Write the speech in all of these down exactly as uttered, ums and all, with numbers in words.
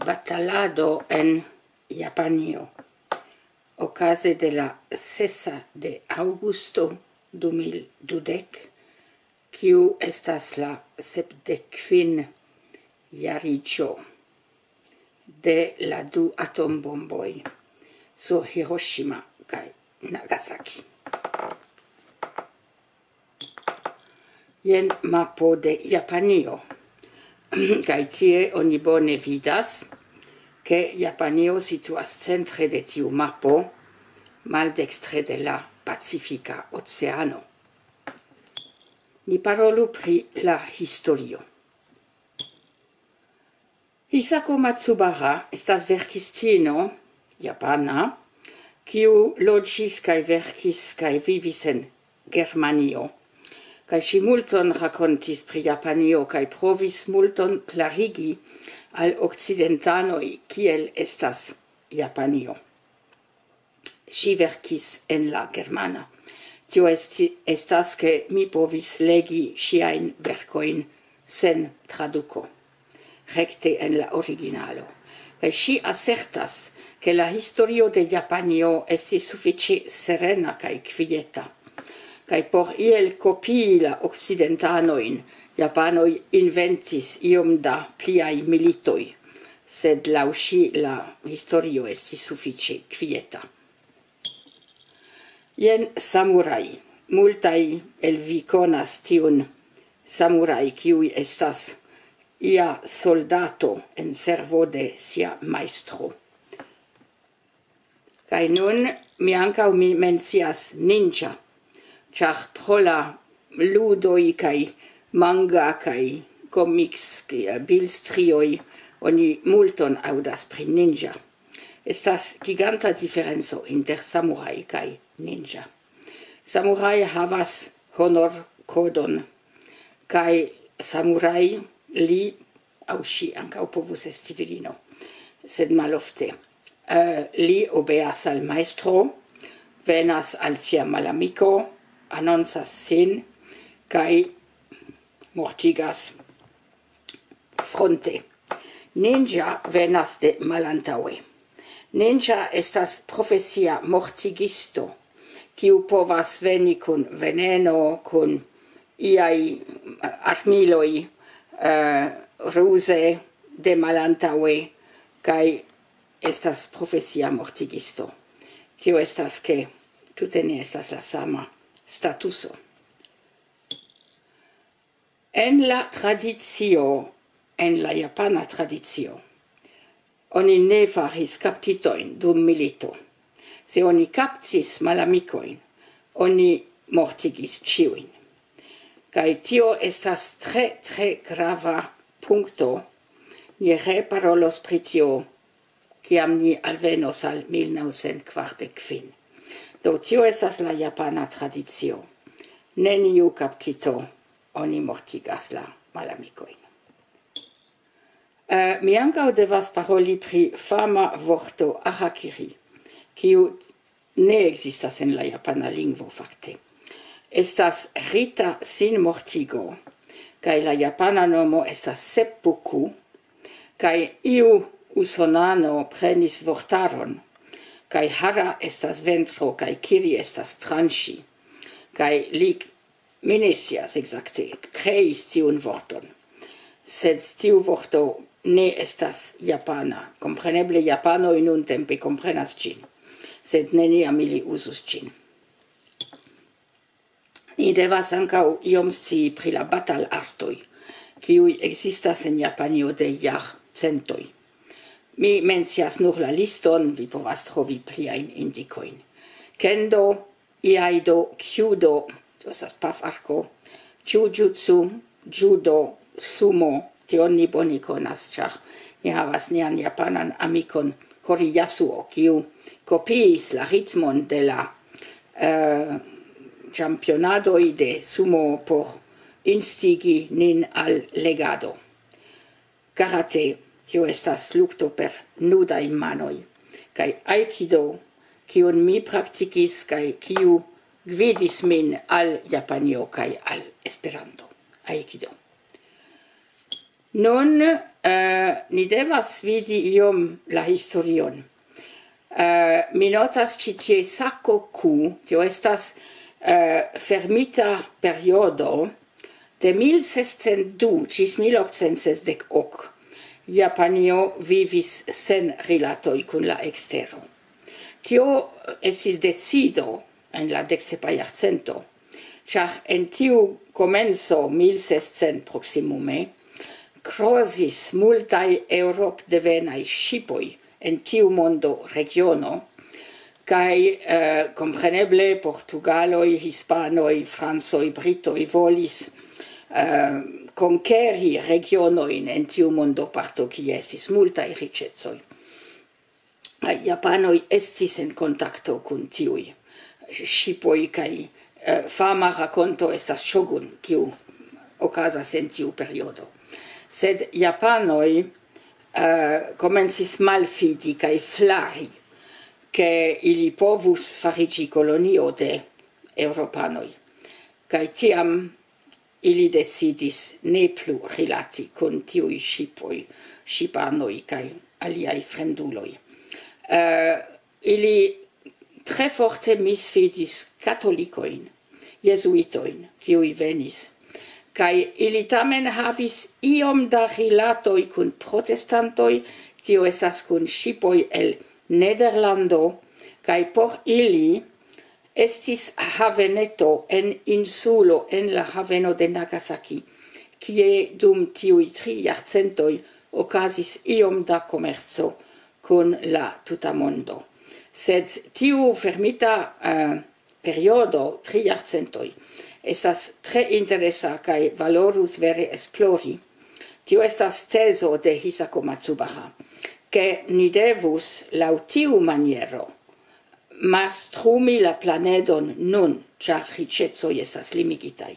batalado en Japanio okaze de la sesa de aŭgusto du mil dudek, kiu estas la sepdek kvin jariĝo de la du atombomboj sur Hiroshima kaj Nagasaki. Jen mapo de Japanio. Kaj tie oni bone vidas, ke Japanio situas centre de tiu mapo, maldekstre de la Pacifika Oceano. Ni parolu pri la historio. Hisako Matsubara estas verkistino japana, kiu loĝis kaj verkis kaj vivis en Germanio. Kaj ŝi multon rakontis pri Japanio kaj provis multon klarigi al okcidentanoj, kiel estas Japanio. Ŝi verkis en la germana. Tio esti, estas, ke mi povis legi ŝiajn verkojn sen traduko, rekte en la originalo. Kaj ŝi asertas, ke la historio de Japanio estis sufiĉe serena kaj kvieta. Kaj por iel kopii la okcidentanojn, japanoj inventis iom da pliaj militoj, sed laŭ ŝi la historio estis sufiĉe kvieta. Jen samuraj. Multaj el vi konas tiun samuraj, kiuj estas ia soldato en servo de sia majstro. Kaj nun mi ankaŭ mi mencias ninja, ĉar pro la ludoj kaj manga kaj komiks, kaj bilstrioj, oni multon aŭdas pri ninja. Estas giganta diferenco inter samuraj kaj ninja. Samuraj havas honorkodon, kaj samuraj, li aŭ ŝi ankaŭ povus esti virino, sed malofte. Eh, li obeas al majstro, venas al sia malamiko, anoncas sin kaj mortigas fronte. Ninja venas de malantaŭe. Ninja estas profesia mortigisto, kiu povas veni kun veneno, kun iaj armiloj, eh, ruze de malantaŭe, kaj estas profesia mortigisto. Tio estas, ke tute ne estas la sama statuso. En la tradicio, en la japana tradicio, oni ne faris kaptitojn dum milito. Se oni kaptis malamikojn, oni mortigis ĉiujn. Kaj tio estas tre, tre grava punkto. Ni reparolos pri tio, kiam ni alvenos al mil naŭcent kvardek kvin. Do, tio estas la japana tradicio. Neniu kaptito, oni mortigas la malamikojn. Eh, mi ankaŭ devas paroli pri fama vorto harakiri, kiu ne ekzistas en la japana lingvo, fakte. Estas rita sinmortigo, kaj la japana nomo estas seppuku, kaj iu usonano prenis vortaron, kaj hara estas ventro, kaj kiri estas tranĉi, kaj li, mi ne scias ekzakte, kreis tiun vorton. Sed tiu vorto ne estas japana. Kompreneble japanoj nuntempe komprenas ĝin, sed neniam ili uzus ĝin. Ni devas ankaŭ iom scii pri la batalartoj, kiuj ekzistas en Japanio de jarcentoj. Mi mencias nur la liston, vi povas trovi pliajn indikojn. Kendo, iaido, kyudo, to estas pafarko, jujutsu, judo, sumo, tion ni bone konas, ĉar ni havas nian japanan amikon Hori Yasuo, kiu kopiis la ritmon de la, eh, ĉampionadoj de sumo por instigi nin al legado. Karate, tio estas lukto per nudaj manoj, kaj aikido, kiun mi praktikis kaj kiu gvidis min al Japanio kaj al Esperanto. Aikido. Nun eh, ni devas vidi iom la historion. Eh, mi notas ĉi tie sako Q, tio estas eh, fermita periodo de mil sescent du ĝis mil okcent sesdek ok. Japanio vivis sen rilatoj kun la ekstero. Tio estis decido en la deksepa jarcento, ĉar en tiu komenco mil sescent proksimume krozis multaj eŭropdevenaj ŝipoj en tiu mondo regiono, kaj eh, kompreneble portugaloj, hispanoj, francoj, britoj volis eh, konkeri regionojn en tiu mondoparto, kie estis multaj riĉecoj. Japanoj estis en kontakto kun tiuj ŝipoj, kaj eh, fama rakonto estas Shogun, kiu okazas en tiu periodo. Sed japanoj eh, komencis malfidi kaj flari, ke ili povus fariĝi kolonio de eŭropanoj. Kaj tiam ili decidis ne plu rilati kun tiuj ŝipoj, ŝipanoj kaj aliaj fremduloj. Eh, ili tre forte misfidis katolikojn, jezuitojn, kiuj venis. Kaj ili tamen havis iom da rilatoj kun protestantoj, tio estas kun ŝipoj el Nederlando, kaj por ili estis haveneto en insulo, en la haveno de Nagasaki, kie dum tiuj tri jarcentoj okazis iom da komerco kun la tuta mondo. Sed tiu fermita eh, periodo, tri jarcentoj, estas tre interesa kaj valorus vere esplori. Tio estas tezo de Hisako Matsubara, ke ni devus laŭ tiu maniero mastrumi la planedon nun, ĉar riĉecoj estas limigitaj.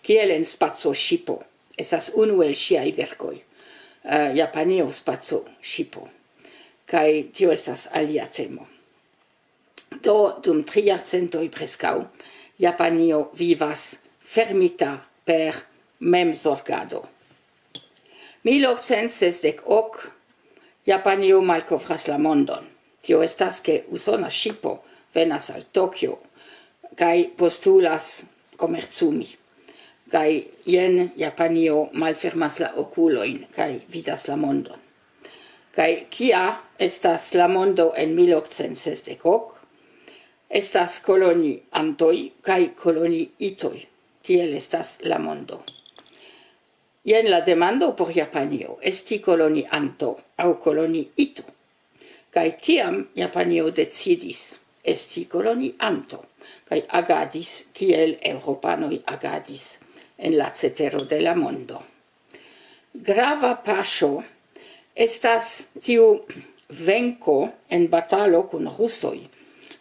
Kiel en spaco ŝipo, estas unu el ŝiaj verkoj, eh, Japanio spaco ŝipo. Kaj tio estas alia temo. Do, dum tri jarcentoj preskaŭ, Japanio vivas fermita per memzorgado. Mil okcent sesdek ok, Japanio malkovras la mondon. Tio estas, ke usona ŝipo venas al Tokio kaj postulas komercumi. Kaj jen Japanio malfermas la okulojn kaj vidas la mondon. Kaj kia estas la mondo en mil okcent sesdek ok? Estas koloniantoj kaj koloniitoj. Tiel estas la mondo. Jen la demando por Japanio: esti kolonianto aŭ koloniito? Kaj tiam Japanio decidis esti kolonianto, kaj agadis kiel eŭropanoj agadis en la cetero de la mondo. Grava paŝo estas tiu venko en batalo kun rusoj.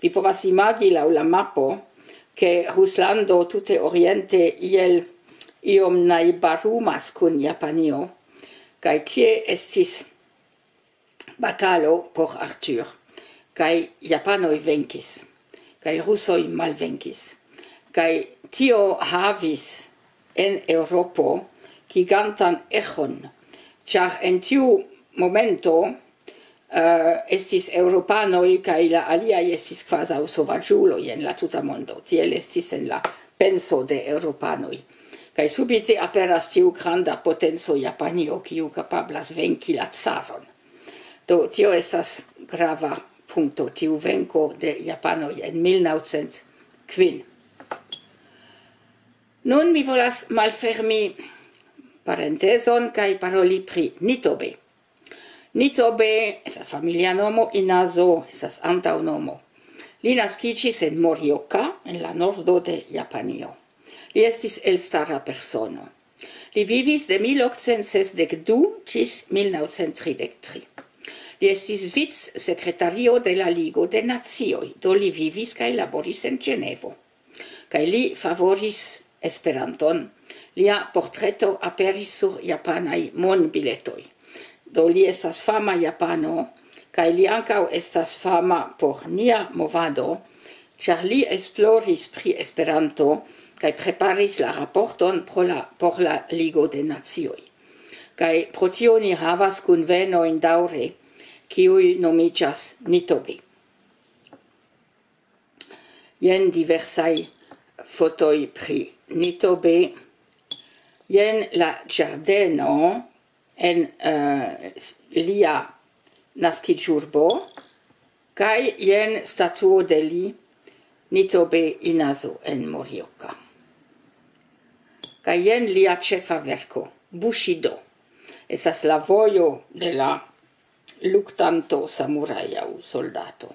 Vi povas imagi laŭ la mapo, ke Ruslando tute oriente iel iom najbarumas kun Japanio, kaj tie estis batalo por Arthur, kaj japanoj venkis, kaj rusoj malvenkis, kaj tio havis en Eŭropo gigantan eĥon, ĉar en tiu momento uh, estis eŭropanoj, kaj la aliaj estis kvazaŭ sovaĝuloj en la tuta mondo. Tiel estis en la penso de eŭropanoj. Kaj subite aperas tiu granda potenco Japanio, kiu kapablas venki la caron. Do, tio estas grava punkto, tiu venko de japanoj en mil naŭcent kvin. Nun mi volas malfermi parentezon kaj paroli pri Nitobe. Nitobe estas familia nomo, Inazo estas antaŭnomo. Li naskiĝis en Morioka, en la nordo de Japanio. Li estis elstara persono. Li vivis de mil okcent sesdek du ĝis mil naŭcent tridek tri. Li estis vicsekretario de la Ligo de Nacioj, do li vivis kaj laboris en Ĝenevo. Kaj li favoris Esperanton. Lia portreto aperis sur japanaj monbiletoj. Do li estas fama japano, kaj li ankaŭ estas fama por nia movado, ĉar li esploris pri Esperanto kaj preparis la raporton pro la, por la Ligo de Nacioj. Kaj pro tio ni havas kunvenojn daŭre, kiuj nomiĝas Nitobe. Jen diversaj fotoj pri Nitobe. Jen la ĝardeno en, eh, s-, lia naskiĝurbo, kaj jen statuo de li, Nitobe Inazo en Morioka. Kaj jen lia ĉefa verko, Bushido. Estas la vojo de la luktanto, samurajo aŭ soldato.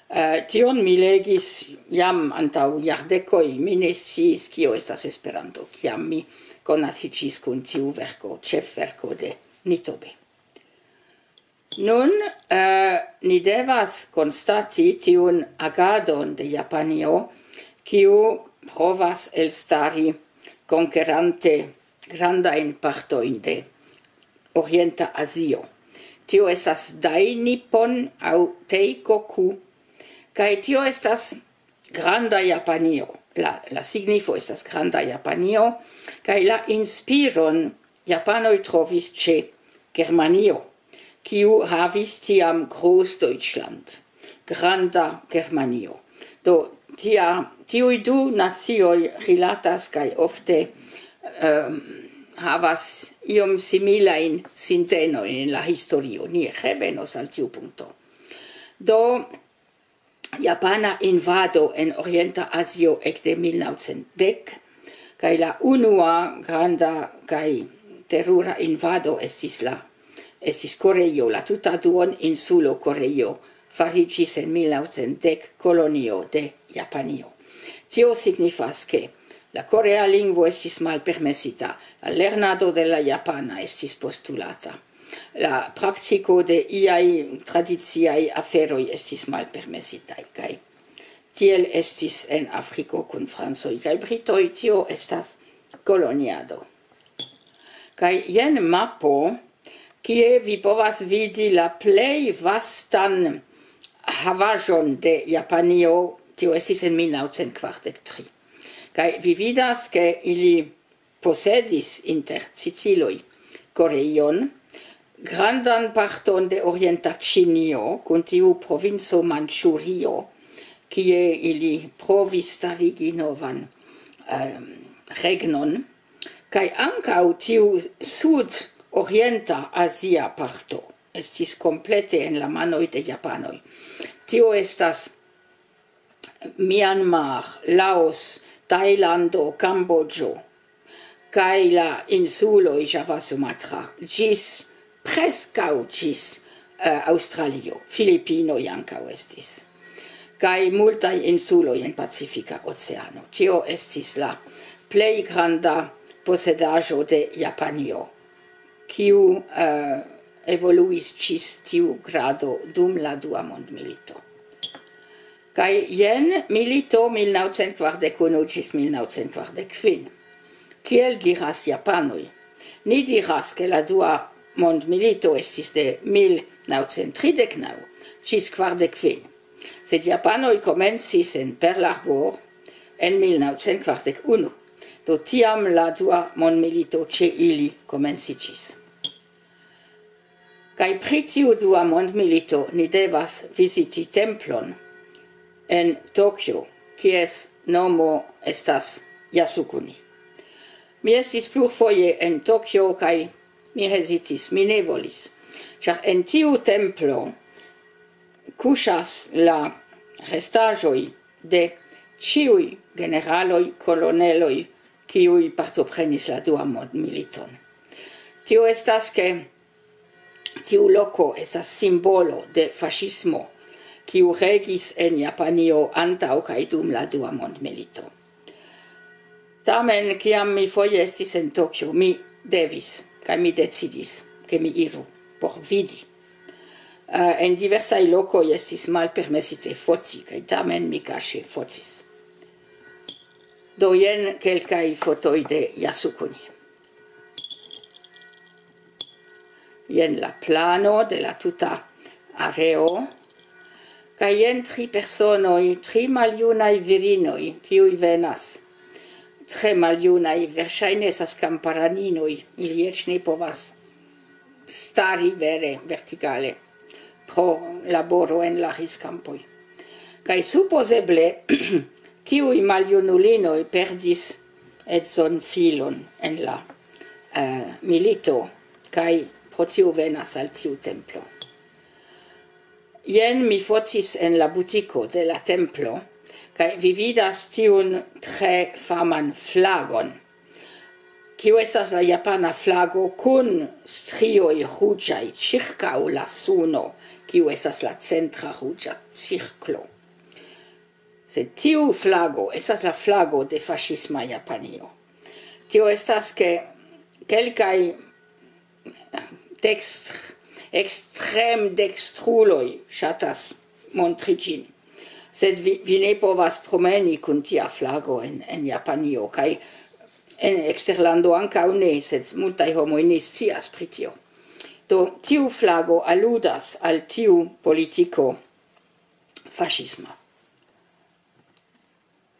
Eh, tion mi legis jam antaŭ jardekoj, mi ne sciis, kio estas Esperanto, kiam mi konatiĝis kun tiu verko, ĉefverko de Nitobe. Nun, eh, ni devas konstati tiun agadon de Japanio, kiu provas elstari konkerante grandajn partojn de Orienta Azio. Tio estas Dainippon aŭ Teikoku, kaj tio estas Granda Japanio. La, la signifo estas Granda Japanio, kaj la inspiron japanoj trovis ĉe Germanio, kiu havis tiam Großdeutschland, Granda Germanio. Do, tia, tiuj du nacioj rilatas kaj ofte, ehm, havas iom similajn sintenojn en la historio. Ni revenos al tiu punkto. Do, japana invado en Orienta Azio ekde mil naŭcent dek, kaj la unua granda kaj terura invado estis la, estis Koreio, la tuta duon insulo Koreio fariĝis en mil naŭcent dek kolonio de Japanio. Tio signifas, ke la korea lingvo estis malpermesita, la lernado de la japana estis postulata, la praktiko de iaj tradiciaj aferoj estis malpermesitaj, kaj tiel estis en Afriko kun francoj kaj britoj, tio estas koloniado. Kaj jen mapo, kie vi povas vidi la plej vastan havaĵon de Japanio, tio estis en mil naŭcent kvardek tri. Kaj vi vidas, ke ili posedis inter Siciloj, Koreion, grandan parton de orienta Ĉinio, kun tiu provinco Manĉurio, kie ili provis starigi novan, ehm, regnon, kaj ankaŭ tiu sud-orienta azia parto estis komplete en la manoj de japanoj. Tio estas Myanmar, Laos, Tajlando, Kamboĝo, kaj la insuloj Java, Sumatra, ĝis, preskaŭ ĝis, eh, Aŭstralio. Filipinoj ankaŭ estis. Kaj multaj insuloj en Pacifika Oceano. Tio estis la plej granda posedaĵo de Japanio, kiu, eh, evoluis ĝis tiu grado dum la Dua Mondmilito. Kaj jen milito mil naŭcent kvardek unu ĝis mil naŭcent kvardek kvin. Tiel diras japanoj. Ni diras, ke la Dua Mondmilito estis de mil naŭcent tridek naŭ ĝis kvardek kvin. Sed japanoj komencis en Pearl Harbor en mil naŭcent kvardek unu. Do tiam la Dua Mondmilito ĉe ili komenciĝis. Kaj pri tiu Dua Mondmilito ni devas viziti templon en Tokio, kies nomo estas Yasukuni. Mi estis plurfoje en Tokio kaj mi hezitis, mi ne volis, ĉar en tiu templo kuŝas la restaĵoj de ĉiuj generaloj, koloneloj, kiuj partoprenis la Duan Mondmiliton. Tio estas, ke tiu loko estas simbolo de faŝismo, kiu regis en Japanio antaŭ kaj dum la Dua Mondmilito. Tamen, kiam mi foje estis en Tokio, mi devis, kaj mi decidis, ke mi iru por vidi. Eh, en diversaj lokoj estis malpermesite foti, kaj tamen mi kaŝe fotis. Do jen kelkaj fotoj de Yasukuni. Jen la plano de la tuta areo. Kaj jen tri personoj, tri maljunaj virinoj, kiuj venas. Tre maljunaj, verŝajne estas kamparaninoj, ili eĉ ne povas stari vere vertikale pro laboro en la riskampoj. Kaj supozeble tiuj maljunulinoj perdis edzon filon en la eh, milito, kaj pro tiu venas al tiu templo. Jen mi fotis en la butiko de la templo, kaj vi vidas tiun tre faman flagon, kiu estas la japana flago kun strioj ruĝaj ĉirkaŭ la suno, kiu estas la centra ruĝa cirklo. Sed tiu flago estas la flago de faŝisma Japanio. Tio estas, ke kelkaj dekstr-, ekstrem-dekstruloj ŝatas montri ĝin. Sed vi, vi ne povas promeni kun tia flago en, en Japanio, kaj en eksterlando ankaŭ ne, sed multaj homoj ne scias pri tio. Do, tiu flago aludas al tiu politiko faŝisma.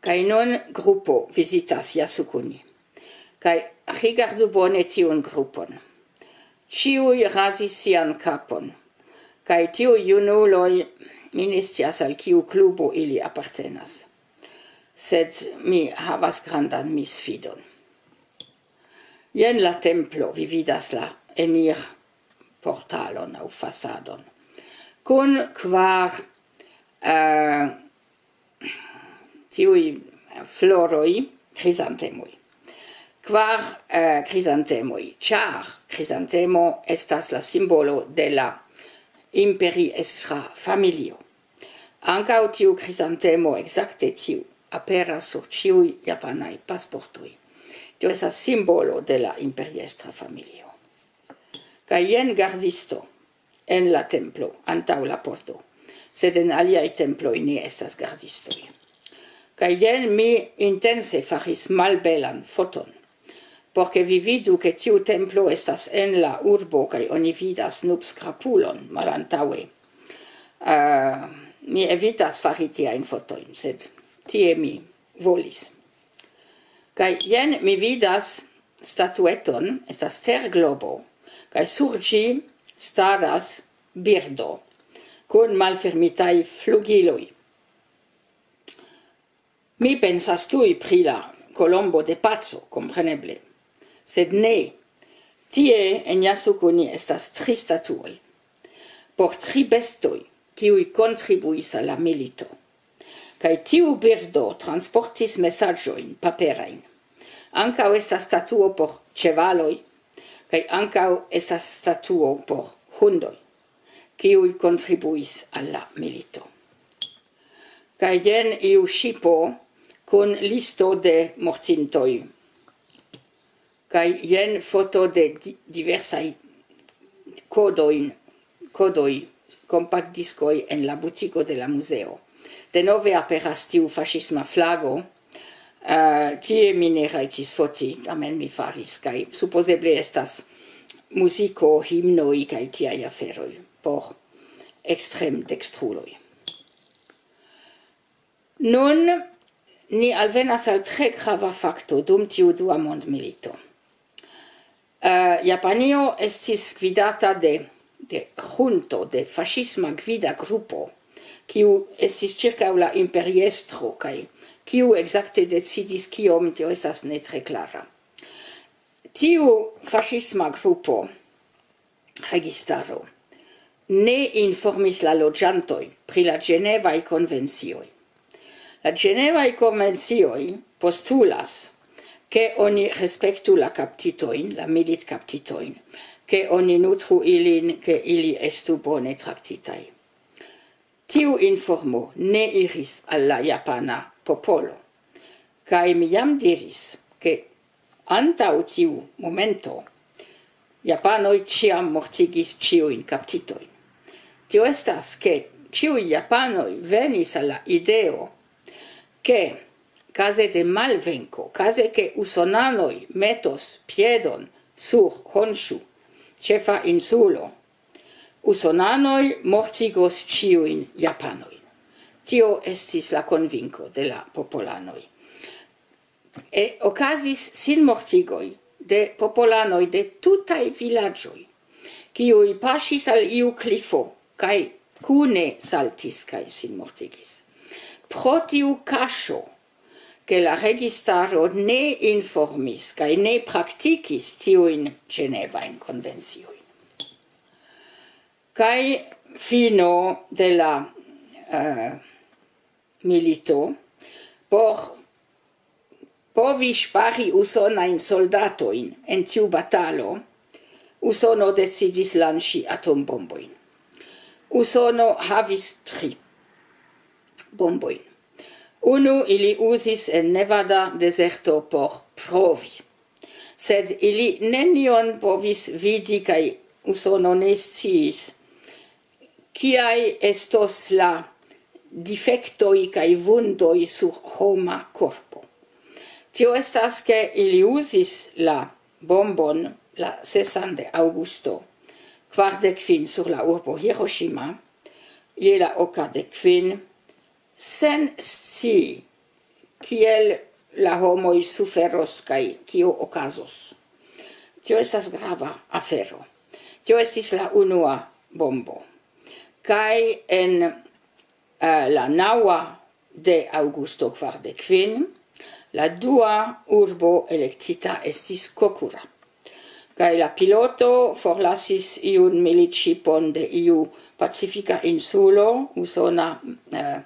Kaj nun grupo vizitas Jasukuni. Kaj rigardu bone tiun grupon. Ĉiuj razis sian kapon. Kaj tiuj junuloj, mi ne scias, al kiu klubo ili apartenas. Sed mi havas grandan misfidon. Jen la templo, vi vidas la enir portalon aŭ fasadon. Kun kvar eh, tiuj floroj, krizantemoj. Kvar eh, krizantemoj, ĉar krizantemo estas la simbolo de la imperiestra familio. Ankaŭ tiu krizantemo, ekzakte tiu, aperas sur ĉiuj japanaj pasportoj. Tio estas simbolo de la imperiestra familio. Kaj jen gardisto en la templo, antaŭ la porto. Sed en aliaj temploj ne estas gardistoj. Kaj jen mi intense faris malbelan foton, por ke vi vidu, ke tiu templo estas en la urbo, kaj oni vidas nubskrapulon malantaŭe. Uh, mi evitas fari tiajn fotojn, sed tie mi volis. Kaj jen mi vidas statueton, estas terglobo, kaj sur ĝi staras birdo kun malfermitaj flugiloj. Mi pensas tuj pri la kolombo de paco, kompreneble. Sed ne, tie en Jasukuni estas tri statuoj por tri bestoj, kiuj kontribuis al la milito. Kaj tiu birdo transportis mesaĝojn paperajn. Ankaŭ estas statuo por ĉevaloj, kaj ankaŭ estas statuo por hundoj, kiuj kontribuis al la milito. Kaj jen iu ŝipo kun listo de mortintoj. Kaj jen foto de di-, diversaj kodojn, kodoj, kompaktdiskoj en la butiko de la muzeo. Denove aperas tiu faŝisma flago. Uh, tie mi ne rajtis foti, tamen mi faris, kaj supozeble estas muziko, himnoj kaj tiaj aferoj por ekstrem-dekstruloj. Nun ni alvenas al tre grava fakto dum tiu dua mondmilito. Uh, Japanio estis gvidata de, de junto, de faŝisma gvida grupo, kiu estis ĉirkaŭ la imperiestro, kaj kiu ekzakte decidis kiom, tio estas ne tre klara. Tiu faŝisma grupo, registaro, ne informis la loĝantojn pri la Ĝenevaj konvencioj. La Ĝenevaj konvencioj postulas, ke oni respektu la kaptitojn, la militkaptitojn, ke oni nutru ilin, ke ili estu bone traktitaj. Tiu informo ne iris al la japana popolo, kaj mi jam diris, ke antaŭ tiu momento japanoj ĉiam mortigis ĉiujn kaptitojn. Tio estas, ke ĉiuj japanoj venis al la ideo, ke kaze de malvenko, kaze ke usonanoj metos piedon sur Honshu, ĉefa insulo, usonanoj mortigos ĉiujn japanojn. Tio estis la konvinko de la popolanoj. E okazis sinmortigoj de popolanoj de tutaj vilaĝoj, kiuj paŝis al iu klifo, kaj kune saltis kaj sin mortigis. Pro tiu kaŝo, ke la registaro ne informis kaj ne praktikis tiujn ĝenevajn konvenciojn. Kaj fino de la, eh, milito, por povi ŝpari usonajn soldatojn en tiu batalo, Usono decidis lanĉi atombombojn. Usono havis tri bombojn. Unu ili uzis en Nevada dezerto por provi. Sed ili nenion povis vidi, kaj Usono ne sciis, kiaj estos la difektoj kaj vundoj sur homa korpo. Tio estas, ke ili uzis la bombon la sesan de aŭgusto kvardek kvin sur la urbo Hiroshima, je la oka de kvin, sen scii, kiel la homoj suferos kaj kio okazos. Tio estas grava afero. Tio estis la unua bombo. Kaj en, eh, la naŭa de aŭgusto kvardek kvin, la dua urbo elektita estis Kokura. Kaj la piloto forlasis iun militŝipon de iu pacifika insulo, usona, eh,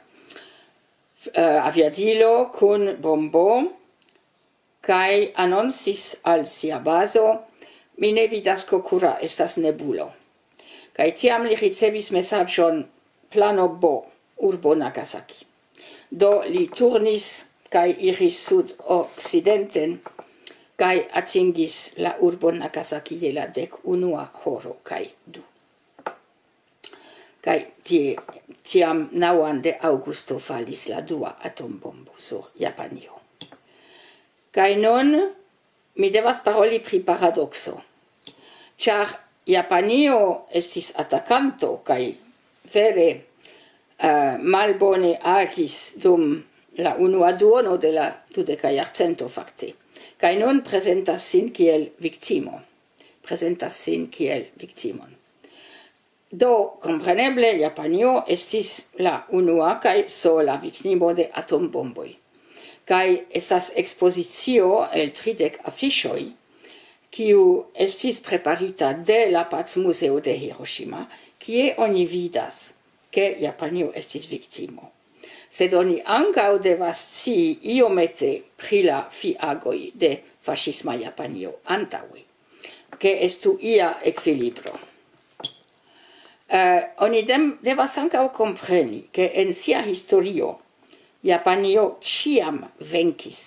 f-, eh, aviadilo kun bombo, kaj anoncis al sia bazo: "Mi ne vidas, Kokura estas nebulo." Kaj tiam li ricevis mesaĝon: "Plano B, urbo Nagasaki." Do li turnis kaj iris sudokcidenten, kaj atingis la urbon Nagasaki je la dek unua horo kaj du. Kaj tie, tiam naŭan de aŭgusto falis la dua atombombo sur Japanio. Kaj nun mi devas paroli pri paradokso, ĉar Japanio estis atakanto kaj vere, eh, malbone agis dum la unua duono de la dudeka jarcento fakte, kaj nun prezentas sin kiel viktimo, prezentas sin kiel viktimon. Do, kompreneble, Japanio estis la unua kaj sola viktimo de atombomboj. Kaj estas ekspozicio el tridek afiŝoj, kiu estis preparita de la Pacmuzeo de Hiroshima, kie oni vidas, ke Japanio estis viktimo. Sed oni ankaŭ devas scii iomete pri la fiagoj de faŝisma Japanio antaŭe, ke estu ia ekvilibro. Eh, oni dem-, devas ankaŭ kompreni, ke en sia historio Japanio ĉiam venkis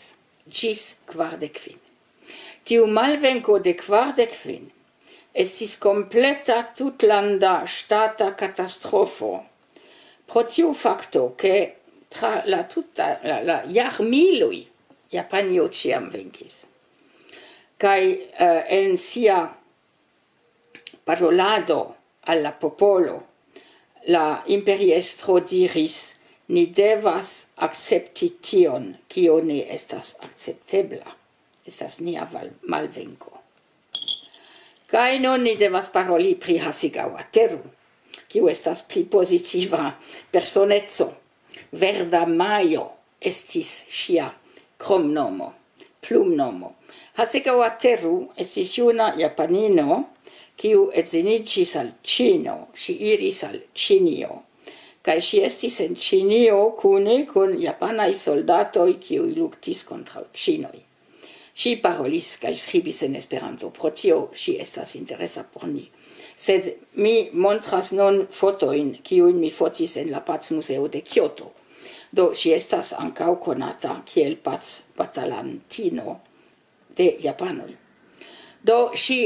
ĝis kvardek kvin. Tiu malvenko de kvardek kvin estis kompleta tutlanda ŝtata katastrofo pro tiu fakto, ke tra la tuta, la, la jarmiloj Japanio ĉiam venkis. Kaj, eh, en sia parolado al la popolo, la imperiestro diris: "Ni devas akcepti tion, kio ne estas akceptebla. Estas nia val-, malvenko." Kaj nun ni devas paroli pri Hasegawa Teru, kiu estas pli pozitiva personeco. Verda Majo estis ŝia kromnomo, plumnomo. Hasegawa Teru estis juna japanino, kiu edziniĝis al Ĉino. Ŝi iris al Ĉinio. Kaj ŝi estis en Ĉinio kune kun japanaj soldatoj, kiuj luktis kontraŭ Ĉinoj. Ŝi parolis kaj skribis en Esperanto, pro tio ŝi estas interesa por ni. Sed mi montras nun fotojn, kiujn mi fotis en la Pacmuzeo de Kioto. Do, ŝi estas ankaŭ konata kiel pacbatalantino de japanoj. Do, ŝi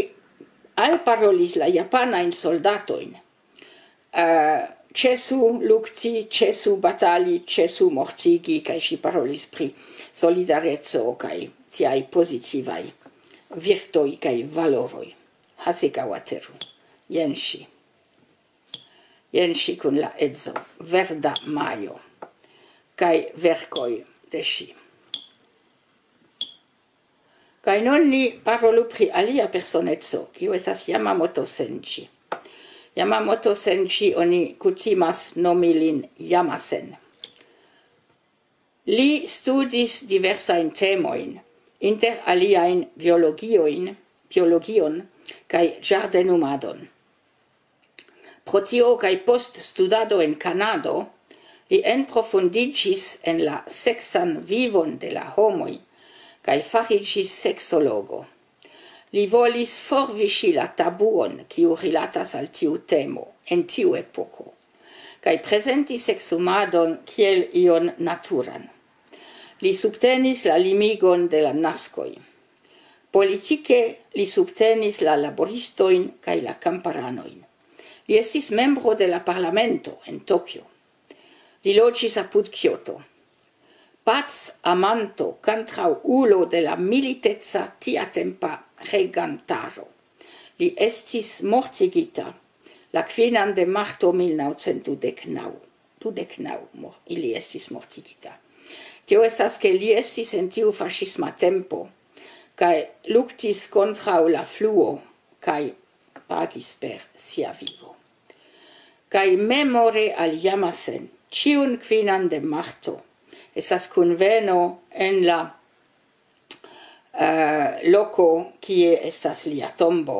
alparolis la japanajn soldatojn: eh, "Ĉesu lukti, ĉesu batali, ĉesu mortigi", kaj ŝi parolis pri solidareco kaj tiaj pozitivaj virtoj kaj valoroj. Hasegawa Teru. Jen ŝi. Jen ŝi kun la edzo. Verda Majo. Kaj verkoj de ŝi. Kaj nun ni parolu pri alia personeco, kiu estas Yamamoto Senji. Yamamoto Senji oni kutimas nomi lin Yamasen. Li studis diversajn temojn, inter aliajn biologiojn, biologion kaj ĝardenumadon. Pro tio kaj post studado en Kanado, li enprofundiĝis en la seksan vivon de la homoj kaj fariĝis seksologo. Li volis forviŝi la tabuon, kiu rilatas al tiu temo en tiu epoko, kaj prezenti seksumadon kiel ion naturan. Li subtenis la limigon de la naskoj. Politike li subtenis la laboristojn kaj la kamparanojn. Li estis membro de la parlamento en Tokio. Li loĝis apud Kioto. Pac amanto kontraŭulo de la militeca tiatempa regantaro. Li estis mortigita la kvinan de marto mil naŭcent dudek naŭ. Dudek naŭ mor-, ili estis mortigita. Tio estas, ke li estis en tiu faŝisma tempo kaj luktis kontraŭ la fluo kaj pagis per sia vivo. Kaj memore al Yamasen, ĉiun kvinan de marto estas kunveno en la, eh, loko, kie estas lia tombo,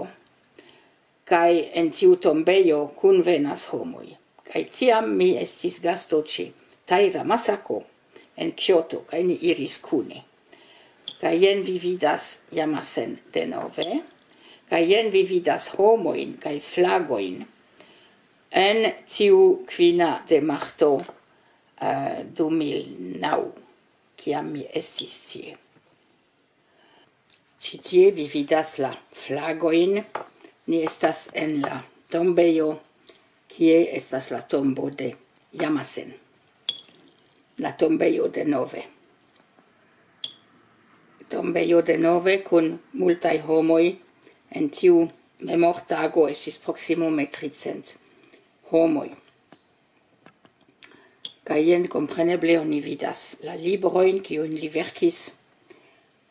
kaj en tiu tombejo kunvenas homoj. Kaj tiam mi estis gasto ĉe Taira Masako en Kioto, kaj ni iris kune. Kaj jen vi vidas Yamasen denove, kaj jen vi vidas homojn kaj flagojn en tiu kvina de marto, eh, du mil naŭ, kiam mi estis tie. Ĉi tie vi vidas la flagojn. Ni estas en la tombejo, kie estas la tombo de Yamasen. La tombejo denove. Tombejo denove kun multaj homoj. En tiu memortago estis proksimume tricent homoj. Kaj jen, kompreneble, oni vidas la librojn, kiujn li verkis.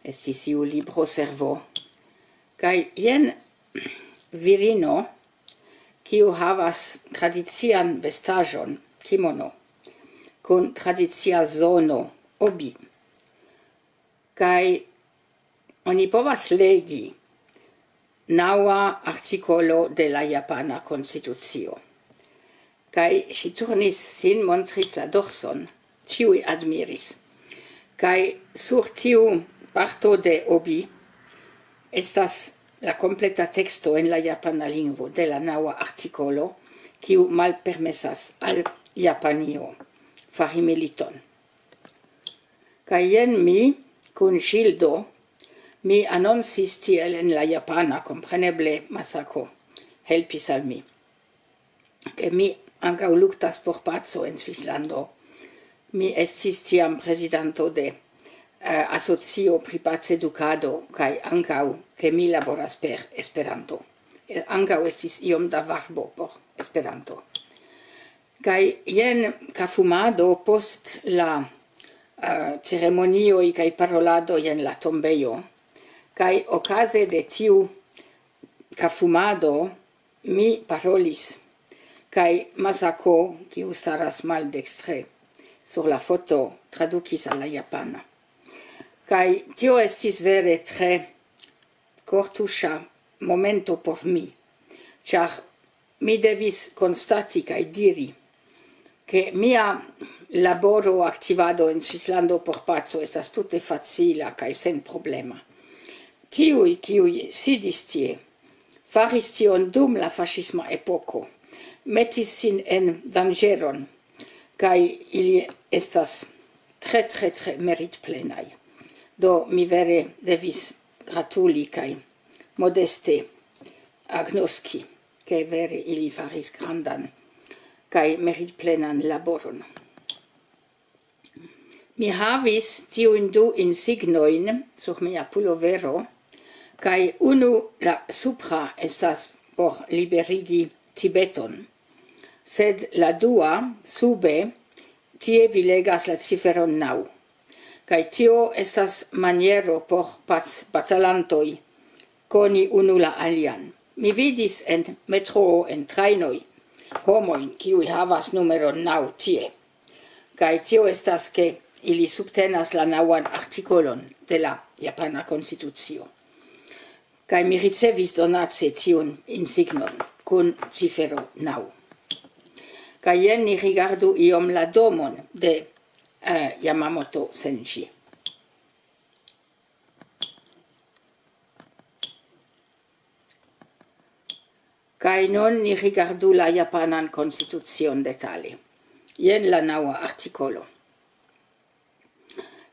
Estis iu libroservo. Kaj jen virino, kiu havas tradician vestaĵon, kimono, kun tradicia zono, obi. Kaj oni povas legi naŭa artikolo de la japana konstitucio. Kaj ŝi turnis sin, montris la dorson, ĉiuj admiris. Kaj sur tiu parto de obi estas la kompleta teksto en la japana lingvo de la naŭa artikolo, kiu malpermesas al Japanio fari militon. Kaj jen mi, kun ŝildo, mi anoncis tiel en la japana, kompreneble Masako helpis al mi, ke mi ankaŭ luktas por paco en Svislando. Mi estis tiam prezidanto de, eh, asocio pri pacedukado, kaj ankaŭ ke mi laboras per Esperanto. Eh, ankaŭ estis iom da varbo por Esperanto. Kaj jen kafumado post la, eh, ceremonioj kaj parolado jen la tombejo. Kaj okaze de tiu kafumado mi parolis, kaj Masako, kiu staras maldekstre sur la foto, tradukis al la japana. Kaj tio estis vere tre kortuŝa momento por mi, ĉar mi devis konstati kaj diri, ke mia laboro, aktivado en Svislando por paco estas tute facila kaj senproblema. Tiuj, kiuj sidis tie, faris tion dum la faŝisma epoko, metis sin en danĝeron, kaj ili estas tre, tre, tre meritplenaj. Do mi vere devis gratuli kaj modeste agnoski, ke vere ili faris grandan kaj meritplenan laboron. Mi havis tiujn du insignojn sur mia pulovero, kaj unu, la supra, estas por liberigi Tibeton, sed la dua, sube, tie vi legas la ciferon naŭ. Kaj tio estas maniero por pacbatalantoj koni unu la alian. Mi vidis en metroo, en trajnoj, homojn, kiuj havas numeron naŭ tie. Kaj tio estas, ke ili subtenas la naŭan artikolon de la japana konstitucio. Kaj mi ricevis donace tiun insignon kun cifero naŭ. Kaj jen ni rigardu iom la domon de, eh, Yamamoto Senji. Kaj nun ni rigardu la japanan konstitucion detale. Jen la naŭa artikolo.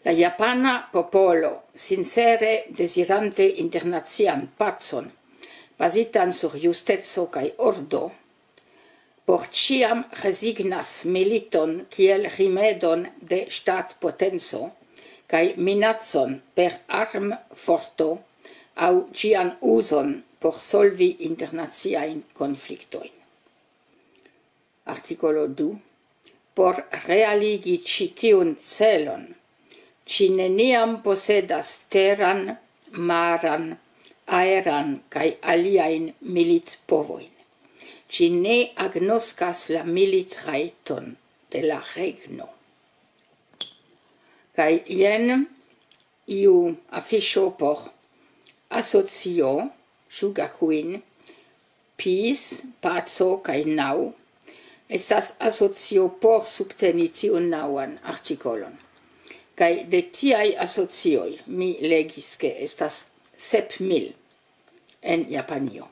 La japana popolo, sincere dezirante internacian pacon, bazitan sur justeco kaj ordo, por ĉiam rezignas militon kiel rimedon de ŝtatpotenco kaj minacon per armforto aŭ ĝian uzon por solvi internaciajn konfliktojn. Artikolo du. Por realigi ĉi tiun celon, ŝi neniam posedas teran, maran, aeran kaj aliajn militpovojn. Ŝi ne agnoskas la militrajton de la regno. Kaj jen iu afiŝo por asocio Shugakuin, Peace, paco kaj naŭ. Estas asocio por subteni tiun naŭan artikolon. Kaj de tiaj asocioj mi legis, ke estas sep mil en Japanio.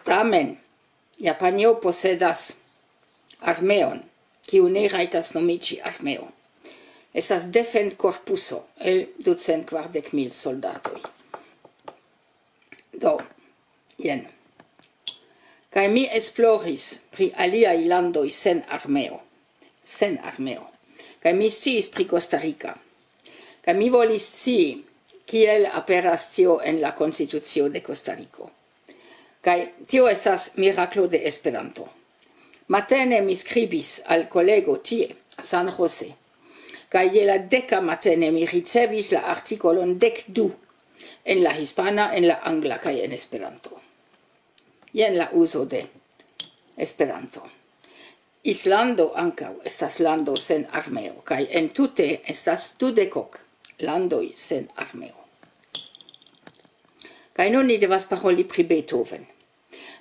Tamen, Japanio posedas armeon, kiu ne rajtas nomiĝi armeo. Estas defendkorpuso el ducent kvardek mil soldatoj. Do, jen. Kaj mi esploris pri aliaj landoj sen armeo. Sen armeo. Kaj mi sciis pri Kostarika. Kaj mi volis scii, kiel aperas tio en la konstitucio de Kostariko. Kaj tio estas miraklo de Esperanto. Matene mi skribis al kolego tie, San Jose. Kaj je la deka matene mi ricevis la artikolon dek du en la hispana, en la angla kaj en Esperanto. Jen la uzo de Esperanto. Islando ankaŭ estas lando sen armeo, kaj entute estas dudekok landoj sen armeo. Kaj nun ni devas paroli pri Beethoven.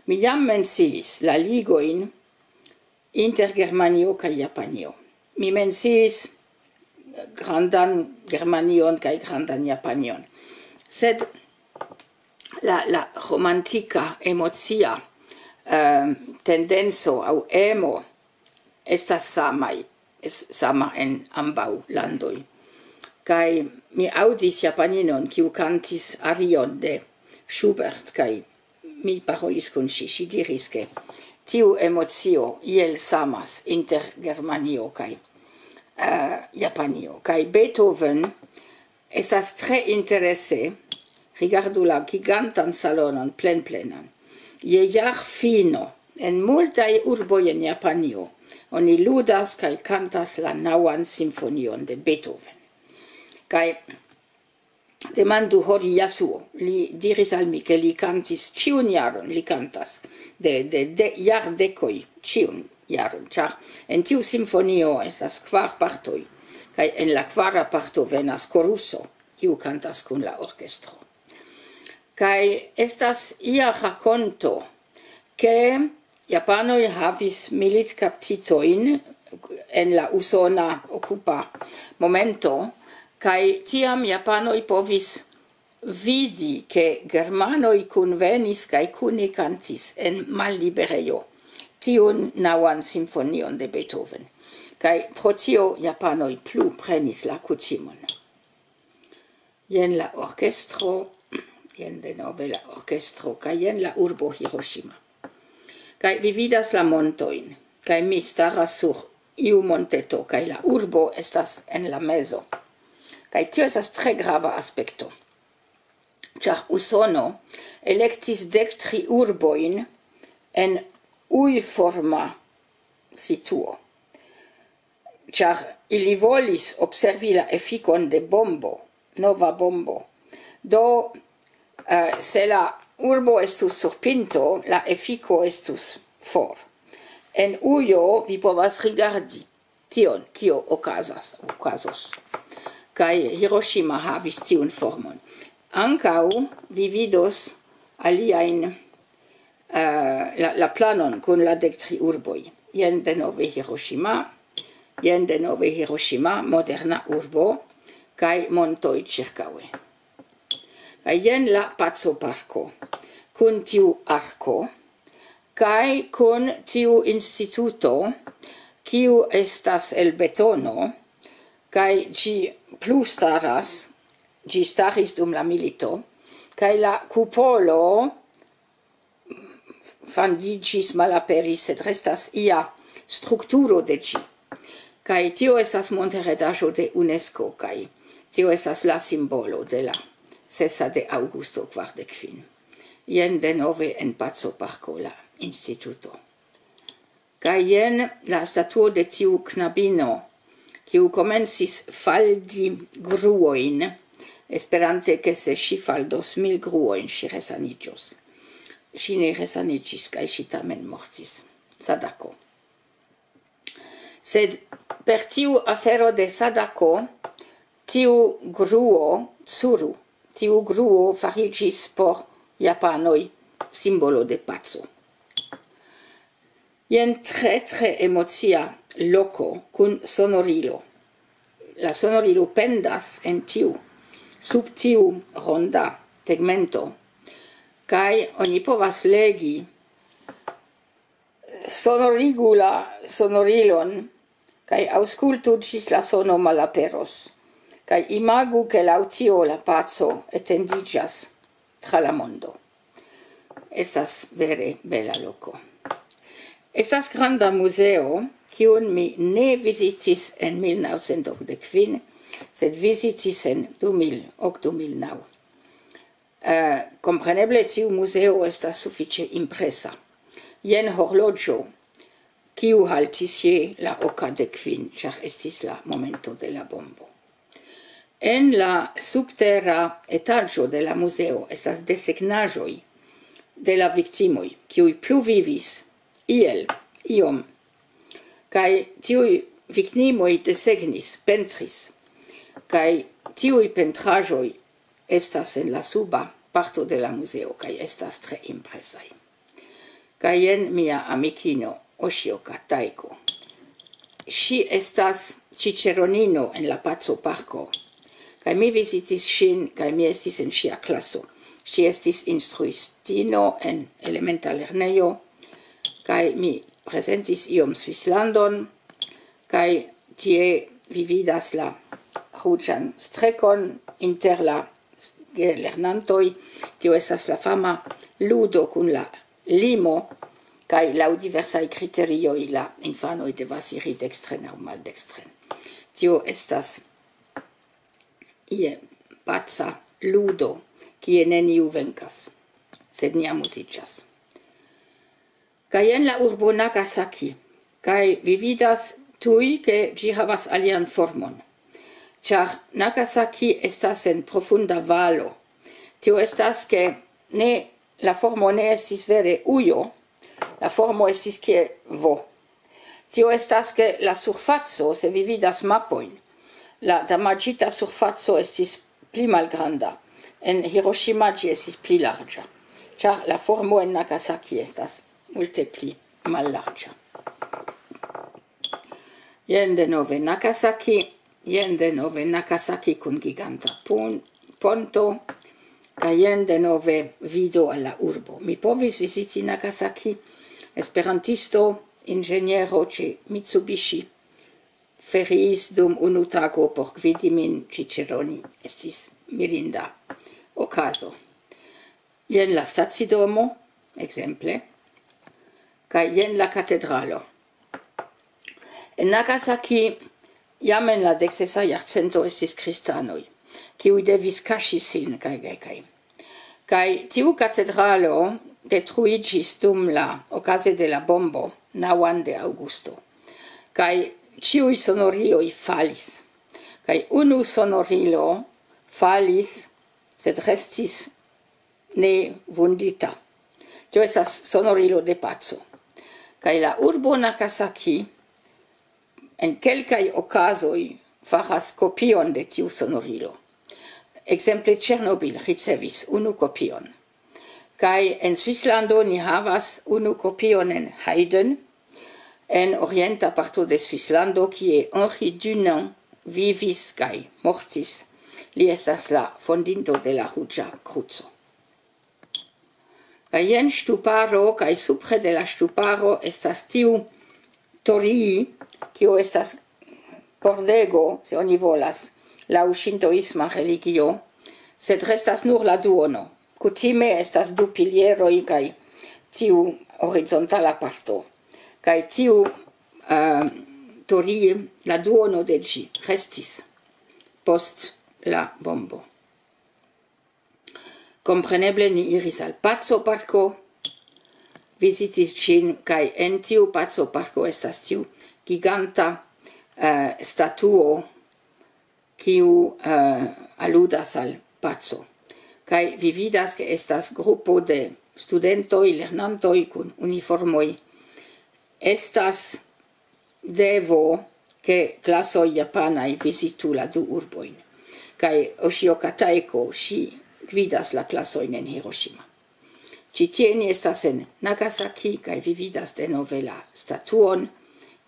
Mi jam menciis la ligojn inter Germanio kaj Japanio. Mi menciis grandan Germanion kaj grandan Japanion. Sed la, la romantika, emocia, eh, tendenco aŭ emo estas samaj, es-, sama en ambaŭ landoj. Kaj mi aŭdis japaninon, kiu kantis arion de Schubert, kaj mi parolis kun ŝi. Ŝi diris, ke tiu emocio iel samas inter Germanio kaj, eh, Japanio. Kaj Beethoven estas tre interese, rigardu la gigantan salonon plenplenan. Je jarfino, en multaj urboj en Japanio, oni ludas kaj kantas la naŭan simfonion de Beethoven. Kaj demandu Hori Yasuo, li diris al mi, ke li kantis ĉiun jaron, li kantas de, de, de jardekoj ĉiun jaron, ĉar en tiu simfonio estas kvar partoj, kaj en la kvara parto venas koruso, kiu kantas kun la orkestro. Kaj estas ia rakonto, ke japanoj havis militkaptitojn en la usona okupa momento, kaj tiam japanoj povis vidi, ke germanoj kunvenis kaj kune kantis en malliberejo tiun naŭan simfonion de Beethoven. Kaj pro tio japanoj plu prenis la kutimon. Jen la orkestro, jen denove la orkestro, kaj jen la urbo Hiroshima. Kaj vi vidas la montojn, kaj mi staras sur iu monteto, kaj la urbo estas en la mezo. Kaj tio estas tre grava aspekto, ĉar Usono elektis dek tri urbojn en uiforma situo, ĉar ili volis observi la efikon de bombo, nova bombo. Do, Eh, se la urbo estus sur pinto, la efiko estus for. En ujo vi povas rigardi tion, kio okazas, okazos. Kaj Hiroshima havis tiun formon. Ankaŭ vi vidos aliajn, eh, la, la planon kun la dek tri urboj. Jen denove Hiroshima, jen denove Hiroshima, moderna urbo, kaj montoj ĉirkaŭe. Kaj jen la Paco Parko, kun tiu arko, kaj kun tiu instituto, kiu estas el betono, kaj ĝi plu staras, ĝi staris dum la milito, kaj la kupolo fandiĝis, malaperis, sed restas ia strukturo de ĝi. Kaj tio estas monteredaĵo de UNESCO, kaj tio estas la simbolo de la sesa de aŭgusto kvardek kvin. Jen denove en Paco Parko la instituto. Kaj jen la statuo de tiu knabino, kiu komencis faldi gruojn, esperante, ke se ŝi faldos mil gruojn, ŝi resaniĝos. Ŝi ne resaniĝis, kaj ŝi tamen mortis. Sadako. Sed per tiu afero de Sadako, tiu gruo, Tsuru, tiu gruo fariĝis por japanoj simbolo de paco. Jen tre, tre emocia loko kun sonorilo. La sonorilo pendas en tiu, sub tiu ronda tegmento, kaj oni povas legi: "Sonorigu la sonorilon, kaj aŭskultu ĝis la sono malaperos, kaj imagu, ke laŭ tio la paco etendiĝas tra la mondo." Estas vere bela loko. Estas granda muzeo, kiun mi ne vizitis en mil naŭcent okdek kvin, sed vizitis en du mil ok, du mil naŭ. Eh, kompreneble tiu muzeo estas sufiĉe impresa. Jen horloĝo, kiu haltis je la oka de kvin, ĉar estis la momento de la bombo. En la subtera etaĝo de la muzeo estas desegnaĵoj de la viktimoj, kiuj pluvivis iel iom. Kaj tiuj viktimoj desegnis, pentris. Kaj tiuj pentraĵoj estas en la suba parto de la muzeo, kaj estas tre impresaj. Kaj jen mia amikino Oshioka Taiko. Ŝi estas ĉiĉeronino en la Paco Parko. Kaj mi vizitis ŝin, kaj mi estis en ŝia klaso. Ŝi estis instruistino en elementa lernejo, kaj mi prezentis iom Svislandon, kaj tie vi vidas la ruĝan strekon inter la s-, gelernantoj. Tio estas la fama ludo kun la limo, kaj laŭ diversaj kriterioj la infanoj devas iri dekstren aŭ maldekstren. Tio estas ie paca ludo, kie neniu venkas, sed ni amuziĝas. Kaj jen la urbo Nagasaki, kaj vi vidas tuj, ke ĝi havas alian formon. Ĉar Nagasaki estas en profunda valo. Tio estas, ke ne, la formo ne estis vere ujo, la formo estis kiel V. Tio estas, ke la surfaco, se vi vidas mapojn, la damaĝita surfaco estis pli malgranda. En Hiroshima ĝi estis pli larĝa, ĉar la formo en Nagasaki estas multe pli mallarĝa. Jen denove Nagasaki, jen denove Nagasaki kun giganta pon-, ponto, kaj jen denove vido al la urbo. Mi povis viziti Nagasaki, esperantisto, inĝeniero ĉe Mitsubishi, feriis dum unu tago por gvidi min ĉiĉeroni. Estis mirinda okazo. Jen la stacidomo, ekzemple, kaj jen la katedralo. En Nagasaki jam en la deksesa jarcento estis kristanoj, kiuj devis kaŝi sin, kaj, kaj, kaj. Kaj tiu katedralo detruiĝis dum la, okaze de la bombo, naŭan de aŭgusto. Kaj ĉiuj sonoriloj falis. Kaj unu sonorilo falis, sed restis ne vundita. Tio estas sonorilo de paco. Kaj la urbo Nagasaki en kelkaj okazoj faras kopion de tiu sonorilo. Ekzemple, Ĉernobil ricevis unu kopion. Kaj en Svislando ni havas unu kopion en Heiden, en orienta parto de Svislando, kie Henri Dunant vivis kaj mortis. Li estas la fondinto de la Ruĝa Kruco. Kaj jen ŝtuparo, kaj supre de la ŝtuparo estas tiu torii, kio estas pordego, se oni volas, laŭ ŝintoisma religio, sed restas nur la duono. Kutime estas du pilieroj kaj tiu horizontala parto. Kaj tiu, eh, torii, la duono de ĝi restis post la bombo. Kompreneble ni iris al Paco Parko, vizitis ĝin, kaj en tiu Paco Parko estas tiu giganta, eh, statuo, kiu, eh, aludas al paco. Kaj vi vidas, ke estas grupo de studentoj, lernantoj kun uniformoj. Estas devo, ke klasoj japanaj vizitu la du urbojn. Kaj Oshio Kataiko, ŝi gvidas la klasojn en Hiroshima. Ĉi tie ni estas en Nagasaki, kaj vi vidas denove la statuon,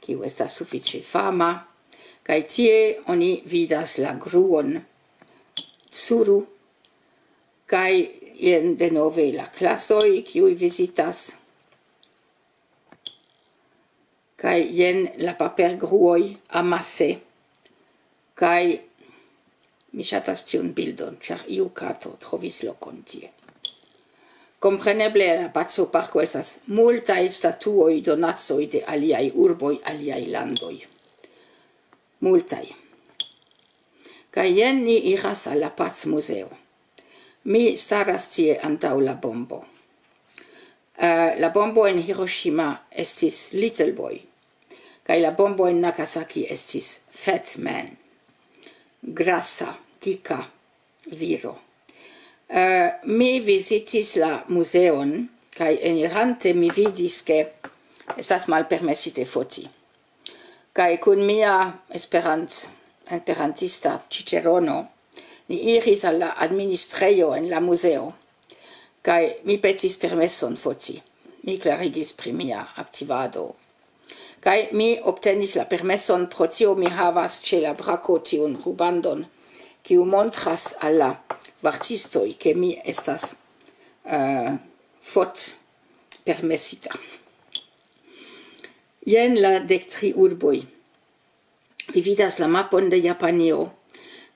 kiu estas sufiĉe fama. Kaj tie oni vidas la gruon Tsuru, kaj jen denove la klasoj, kiuj vizitas. Kaj jen la papergruoj amase. Kaj mi ŝatas tiun bildon, ĉar iu kato trovis lokon tie. Kompreneble, la Paco Parko estas multaj statuoj, donacoj de aliaj urboj, aliaj landoj. Multaj. Kaj jen ni iras al la Pac Muzeo. Mi staras tie antaŭ la bombo. Eh, la bombo en Hiroshima estis Little Boy, kaj la bombo en Nagasaki estis Fat Man, grasa, dika viro. Eh, mi vizitis la muzeon, kaj enirante mi vidis, ke estas malpermesite foti. Kaj kun mia Esperant-, esperantista ĉiĉerono, ni iris al la administrejo en la muzeo, kaj mi petis permeson foti. Mi klarigis pri mia aktivado. Kaj mi obtenis la permeson, pro tio mi havas ĉe la brako tiun rubandon, kiu montras al la vartistoj, ke mi estas, eh, fot permesita. Jen la dek tri urboj. Vi vidas la mapon de Japanio,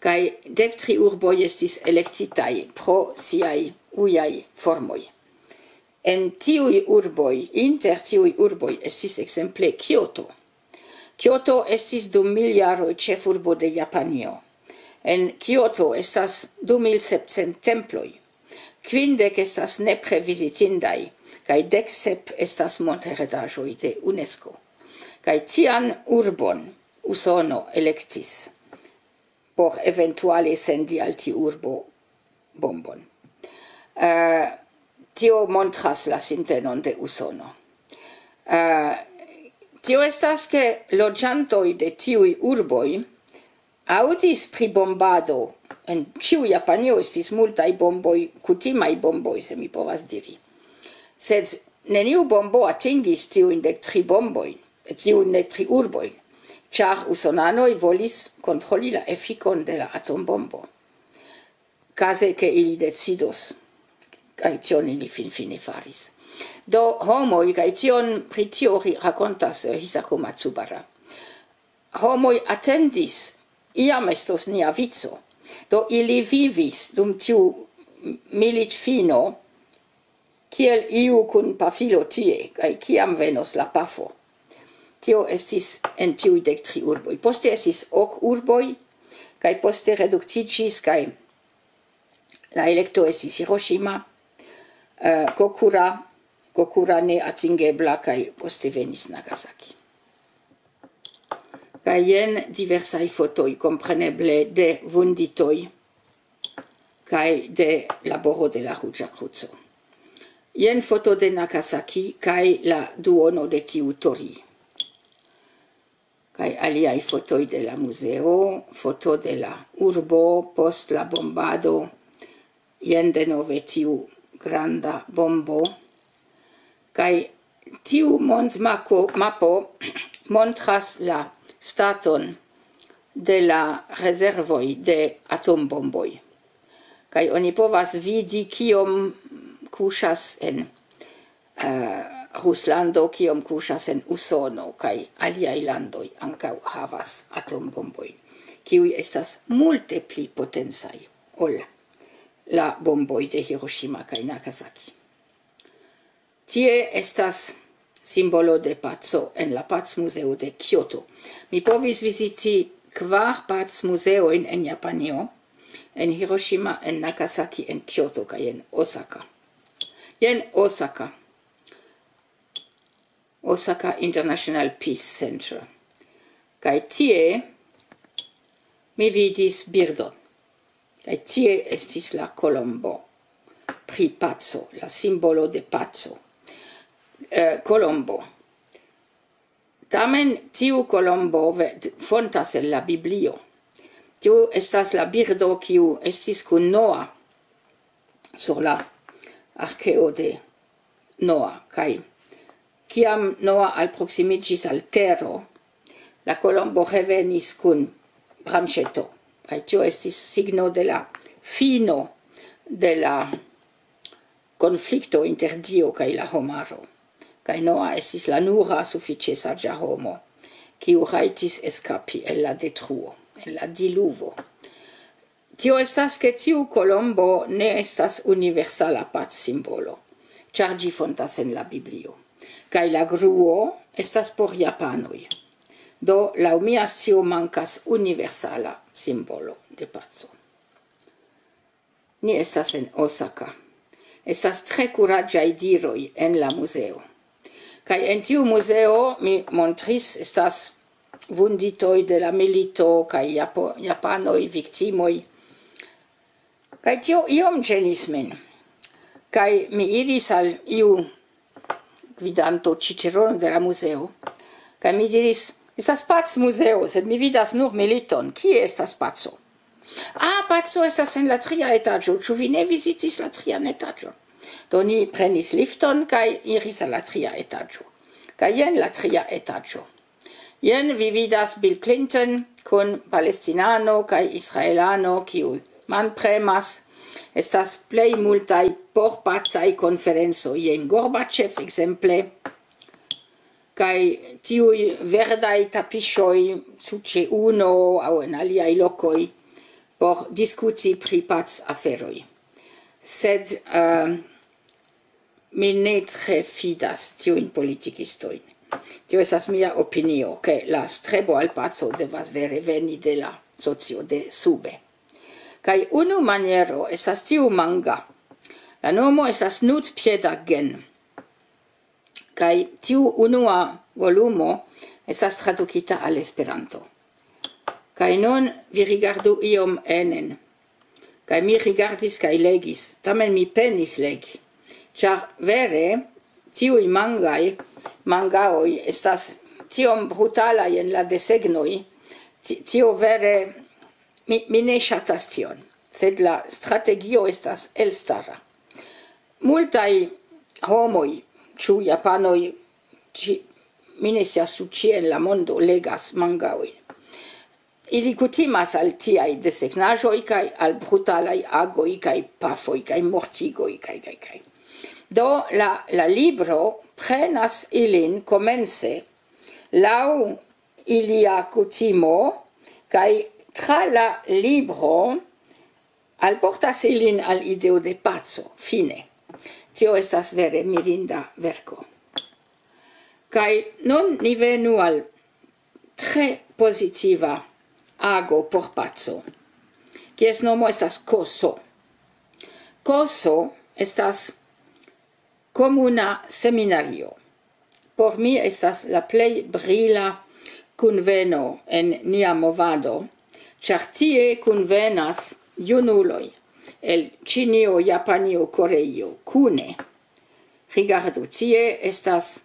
kaj dek tri urboj estis elektitaj pro siaj ujaj formoj. En tiuj urboj, inter tiuj urboj estis ekzemple Kioto. Kioto estis dum mil jaroj ĉefurbo de Japanio. En Kioto estas du mil sepcent temploj. Kvindek estas nepre vizitindaj, kaj dek sep estas montheredaĵoj de UNESCO. Kaj tian urbon Usono elektis por eventuale sendi al tiu urbo bombon. Eh, tio montras la sintenon de Usono. Eh, tio estas, ke loĝantoj de tiuj urboj aŭdis pri bombado. En ĉiu Japanio estis multaj bomboj, kutimaj bomboj, se mi povas diri. Sed neniu bombo atingis tiujn dek tri bombojn, tiujn dek tri urbojn, ĉar usonanoj volis kontroli la efikon de la atombombo. Kaze, ke ili decidos, kaj tion ili finfine faris. Do, homoj, kaj tion, pri tio ri-, rakontas, eh, Hisako Matsubara. Homoj atendis, iam estos nia vico. Do, ili vivis dum tiu militfino, kiel iu kun pafilo tie, kaj kiam venos la pafo. Tio estis en tiuj dek tri urboj. Poste estis ok urboj, kaj poste reduktiĝis, kaj la elekto estis Hiroshima, eh, Kokura, Kokura ne atingebla, kaj poste venis Nagasaki. Kaj jen diversaj fotoj, kompreneble, de vunditoj. kaj de laboro de la Ruĝa Kruco. Jen foto de Nagasaki kaj la duono de tiu Tori. Kaj aliaj fotoj de la muzeo, foto de la urbo post la bombado, jen denove tiu granda bombo. Kaj tiu mondmapo montras la staton de la rezervoj de atombomboj. Kaj oni povas vidi, kiom kuŝas en, eh, Ruslando, kiom kuŝas en Usono, kaj aliaj landoj ankaŭ havas atombombojn, kiuj estas multe pli potencaj ol la bomboj de Hiroshima kaj Nagasaki. Tie estas simbolo de paco en la Pacmuzeo de Kyoto. Mi povis viziti kvar pacmuzeojn en Japanio, en Hiroshima, en Nagasaki, en Kyoto kaj en Osaka. Jen Osaka. Osaka International Peace Center. Kaj tie mi vidis birdon. Kaj tie estis la kolombo pri paco, la simbolo de paco. Eh, kolombo. Tamen tiu kolombo ve-, fontas el la Biblio. Tiu estas la birdo, kiu estis kun Noa sur la arkeo de Noa. Kaj kiam Noa alproksimiĝis al tero, la kolombo revenis kun branĉeto. Kaj tio estis signo de la fino de la konflikto inter Dio kaj la homaro. Kaj Noa estis la nura sufiĉe saĝa homo, kiu rajtis eskapi el la detruo, el la diluvo. Tio estas, ke tiu kolombo ne estas universala pacsimbolo, ĉar ĝi fontas en la Biblio. Kaj la gruo estas por japanoj. Do, laŭ mia scio, mankas universala simbolo de paco. Ni estas en Osaka. Estas tre kuraĝaj diroj en la muzeo. Kaj en tiu muzeo, mi montris, estas vunditoj de la milito kaj Japo-, japanoj viktimoj. Kaj tio iom ĝenis min. Kaj mi iris al iu gvidanto ĉiĉerono de la muzeo. Kaj mi diris: "Estas pacmuzeo, sed mi vidas nur militon. Kie estas paco?" "Ah, paco estas en la tria etaĝo. Ĉu vi ne vizitis la trian etaĝon?" Do ni prenis lifton kaj iris al la tria etaĝo. Kaj jen la tria etaĝo. Jen vi vidas Bill Clinton kun palestinano kaj israelano, kiu manpremas. Estas plej multaj porpacaj konferencoj, jen Gorbachev ekzemple, kaj tiuj verdaj tapiŝoj su ĉe uno aŭ en aliaj lokoj por diskuti pri pac aferoj. Sed, eh, mi ne tre fidas tiujn politikistojn. Tio estas mia opinio, ke la strebo al paco devas vere veni de la socio de sube. Kaj unu maniero estas tiu manga. La nomo estas Nutpiedagen. Kaj tiu unua volumo estas tradukita al Esperanto. Kaj nun vi rigardu iom enen. Kaj mi rigardis kaj legis, tamen mi penis legi. Ĉar vere, tiuj mangaj, mangaoj estas tiom brutalaj en la desegnoj, ti-, tio vere, mi, mi ne ŝatas tion. Sed la strategio estas elstara. Multaj homoj, ĉu japanoj, ĉi-, mi ne scias, ĉu ĉie en la mondo legas mangaojn. Ili kutimas al tiaj desegnaĵoj kaj al brutalaj agoj kaj pafoj kaj mortigoj kaj, kaj, kaj. Do la, la libro prenas ilin komence laŭ ilia kutimo, kaj tra la libro alportas ilin al ideo de paco, fine. Tio estas vere mirinda verko. Kaj nun ni venu al tre pozitiva ago por paco, kies nomo estas Koso. Koso estas komuna seminario. Por mi estas la plej brila kunveno en nia movado, ĉar tie kunvenas junuloj, el Ĉinio, Japanio, Koreio kune. Rigardu, tie estas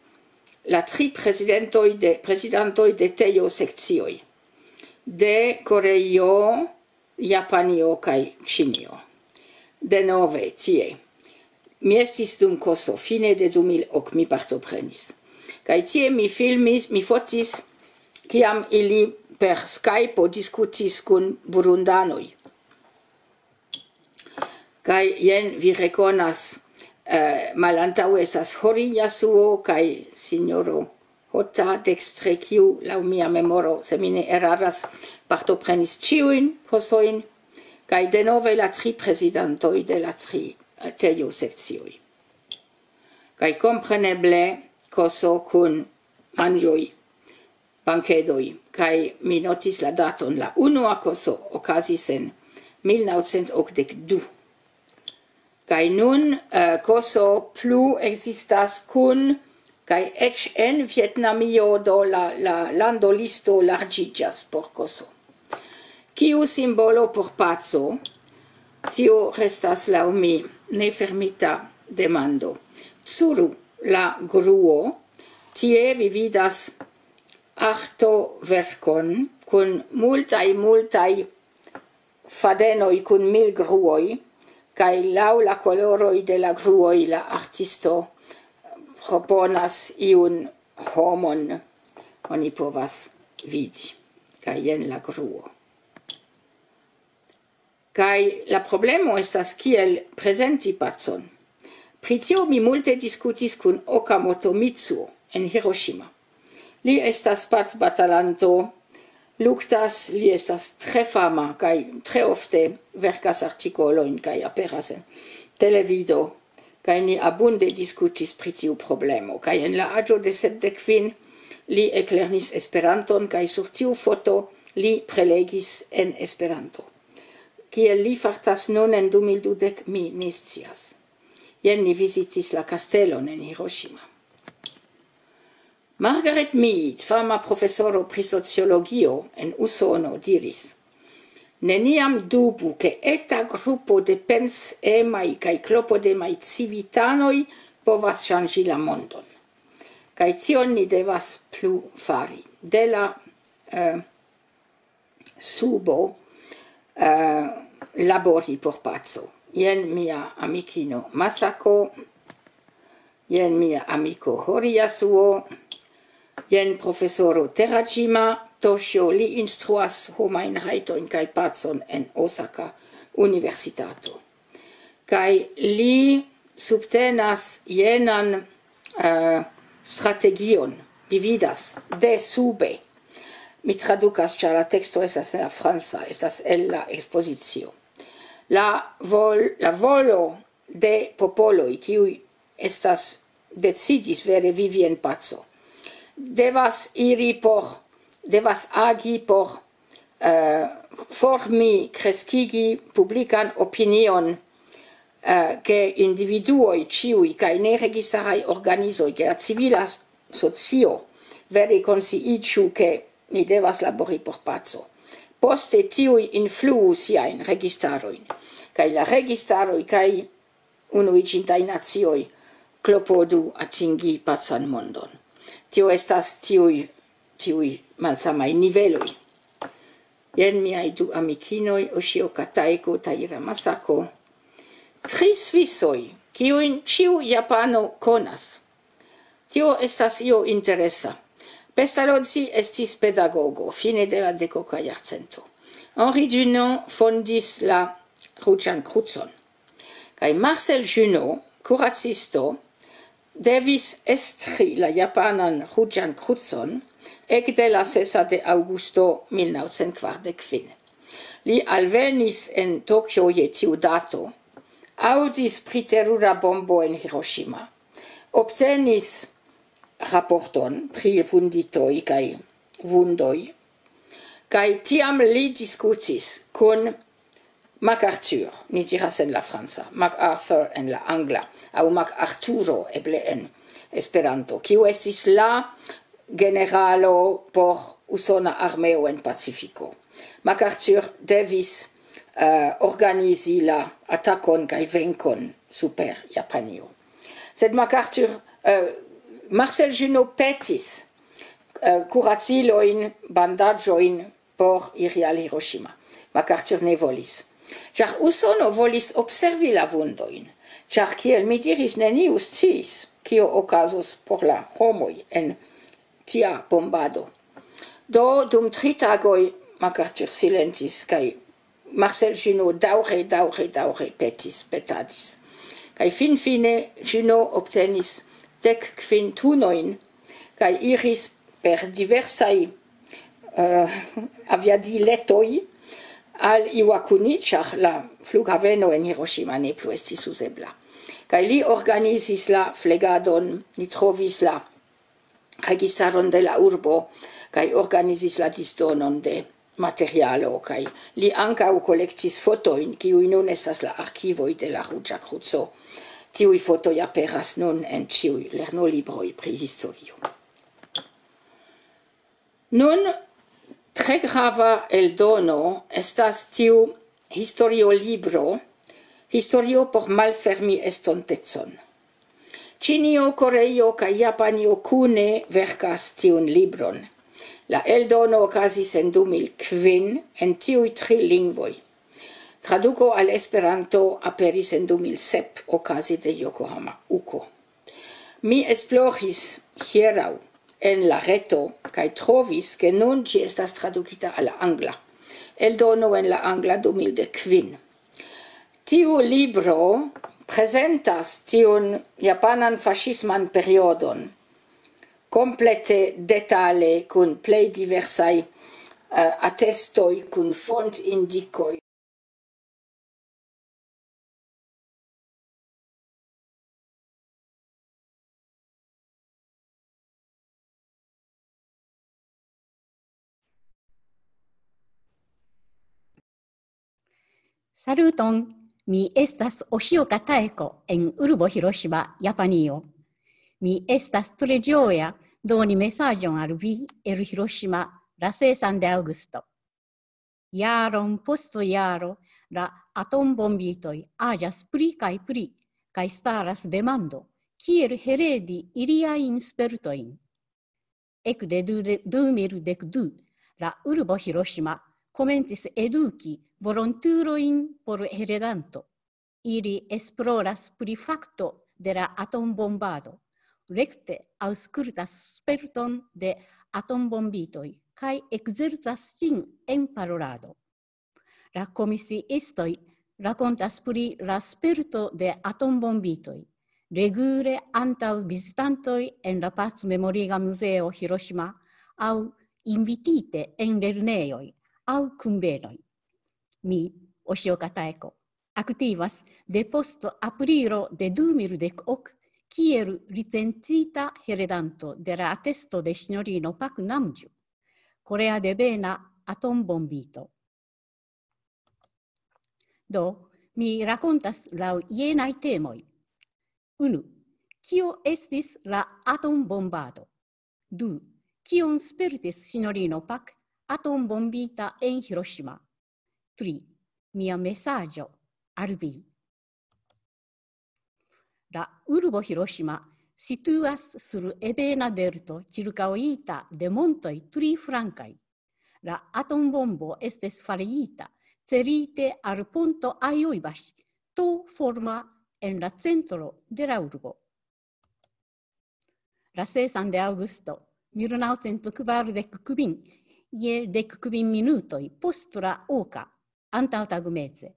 la tri prezidentoj de, prezidantoj de tejo sekcioj de Koreio, Japanio kaj Ĉinio. Denove tie. Mi estis dum koso, fine de du mil ok mi partoprenis. Kaj tie mi filmis, mi fotis, kiam ili per Skype diskutis kun burundanoj. Kaj jen vi rekonas, eh, malantaŭe estas Hori Yasuo kaj sinjoro Hota dekstre, kiu, laŭ mia memoro, se mi ne eraras, partoprenis ĉiujn kosojn, kaj denove la tri prezidantoj de la tri, eh, tejo sekcioj. Kaj kompreneble koso kun manĝoj, bankedoj, kaj mi notis la daton, la unua koso okazis en mil naŭcent okdek du. Kaj nun, eh, koso plu ekzistas kun, kaj eĉ en Vjetnamio, do la, la landolisto larĝiĝas por koso. Kiu simbolo por paco? Tio restas laŭ mi nefermita demando. Curu la gruo, tie vi vidas artoverkon kun multaj, multaj fadenoj kun mil gruoj, kaj laŭ la koloroj de la gruoj la artisto proponas iun homon, oni povas vidi. Kaj jen la gruo. Kaj la problemo estas, kiel prezenti pacon. Pri tio mi multe diskutis kun Okamoto Mitsuo en Hiroshima. Li estas pacbatalanto, luktas, li estas tre fama kaj tre ofte verkas artikolojn kaj aperas en televido. Kaj ni abunde diskutis pri tiu problemo. Kaj en la aĝo de sepdek kvin li eklernis Esperanton, kaj sur tiu foto li prelegis en Esperanto. Kiel li fartas nun en du mil dudek, mi ne scias. Jen ni vizitis la kastelon en Hiroshima. Margaret Mead, fama profesoro pri sociologio en Usono, diris: "Neniam dubu, ke eta grupo de pensemaj kaj klopodemaj civitanoj povas ŝanĝi la mondon." Kaj tion ni devas plu fari. De la, eh, subo, eh, labori por paco. Jen mia amikino Masako, jen mia amiko Hori Yasuo, jen profesoro Terajima Toshio, li instruas homajn rajtojn kaj pacon en Osaka Universitato. Kaj li subtenas jenan, eh, strategion, vi vidas, de sube. Mi tradukas, ĉar la teksto estas en la franca, estas el la ekspozicio. La vol-, la volo de popoloj, kiuj estas decidis vere vivi en paco, devas iri por, devas agi por, eh, formi, kreskigi publikan opinion, eh, ke individuoj ĉiuj kaj neregistaraj organizoj, ke la civila socio vere konsciiĝu, ke ni devas labori por paco. Poste tiuj influu siajn registarojn, kaj la registaroj kaj Unuiĝintaj Nacioj klopodu atingi pacan mondon. Tio estas tiuj, tiuj malsamaj niveloj. Jen miaj du amikinoj, Oshio Kataiko, Taira Masako. Tri Svisoj, kiujn ĉiu japano konas. Tio estas io interesa. Pestalozzi estis pedagogo fine de la dekoka jarcento. Henri Dunant fondis la Ruĝan Krucon. Kaj Marcel Junot, kuracisto, devis estri la japanan Ruĝan Krucon ekde la sesa de aŭgusto mil naŭcent kvardek kvin. Li alvenis en Tokio je tiu dato, aŭdis pri terura bombo en Hiroshima, obtenis raporton pri vunditoj kaj vundoj, kaj tiam li diskutis kun MacArthur, ni diras en la franca, MacArthur en la angla, aŭ MacArturo eble en Esperanto, kiu estis la generalo por usona armeo en Pacifiko. MacArthur devis, uh, organizi la atakon kaj venkon super Japanio. Sed MacArthur, uh, Marcel Junot petis uh, kuracilojn, bandaĝojn por iri al Hiroshima. MacArthur ne volis. Ĉar Usono volis observi la vundojn, ĉar kiel mi diris, neniu sciis, kio okazos por la homoj en tia bombado. Do dum tri tagoj MacArthur silentis kaj Marcel Junot daŭre, daŭre, daŭre petis, petadis. Kaj finfine Junot obtenis dek kvin tunojn kaj iris per diversaj uh, aviadiletoj al Iwakuni, ĉar la flughaveno en Hiroshima ne plu estis uzebla. Kaj li organizis la flegadon, li trovis la registaron de la urbo kaj organizis la disdonon de materialo, kaj li ankaŭ kolektis fotojn, kiuj nun estas la arkivoj de la Ruĝa Kruco. Tiuj fotoj aperas nun en ĉiuj lernolibroj pri historio. Nun, tre grava eldono estas tiu historiolibro, Historio por malfermi estontecon. Ĉinio, Koreio kaj Japanio kune verkas tiun libron. La eldono okazis en du mil kvin en tiuj tri lingvoj. Traduko al Esperanto aperis en du mil sep okaze de Yokohama Uko. Mi esploris hieraŭ en la reto kaj trovis, ke nun ĝi estas tradukita al la angla. Eldono en la angla du mil dek kvin. Tiu libro prezentas tiun japanan faŝisman periodon komplete detale kun plej diversaj, eh, atestoj, kun fontindikoj. Saluton, mi estas Oshio Kataeko en urbo Hiroshima, Japanio. Mi estas tre ĝoja doni mesaĝon al vi el Hiroshima la sesan de aŭgusto. Jaron post jaro la atombombitoj aĝas pli kaj pli, kaj staras demando, kiel heredi iliajn spertojn. Ekde du-, du mil dek du, la urbo Hiroshima komencis eduki volontulojn por heredanto. Ili esploras pri fakto de la atombombado, rekte aŭskultas sperton de atombombitoj kaj ekzercas ĝin en parolado. La komisiistoj rakontas pri la sperto de atombombitoj, regule antaŭ vizitantoj en la Pacmemoriga Muzeo Hiroshima aŭ invitite en lernejoj aŭ kunvenoj. Mi, Oshio Kataeko, aktivas de post aprilo de du mil dek ok kiel licencita heredanto de la atesto de sinjorino Pak Namju, korea devena atombombito. Do, mi rakontas laŭ jenaj temoj. Unu, kio estis la atombombado? Du, kion spertis sinjorino Pak atombombita en Hiroshima? Tri, mia mesaĝo al vi. La urbo Hiroshima situas sur ebena delto ĉirkaŭita de montoj tri flankaj. La atombombo estis farita celite al ponto Ajoibashi, to forma en la centro de la urbo. La sesan de aŭgusto mil naŭcent kvardek kvin, je dek kvin minutoj post la oka, antaŭtagmeze,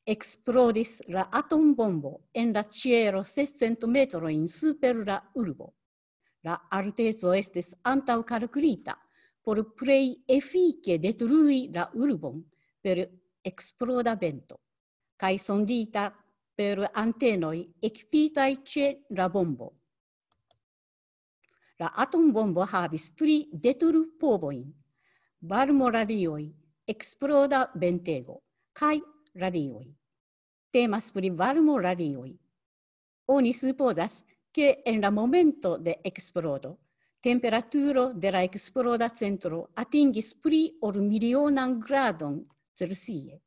eksplodis la atombombo en la ĉielo sescent metrojn super la urbo. La alteco estis antaŭkalkulita por plej efike detrui la urbon per eksploda vento, kaj sondita per antenoj ekipitaj ĉe la bombo. La atombombo havis tri detrupovojn: varmo radioj, eksploda ventego, kaj radioj. Temas pri varmo radioj. Oni supozas, ke en la momento de eksplodo, temperaturo de la eksploda centro atingis pli ol milionan gradon Celsie.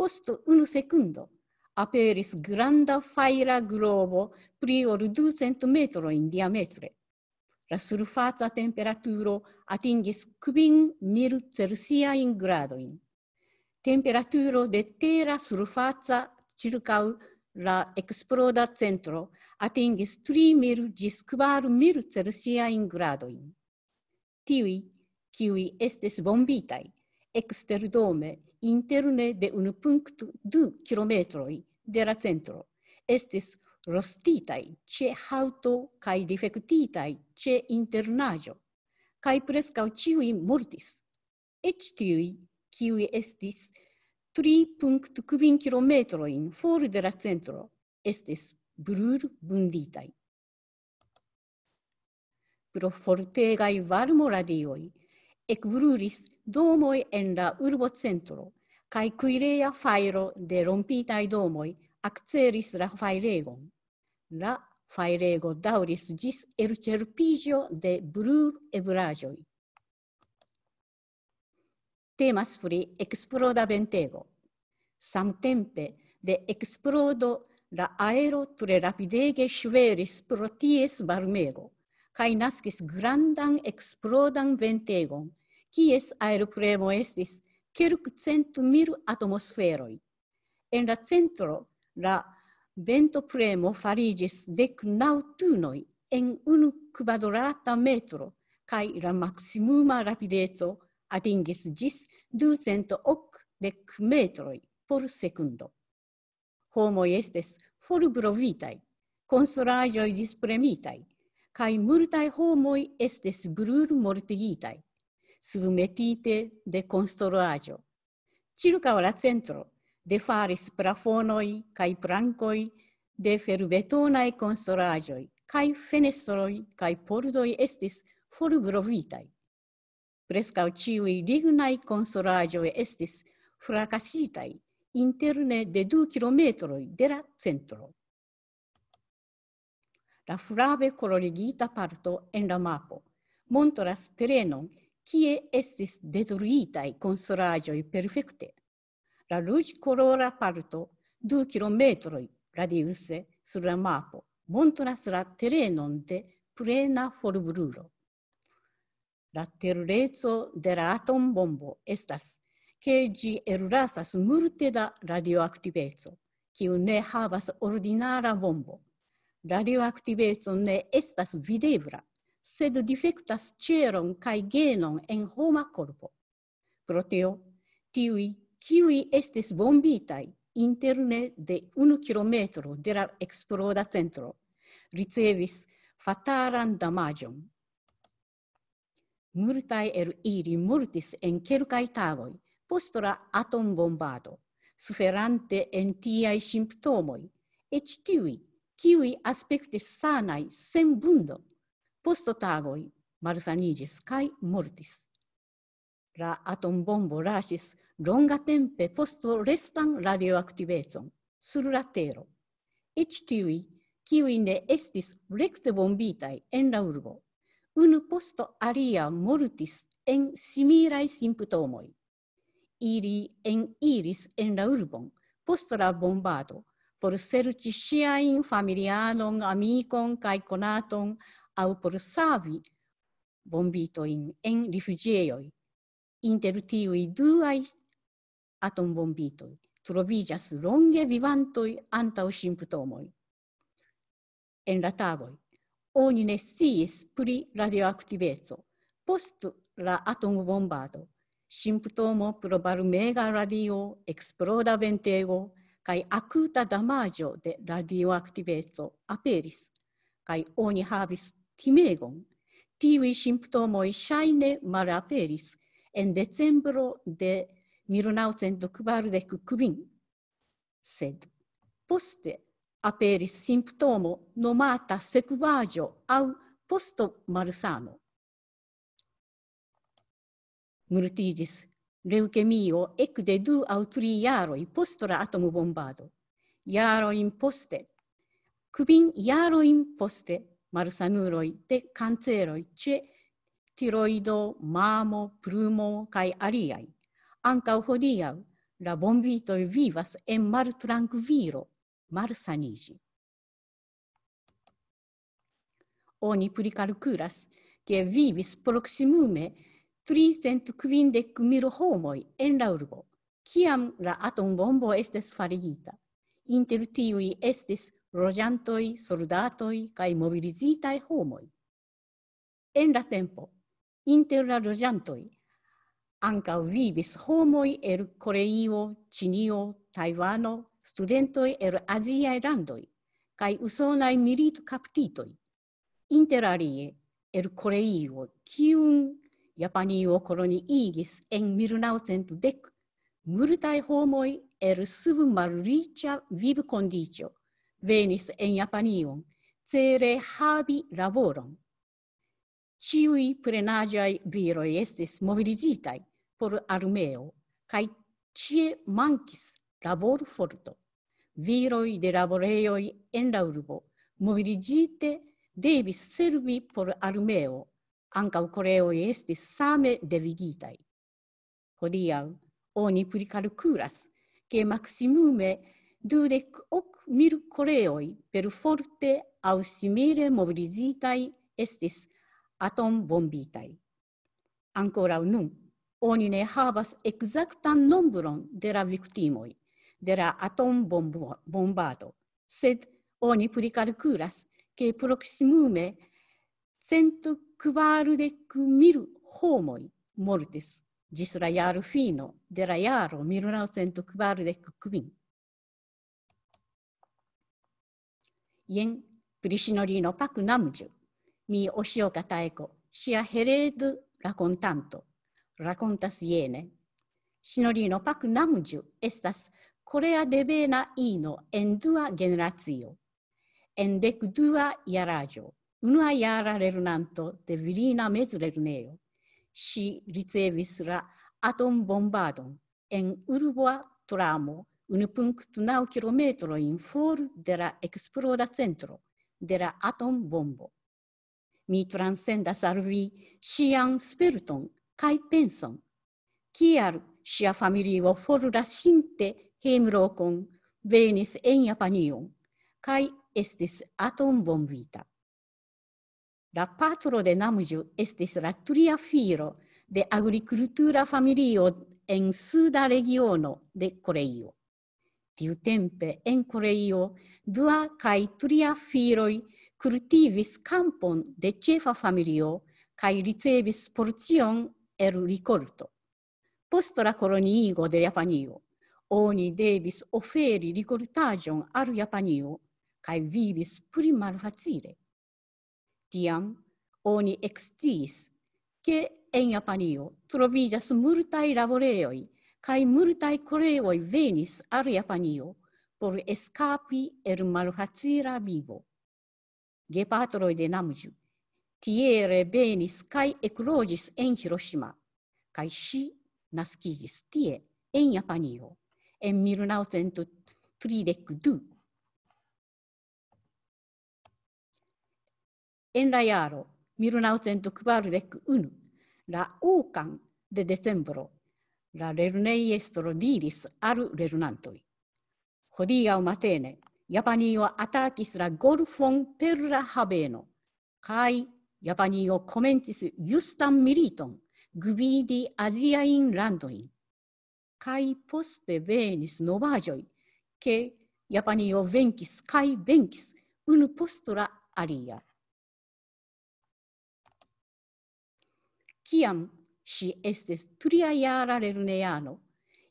Post unu sekundo aperis granda fajra globo pli ol ducent metrojn diametre. La surfaca temperaturo atingis kvin mil Celsiajn gradojn. Temperaturo de tera surfaca ĉirkaŭ la eksploda centro atingis tri mil ĝis kvar mil Celsiajn gradojn. Tiuj, kiuj estis bombitaj eksterdome interne de unu punkto du kilometroj de la centro, estis rostitaj ĉe haŭto kaj difektitaj ĉe internaĵo, kaj preskaŭ ĉiuj mortis. Eĉ tiuj, kiuj estis tri punkto kvin kilometrojn for de la centro, estis brulvunditaj. Pro fortegaj varmoradioj ekbrulis domoj en la urbocentro, kaj kuireja fajro de rompitaj domoj akcelis la fajregon. La fajrego daŭris ĝis elĉerpiĝo de bruleblaĵoj. Temas pri eksploda ventego. Samtempe de eksplodo la aero tre rapidege ŝveris pro ties varmego, kaj naskis grandan eksplodan ventegon, kies aeropremo estis kelkcent mil atmosferoj. En la centro la ventopremo fariĝis dek naŭ tunoj en unu kvadrata metro, kaj la maksimuma rapideco atingis ĝis ducent okdek metroj por sekundo. Homoj estis forbrovitaj, konstruaĵoj dispremitaj, kaj multaj homoj estis brulmortigitaj, submetite de konstruaĵo. Ĉirkaŭ la centro defalis plafonoj kaj plankoj de ferbetonaj konstruaĵoj, kaj fenestroj kaj pordoj estis forbrovitaj. Preskaŭ ĉiuj lignaj konstruaĵoj estis frakasitaj interne de du kilometroj de la centro. La flave kolorigita parto en la mapo montras terenon, kie estis detruitaj konstruaĵoj perfekte. La ruĝkolora parto du kilometroj radiuse sur la mapo montras la terenon de plena forbrulo. La terureco de la atombombo estas, ke ĝi ellasas multe da radioaktiveco, kiu ne havas ordinara bombo. Radioaktiveco ne estas videbla, sed difektas ĉeron kaj genon en homa korpo. Pro tio, tiuj, kiuj estis bombitaj interne de unu kilometro de la eksploda centro, ricevis fatalan damaĝon. Multaj el ili mortis en kelkaj tagoj post la atombombado, suferante en tiaj simptomoj, eĉ tiuj, kiuj aspektis sanaj sen vundo, post tagoj malsaniĝis kaj mortis. La atombombo lasis longatempe postorestan radioaktivecon sur la tero. Eĉ tiuj, kiuj ne estis rekte bombitaj en la urbo, unu post alia mortis en similaj simptomoj. Ili eniris en la urbon post la bombado por serĉi siajn familianon, amikon kaj konaton aŭ por savi bombitojn en rifuĝejoj. Inter tiuj duaj atombombitoj troviĝas longe vivantoj antaŭ simptomoj. En la tagoj oni ne sciis pri radioaktiveco post la atombombado. Simptomo pro varmega radio, eksploda ventego kaj akuta damaĝo de radioaktiveco aperis, kaj oni havis timegon. Tiuj simptomoj ŝajne malaperis en decembro de mil naŭcent kvardek kvin. Sed poste aperis simptomo nomata sekvaĵo aŭ postomalsano. Mortiĝis leŭkemio ekde du aŭ tri jaroj post la atombombado. Jarojn poste, kvin jarojn poste, malsanuloj de kanceroj ĉe tiroido, mamo, plumo kaj aliaj. Ankaŭ hodiaŭ La bombitoj vivas en maltrankvilo, malsaniĝi. Oni prikalkulas, ke vivis proksimume tricent kvindek mil homoj en la urbo, kiam la atombombo estis farigita. Inter tiuj estis loĝantoj, soldatoj kaj mobilizitaj homoj. En la tempo, inter la loĝantoj ankaŭ vivis homoj el Koreio, Ĉinio, Tajvano, studentoj el aziaj landoj, kaj usonaj militkaptitoj. Inter alie, el Koreio, kiun Japanio koloniigis en mil naŭcent dek, multaj homoj el sub malriĉa vivkondiĉo venis en Japanion, cele havi laboron. Ĉiuj plenaĝaj viroj estis mobilizitaj por armeo, kaj ĉie mankis laborforto. Viroj de laborejoj en la urbo mobilizite devis servi por armeo, ankaŭ Koreoj estis same devigitaj. Hodiaŭ oni prikalkulas, ke maksimume dudek ok mil Koreoj perforte aŭ simile mobilizitaj estis atombombitaj. Ankoraŭ nun oni ne havas ekzaktan nombron de la viktimoj de la atombombado, sed oni prikalkulas, ke proksimume cent kvardek mil homoj mortis ĝis la jarfino de la jaro mil naŭcent kvardek kvin. Jen pri sinjorino Pak Namju, mi, Oshioka Taeko, ŝia heredo-rakontanto, rakontas jene. Sinjorino Pak Namju estas korea devena ino en dua generacio. En dek dua jaraĝo, unua jara lernanto de virina mezlernejo, ŝi ricevis la atombombadon en urba tramo unu punkto naŭ kilometrojn for de la eksploda centro de la atombombo. Mi transsendas al vi ŝian sperton kaj penson, kial ŝia familio forlasinte hejmlokon venis en Japanion kaj estis atombombita. La patro de Namju estis la tria filo de agrikultura familio en suda regiono de Koreio. Tiutempe en Koreio dua kaj tria filoj kultivis kampon de ĉefa familio kaj ricevis porcion el rikolto. Post la koloniigo de Japanio, oni devis oferi rikoltaĵon al Japanio kaj vivis pli malfacile. Tiam oni eksciis, ke en Japanio troviĝas multaj laborejoj, kaj multaj koreoj venis al Japanio por eskapi el malfacila vivo. Gepatroj de Namju tie revenis kaj ekloĝis en Hiroshima, kaj ŝi naskiĝis tie, en Japanio, en mil naŭcent tridek du. En la jaro mil naŭcent kvardek unu, la okan de decembro, la lernejestro diris al lernantoj: "Hodiaŭ matene Japanio atakis la golfon per la haveno, kaj Japanio komencis justan militon gvidi aziajn landojn." Kaj poste venis novaĵoj, ke Japanio venkis kaj venkis unu post la alia. Kiam ŝi estis tria jara lerneano,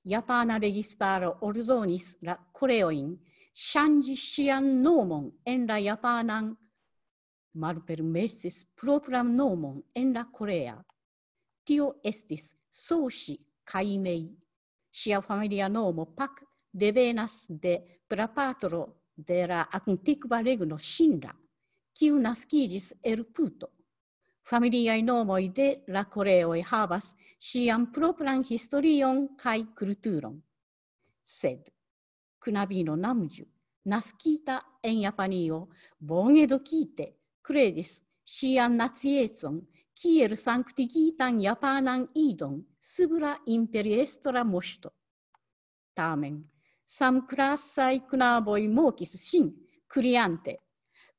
japana registaro ordonis la koreojn ŝanĝi ŝian nomon en la japanan, malpermesis propran nomon en la korea. Tio estis Soshi Kaimei. Ŝia familia nomo Pak devenas de prapatro de la antikva regno Shinra, kiu naskiĝis el puto. Familiaj nomoj de la koreoj havas ŝian propran historion kaj kulturon. Sed knabino Namju, naskita en Japanio, bone edukite, kredis ŝian naciecon kiel sanktigitan japanan idon sub la imperiestra moŝto. Tamen, samklasaj knaboj mokis ŝin, kriante: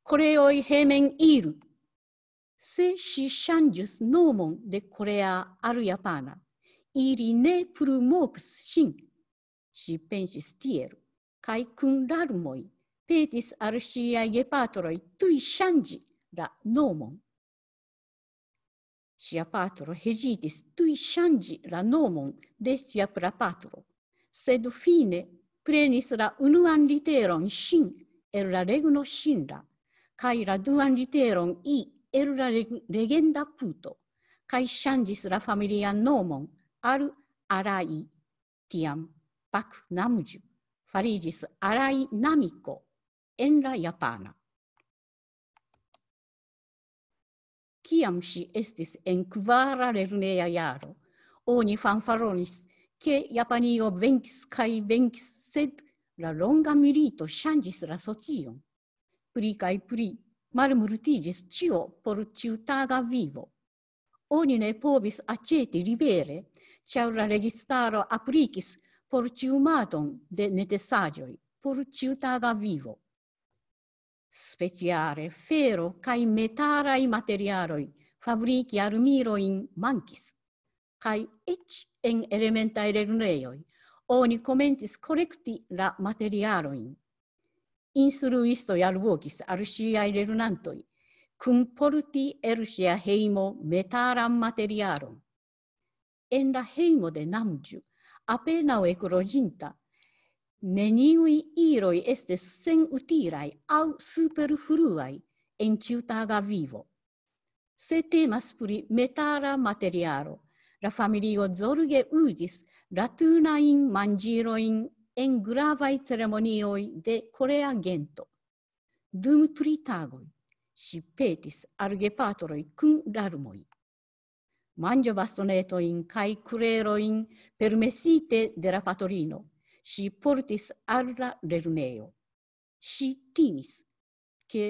"Koreoj hejmen iru!" Se ŝi ŝanĝus nomon de korea al japana, ili ne plu mokus ŝin. Ŝi pensis tiel, kaj kun larmoj petis al ŝiaj gepatroj tuj ŝanĝi la nomon. Ŝia patro hezitis tuj ŝanĝi la nomon de sia prapatro, sed fine prenis la unuan literon ŝin el la regno Ŝinra, kaj la duan literon i el la reg-, legenda puto, kaj ŝanĝis la familian nomon al Arai, tiam Pak Namju fariĝis Arai Namiko en la japana. Kiam ŝi estis en kvara lerneja jaro, oni fanfaronis, ke Japanio venkis kaj venkis, sed la longa milito ŝanĝis la socion. Pli kaj pli malmultiĝis ĉio por ĉiutaga vivo. Oni ne povis aĉeti libere, ĉar la registaro aplikis por ĉiumadon de necesaĵoj por ĉiutaga vivo. Speciale fero kaj metalaj materialoj fabriki armilojn mankis, kaj eĉ en elementaj lernejoj oni komencis kolekti la materialojn. Instruistoj alvokis al ŝiaj lernantoj kunporti el ŝia hejmo metalan materialon. En la hejmo de Namju, apenaŭ ekloĝinta, neniuj iloj estis senutilaj aŭ superfluaj en ĉiutaga vivo. Se temas pri metala materialo, la familio zorge uzis la tunajn manĝilojn en gravaj ceremonioj de korea gento. Dum tri tagoj ŝi petis al gepatroj kun larmoj: "Manĝobastonetojn kaj kulerojn permesite de la patrino ŝi portis al la lernejo. Ŝi timis, ke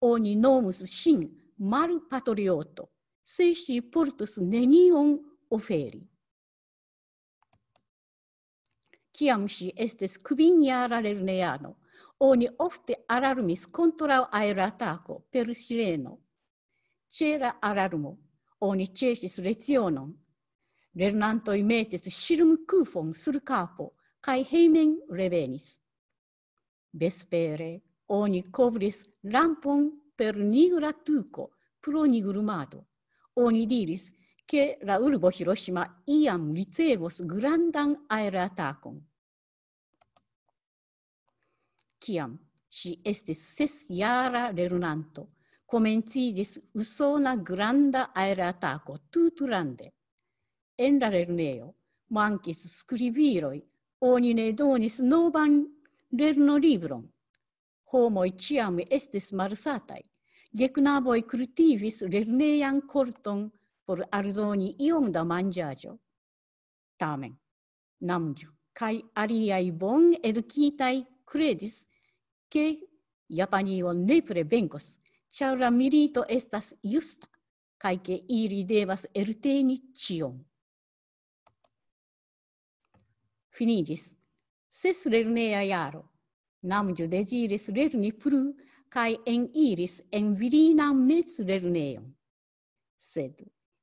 oni nomus ŝin malpatrioto, se ŝi portus nenion oferi." Kiam ŝi estis kvinjara lerneano, oni ofte alarmis kontraŭ aeratako per sireno. Ĉe la alarmo oni ĉesis lecionon. Lernantoj metis ŝirmkufon sur kapo kaj hejmen revenis. Vespere oni kovris lampon per nigra tuko pro nigrumado. Oni diris, ke la urbo Hiroshima iam ricevos grandan aeratakon. Kiam ŝi estis sesjara lernanto, komenciĝis usona granda aeratako tutlande. En la lernejo mankis skribiloj, oni ne donis novan lernolibron. Homoj ĉiam estis malsataj. Geknaboj kultivis lernejan korton por aldoni iom da manĝaĵo. Tamen, Namju kaj aliaj bone edukitaj kredis, ke Japanio nepre venkos, ĉar la milito estas justa, kaj ke ili devas elteni ĉion. Finiĝis ses lerneja jaro. Namju deziris lerni plu kaj eniris en virinan mezlernejon. Sed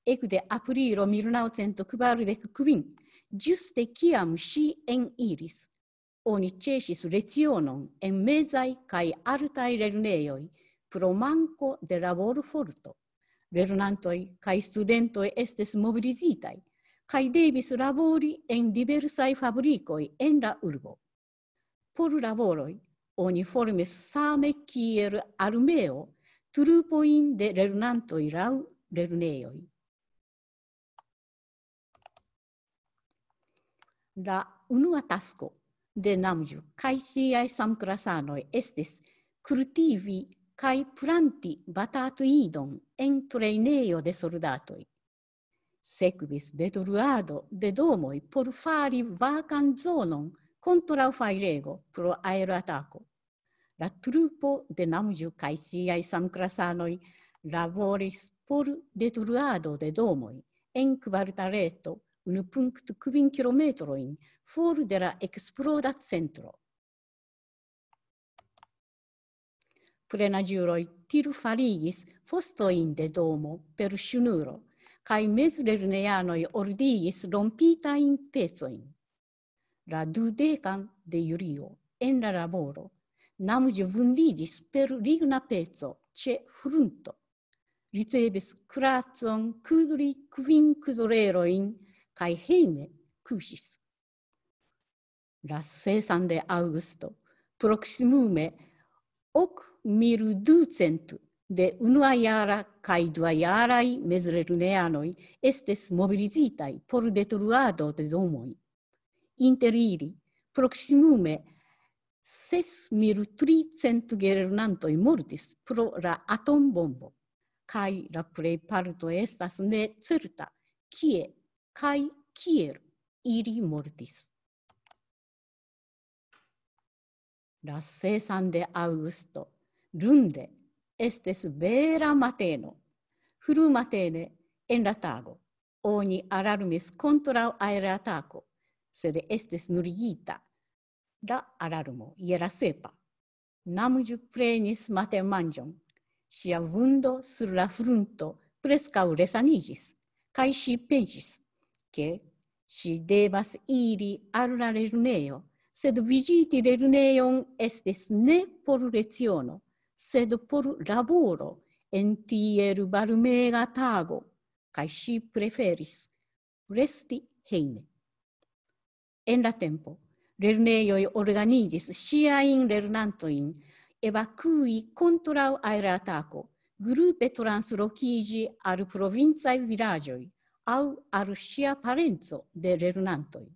ekde aprilo mil naŭcent kvardek kvin, ĝuste kiam ŝi eniris, oni ĉesis lecionon en mezaj kaj altaj lernejoj pro manko de laborforto. Lernantoj kaj studentoj estis mobilizitaj kaj devis labori en diversaj fabrikoj en la urbo. Por laboroj oni formis same kiel armeo trupojn de lernantoj laŭ lernejoj. La unua tasko de Namju kaj siaj samklasanoj estis kultivi kaj planti batatuidon en trejnejo de soldatoj. Sekvis detruado de domoj por fari vakan zonon kontraŭ fajrego pro aeroatako. La trupo de Namju kaj siaj samklasanoj laboris por detruado de domoj en kvartaleto unu punkto kvin kilometrojn for de la eksploda centro. Plenaĝuloj tirfarigis fostojn de domo per ŝnuro, kaj mezlernejanoj ordigis rompitajn pecojn. La dudekan de julio en la laboro, Namuĝo vundiĝis per ligna peco ĉe frunto. Ricevis kuracon, kudri kvin kudrerojn kaj hejme kuŝis. La sesan de aŭgusto, proksimume ok mil ducent de unuajara kaj duajaraj mezlernejanoj estis mobilizitaj por detruado de domoj. Inter ili, proksimume ses mil tricent gelernantoj mortis pro la atombombo, kaj la plejparto estas necerta, kie kaj kiel ili mortis. La sesan de aŭgusto, lunde, estis bela mateno. Frumatene en la tago oni alarmis kontraŭ aeratako, sed estis nuligita la alarmo je la sepa. Namuĝo prenis matenmanĝon. Ŝia vundo sur la frunto preskaŭ resaniĝis, kaj ŝi pensis, ke ŝi devas iri al la lernejo, sed viziti lernejon estis ne por leciono, sed por laboro en tiel varmega tago, kaj ŝi preferis resti hejme. En la tempo, lernejoj organizis ŝiajn lernantojn evakui kontraŭ aeratako, grupe translokiĝi al provincaj vilaĝoj aŭ al ŝia parenco de lernantoj.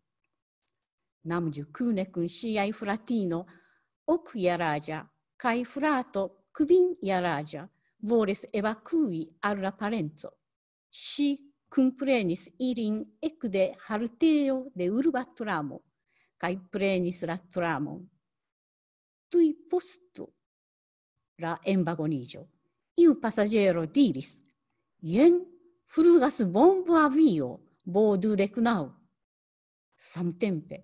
Namuĝo kune kun ŝiaj fratino, okjaraĝa, kaj frato, kvinjaraĝa, volis evakui al la parenco. Ŝi kunprenis ilin ekde haltejo de urba tramo, kaj prenis la tramon. Tuj postu la envagoniĝo, iu pasaĝero diris: "Jen flugas bombo avio, bo dudek naŭ." Samtempe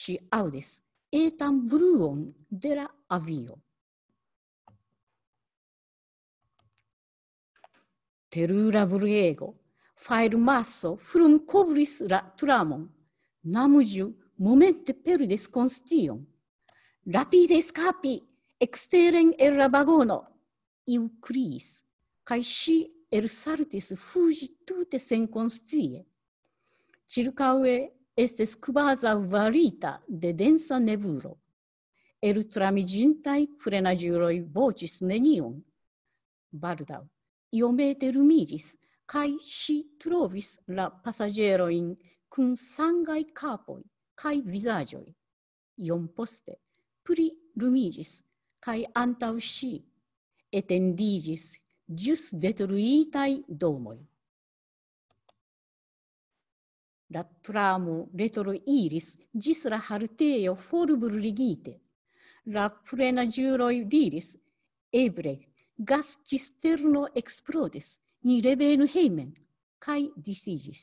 ŝi aŭdis etan bruon de la avio. Terura bruego, fajrmaso frumkovris la tramon. Namuĝo momente perdis konscion. "Rapide eskapi eksteren el la vagono!" iu kriis, kaj ŝi elsaltis fuĝi tute senkonscie. Ĉirkaŭe estis kvazaŭ varita de densa nevulo. Eltramiĝintaj frenaĝuloj voĉis nenion. Baldaŭ iomete lumiĝis, kaj ŝi trovis la pasaĝerojn kun sangaj kapoj kaj vizaĝoj. Iom poste pli lumiĝis, kaj antaŭ ŝi etendiĝis ĵus detruitaj domoj. La tramo retroiris ĝis la haltejo forbruligite. La frenaĝuloj diris: "Eble gasĉisterno eksplodis, ni revenu hejmen", kaj disiĝis.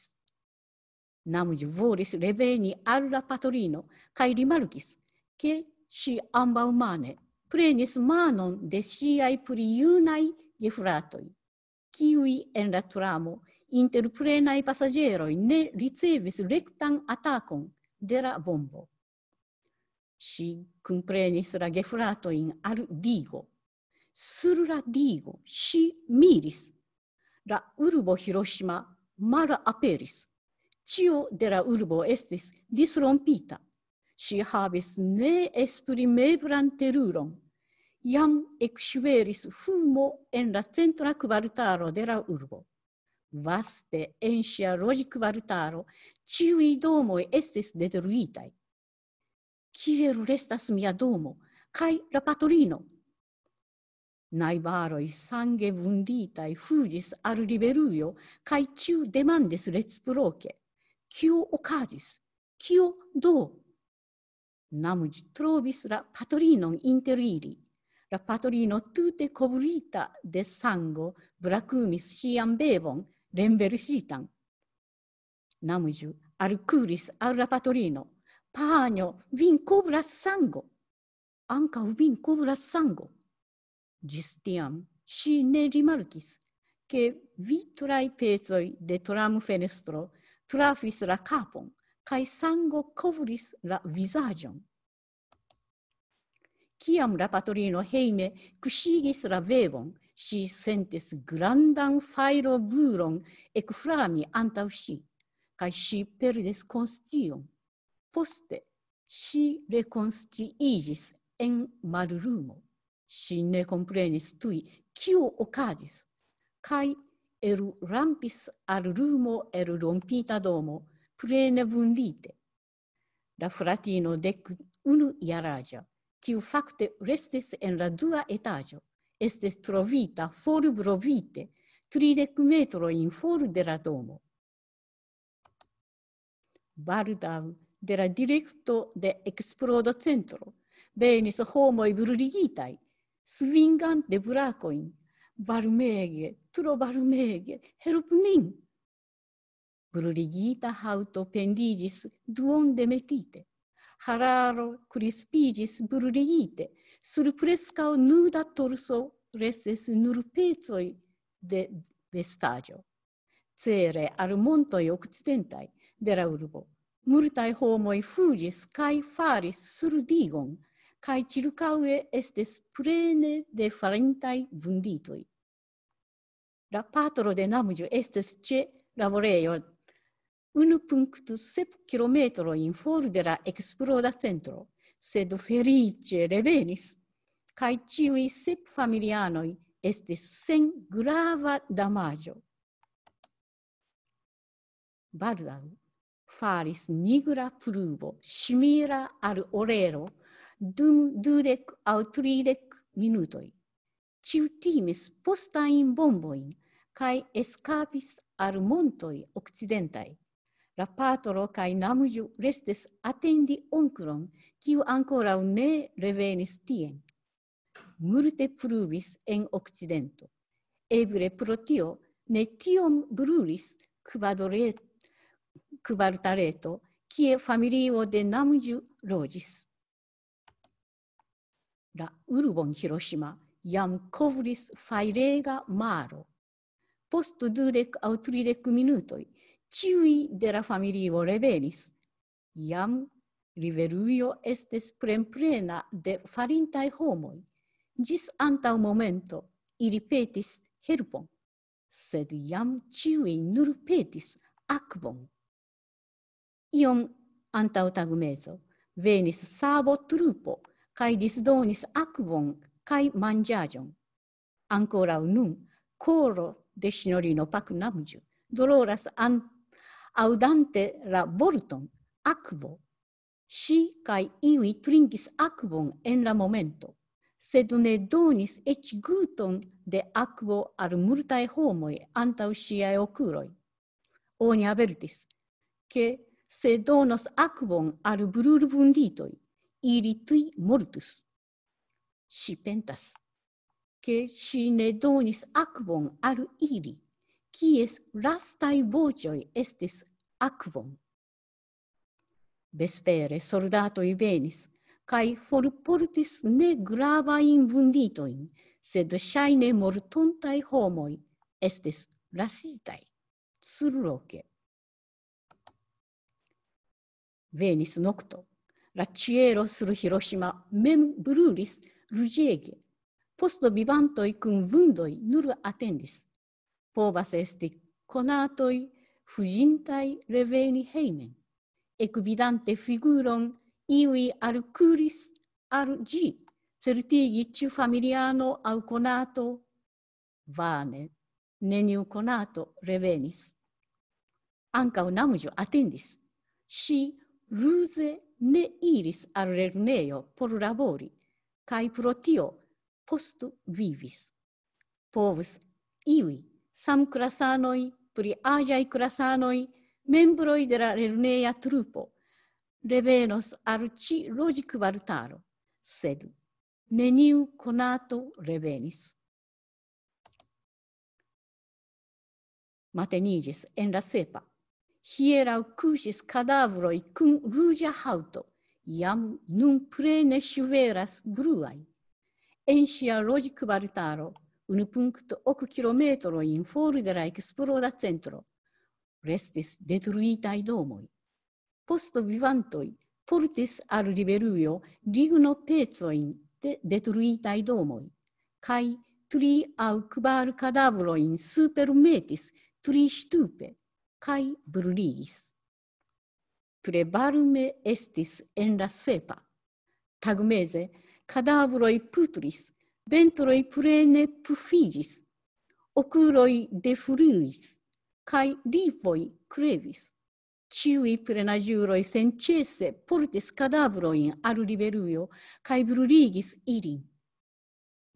Namuĝo volis reveni al la patrino, kaj rimarkis, ke ŝi ambaŭmane prenis manon de ŝiaj pli junaj gefratoj, kiuj en la tramo inter plenaj pasaĝeroj ne ricevis rektan atakon de la bombo. Ŝi kunprenis la gefratojn al digo. Sur la digo ŝi miris. La urbo Hiroshima malaperis. Ĉio de la urbo estis disrompita. Ŝi havis neesprimeblan teruron. Jam ekŝveris fumo en la centra kvartalo de la urbo. Vaste en ŝia loĝkvartalo ĉiuj domoj estis detruitaj. "Kiel restas mia domo kaj la patrino?" Najbaroj sange vunditaj fuĝis al riverujo, kaj ĉiu demandis reciproke: "Kio okazis? Kio do?" Namuĝ trovis la patrinon inter ili. La patrino, tute kovrita de sango, brakumis ŝian bebon renversitan. Namuĝo Alkuris al la patrino: "Panjo, vin kovras sango! Ankaŭ vin kovras sango!" Ĝis tiam ŝi ne rimarkis, ke vitraj pecoj de tramfenestro trafis la kapon, kaj sango kovris la vizaĝon. Kiam la patrino hejme kuŝigis la bebon, ŝi sentis grandan fajrobruron ekflami antaŭ ŝi, kaj ŝi perdis konscion. Poste ŝi rekonsciiĝis en mallumo. Ŝi ne komprenis tuj, kio okazis, kaj elrampis al lumo el rompita domo, plene vundite. La fratino dek unu jaraĝa, kiu fakte restis en la dua etaĝo, estis trovita forbrovite tridek metrojn for de la domo. Baldaŭ de la direkto de eksplodocentro venis homoj bruligitaj, svingante brakojn: "Varmege, tro varmege, helpu nin!" Bruligita haŭto pendiĝis duonde metite. Hararo krispiĝis bruligite, sur preskaŭ nuda torso restis nur pecoj de vestaĵo. Cere al montoj okcidentaj de la urbo, multaj homoj fuĝis kaj faris sur digon, kaj ĉirkaŭe estis plene de falintaj vunditoj. La patro de Namĝo estis ĉe laborejo unu punkto sep kilometrojn for de la eksploda centro, sed feliĉe revenis, kaj ĉiuj sep familianoj estis sen grava damaĝo. Baldaŭ falis nigra pluvo, simila al orelo, dum dudek aŭ tridek minutoj. Ĉiu timis postajn bombojn, kaj eskapis al montoj okcidentaj. La patro kaj Namĝo restis atendi onklon, kiu ankoraŭ ne revenis tien. Multe pluvis en okcidento. Eble pro tio ne tiom brulis kvadre-, kvartaleto, kie familio de Namĝo loĝis. La urbon Hiroshima jam kovris fajrega maro. Post dudek aŭ tridek minutoj, ĉiuj de la familio revenis. Jam riverujo estis plenplena de falintaj homoj. Ĝis antaŭ momento ili petis helpon, sed jam ĉiuj nur petis akvon. Iom antaŭ tagmezo venis sabo trupo kaj disdonis akvon kaj manĝaĵon. Ankoraŭ nun koro de sinjorino Pak Namĝo doloras an-, aŭdante la vorton akvo. Ŝi kaj iuj trinkis akvon en la momento, sed ne donis eĉ guton de akvo al multaj homoj antaŭ ŝiaj okuloj. Oni avertis, ke se donos akvon al brulvunditoj, ili tuj mortus. Ŝi pentas, ke ŝi ne donis akvon al ili, kies lastaj voĉoj estis akvon. Vespere soldatoj venis kaj forportis negravajn vunditojn, sed ŝajne mortontaj homoj estis lasitaj surloke. Venis nokto. La ĉielo sur Hiroshima mem brulis ruĝege. Poste vivantoj kun vundoj nur atendis. Povas esti konatoj fuĝintaj reveni hejmen. Ekvidante figuron, iuj alkuris al ĝi, certigi ĉu familiano aŭ konato. Vane, neniu konato revenis. Ankaŭ Namĝo atendis. Ŝi ruze ne iris al lernejo por labori, kaj pro tio postu vivis. Povus iuj samklasanoj, pli aĝaj klasanoj, membroj de la lerneja trupo, revenos al ĉi loĝkvartalo, sed neniu konato revenis. Mateniĝis en la sepa. Hieraŭ kuŝis kadavroj kun ruĝa haŭto, jam nun plene ŝuveras bruaj. En ŝia loĝkvartalo, unu punkto ok kilometrojn for de la eksploda centro, restis detruitaj domoj. Postvivantoj portis al Liberujo lignopecojn de detruitaj domoj, kaj tri aŭ kvar kadavrojn supermetis tri ŝtupe kaj bruligis. Tre varme estis en la sepa. Tagmeze kadavroj putris, ventroj plene pufiĝis, okuloj defluis, kaj lipoj krevis. Ĉiuj plenaĵuloj senĉese portis kadavrojn al Liberujo kaj bruligis ilin.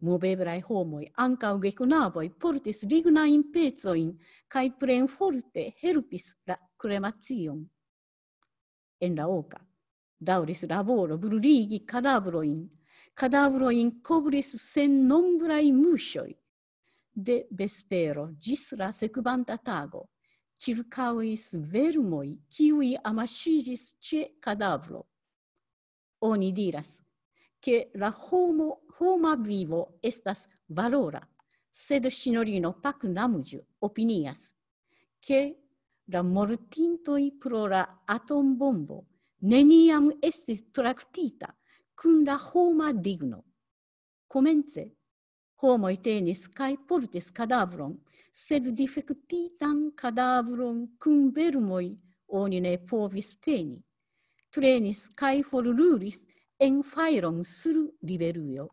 Moveblaj homoj, ankaŭ geknaboj, portis lignajn pecojn kaj plenforte helpis la kremacion. En la oka daŭris laboro bruligi kadavrojn. Kadavrojn kovris sennombraj muŝoj. De vespero ĝis la sekvanta tago ĉirkaŭis vermoj, kiuj amaŝiĝis ĉe kadavro. Oni diras, ke la homo, homa vivo estas valora, sed sinjorino Pak Namju opinias, ke la mortintoj pro la atombombo neniam estis traktita kun la homa digno. Komence homoj tenis kaj portis kadavron, sed difektitan kadavron kun vermoj oni ne povis teni. Trenis kaj forlulis en fajron sur Liberujo.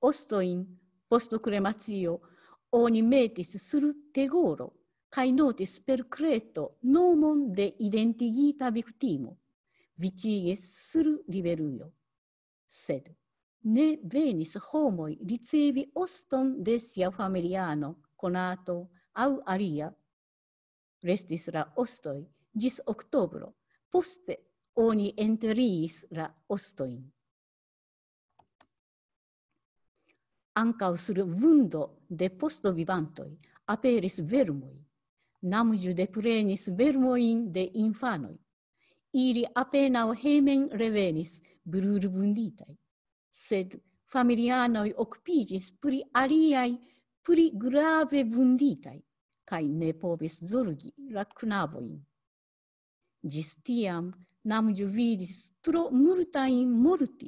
Ostojn post kremacio oni metis sur tegoro kaj notis per kreto nomon de identigita viktimo. Viĉigis sur Liberujo. Sed ne venis homoj ricevi oston de sia familiano, konato aŭ alia. Restis la ostoj ĝis oktobro. Poste oni enteriis la ostojn. Ankaŭ sur vundo de postvivantoj aperis vermoj. Namju deprenis vermojn de infanoj. Ili apenaŭ hejmen revenis brulvunditaj. Sed familianoj okupiĝis pri aliaj pli grave vunditaj, kaj ne povis zorgi la knabojn. Ĝis tiam Namju vidis tro multajn morti,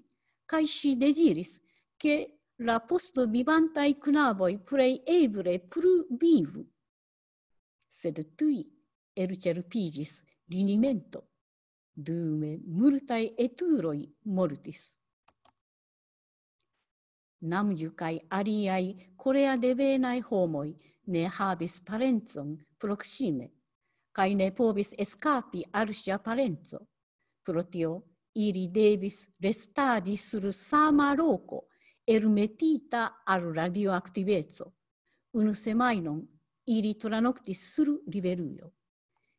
kaj ŝi deziris, ke la postvivantaj knaboj plej eble plu vivu. Sed tuj elĉerpiĝis linimento, dume multaj etuloj mortis. Namju kaj aliaj korea devenaj homoj ne havis parencon proksime, kaj ne povis eskapi al sia parenco. Pro tio ili devis restadi sur sama loko, elmetita al radioaktiveco. Unu semajnon ili tranoktis sur riverujo.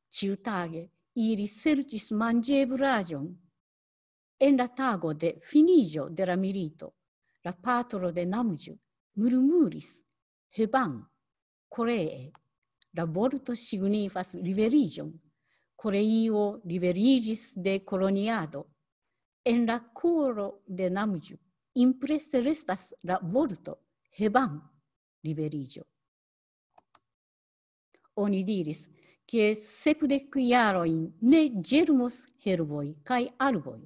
Ĉiutage ili serĉis manĝeblaĵon. En la tago de finiĝo de la milito, la patro de Namju murmuris: "Heban", koree. La vorto signifas liberiĝon. Koreio liberiĝis de koloniado. En la koro de Namju imprese restas la vorto "Heban", liberiĝo. Oni diris, ke sepdek jarojn ne ĝermos herboj kaj arboj.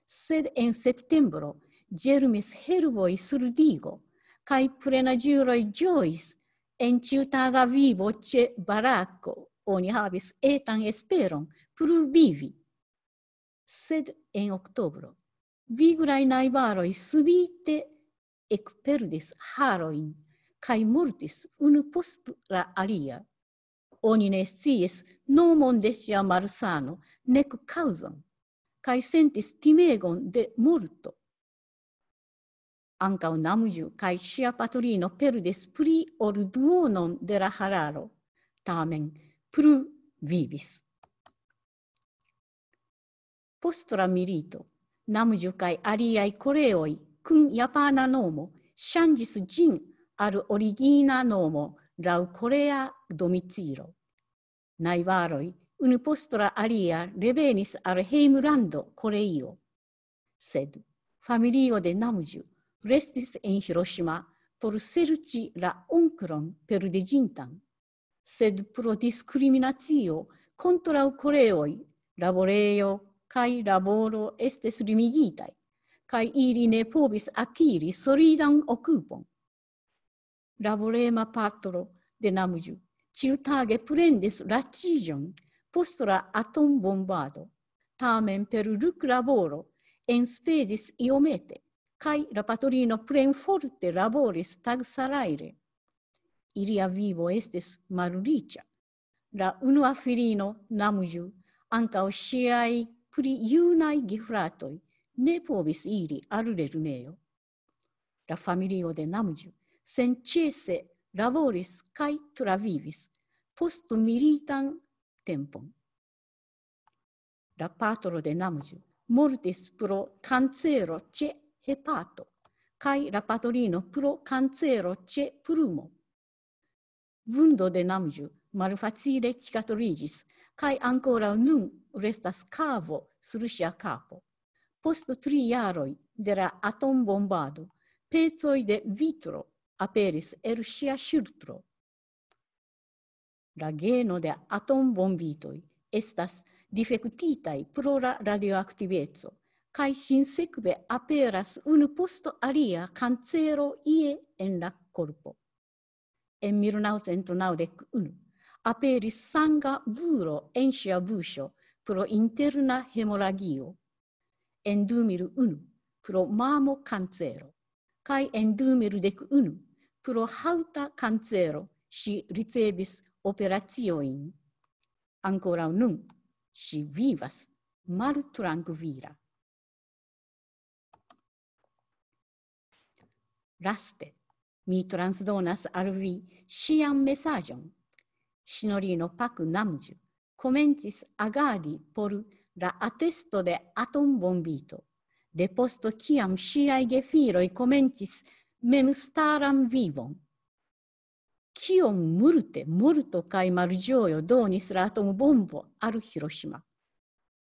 Sed en septembro ĝermis herboj sur digo, kaj plenaĝuloj ĝojis. En ĉiutaga vivo ĉe barako oni havis etan esperon plu vivi. Sed en oktobro viglaj najbaroj subite ekperdis harojn kaj mortis unu post la alia. Oni ne sciis nomon de sia malsano, nek kaŭzon, kaj sentis timegon de morto. Ankaŭ Namju kaj ŝia patrino perdis pli ol duonon de la hararo, tamen plu vivis. Post la milito, Namju kaj aliaj koreoj kun japana nomo ŝanĝis ĝin al origina nomo laŭ korea domicilo. Najbaroj unu post la alia revenis al hejmlando Koreio. Sed familio de Namĝu restis en Hiroŝima por serĉi la onklon perdiĝintan. Sed pro diskriminacio kontraŭ koreoj, laborejo kaj laboro estis limigitaj, kaj ili ne povis akiri solidan okupon. Laborema patro de Namĝu ĉiutage plendis laciĝon post la atombombado, tamen per luklaboro enspezis iomete, kaj la patrino plenforte laboris tagsalajre. Ilia vivo estis malriĉa. La unua filino, Namĝu, ankaŭ ŝiaj pli junaj gefratoj ne povis iri al lernejo. La familio de Namĝu senĉese laboris kaj travivis post militan tempon. La patro de Namĝu mortis pro kancero ĉe hepato, kaj la patrino pro kancero ĉe pulmo. Vundo de Namĝu malfacile cicatriĝis, kaj ankoraŭ nun restas kavo sur ŝia kapo. Post tri jaroj de la atombombado, pecoj de vitro aperis el ŝia ŝultro. La geno de atombombitoj estas difektitaj pro la radioaktiveco, kaj sinsekve aperas unu post alia kancero ie en la korpo. En mil naŭcent naŭdek unu aperis sanga bulo en ŝia buŝo pro interna hemoragio. En du mil unu pro mamo kancero, kaj en du mil dek unu pro haŭta kancero ŝi ricevis operaciojn. Ankoraŭ nun ŝi vivas maltrankvila. Laste, mi transdonas al vi ŝian mesaĝon. Sinjorino Pak Namĝu komencis agadi por la atesto de atombombito, depost kiam ŝiaj gefiloj komencis memstaran vivon. Kiom multe morto kaj malĝojo donis la atombombo al Hiroŝima.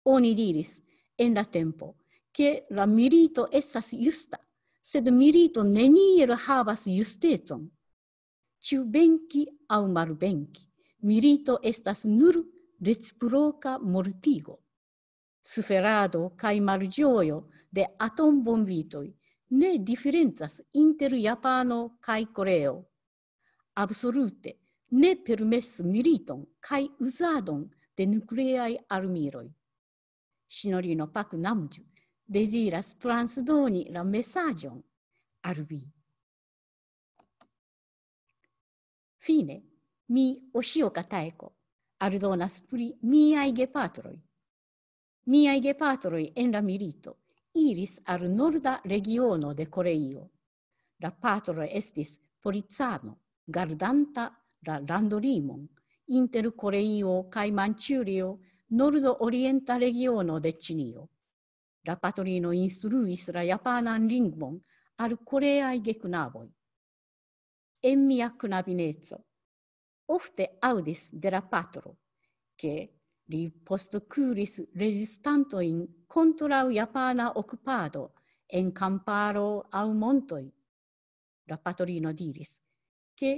Oni diris en la tempo, ke la milito estas justa, sed milito neniel havas justecon. Ĉu venki aŭ malvenki, milito estas nur reciproka mortigo. Suferado kaj malĝojo de atombombitoj ne diferencas inter Japano kaj Koreo. Absolute ne permesu militon kaj uzadon de nukleaj armiloj. Sinjorino Pak Namĝu deziras transdoni la mesaĝon al vi. Fine, mi, Oshio Kataeko, aldonas pri miaj gepatroj. Miaj gepatroj en la milito iris al norda regiono de Koreio. La patro estis policano, gardanta la landolimon inter Koreio kaj Manĉurio, nordorienta regiono de Ĉinio. La patrino instruis la japanan lingvon al koreaj geknaboj. En mia knabineco ofte aŭdis de la patro, ke li postkuris rezistantojn kontraŭ japana okupado en kamparo aŭ montoj. La patrino diris, ke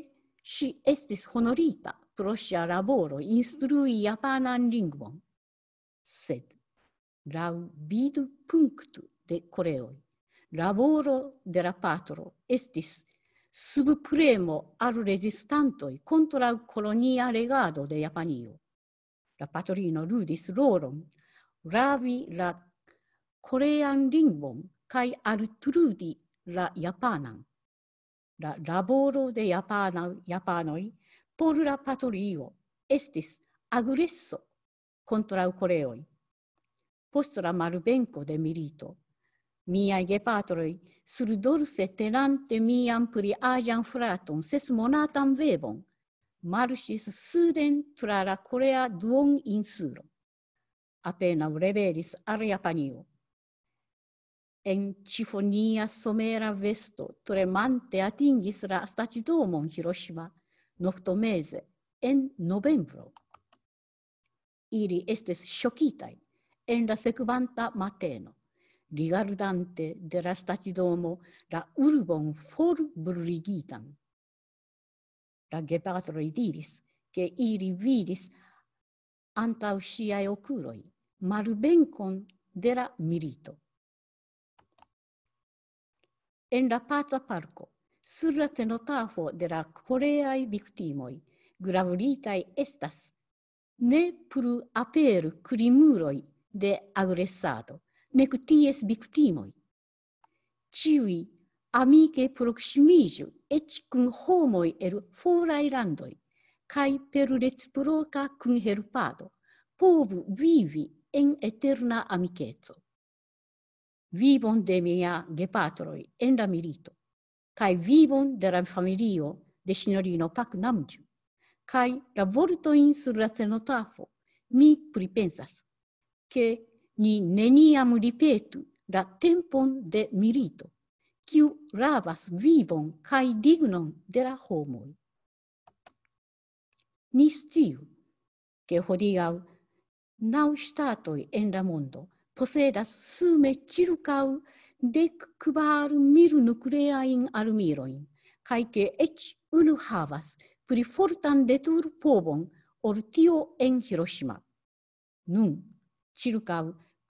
ŝi estis honorita pro ŝia laboro instrui japanan lingvon. Sed laŭ vidu punkto de Koreoj, laboro de la patro estis subpremo al rezistantoj kontraŭ kolonia regado de Japanio. La patrino ludis rolon ravi la korean lingvon kaj altrudi la japanan. La laboro de japana, japanoj por la patrio estis agreso kontraŭ koreoj. Post la malvenko de milito, miaj gepatroj, surdorse tenante mian pli aĝan fraton, sesmonatan bebon, marŝis suden tra la korea duoninsulo. Apenaŭ revenis al Japanio. En ĉifonia somera vesto tremante atingis la stacidomon Hiroshima noktomeze en novembro. ili estis ŝokitaj en la sekvanta mateno, rigardante de la stacidomo la urbon forbruligitan. La gepatroj diris, ke ili vidis antaŭ ŝiaj okuloj malvenkon de la milito. En la paca parko, sur la cenotafo de la koreaj viktimoj, gravuritaj estas: "Ne plu aperu krimuloj de agresado, nek ties viktimoj. Ĉiuj amike proksimiĝu, eĉ kun homoj el foraj landoj, kaj per reciproka kunhelpado povu vivi en eterna amikeco. Vivon de mia gepatroj en la milito, kaj vivon de la familio de sinjorino Pak Namju, kaj la vortojn sur la cenotafo, mi pripensas, ke ni neniam ripetu la tempon de milito, kiu ravas vivon kaj dignon de la homoj." Ni sciu, ke hodiaŭ naŭ ŝtatoj en la mondo posedas sume ĉirkaŭ dek kvar mil nukleajn armilojn, kaj ke eĉ unu havas pli fortan detrupovon ol tio en Hiroshima. Nun, ĉirkaŭ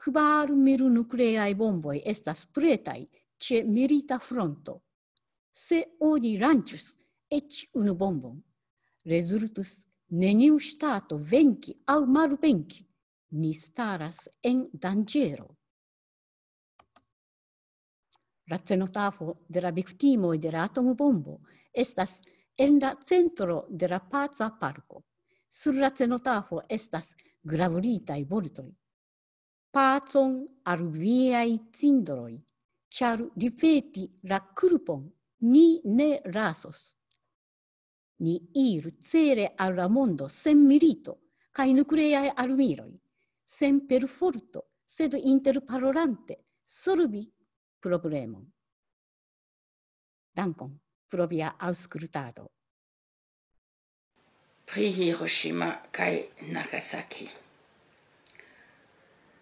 kvar mil nukleaj bomboj estas pretaj ĉe milita fronto. Se oni lanĉus eĉ unu bombon, rezultus neniu ŝtato venki aŭ malvenki. Ni staras en danĝero. La cenotafo de la viktimoj de la atombombo estas en la centro de la paca parko. Sur la cenotafo estas gravuritaj vortoj: "Pacon al viaj cindroj, ĉar ripeti la kulpon ni ne lasos." Ni iru cele al la mondo sen milito kaj nukleaj armiloj, sen perforto, sed interparolante solvi problemon. Dankon pro via aŭskultado. Pri Hiroshima kaj Nagasaki.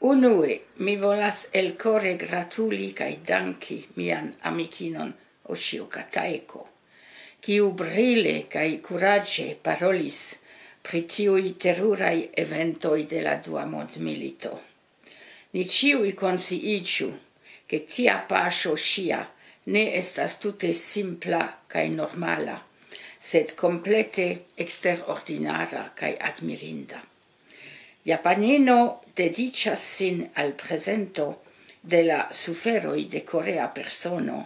Unue, mi volas elkore gratuli kaj danki mian amikinon Oshio Kataiko, kiu brile kaj kuraĝe parolis pri tiuj teruraj eventoj de la Dua Mondmilito. Ni ĉiuj konsciiĝu, ke tia paŝo ŝia ne estas tute simpla kaj normala, sed komplete eksterordinara kaj admirinda. Japanino dediĉas sin al prezento de la suferoj de korea persono,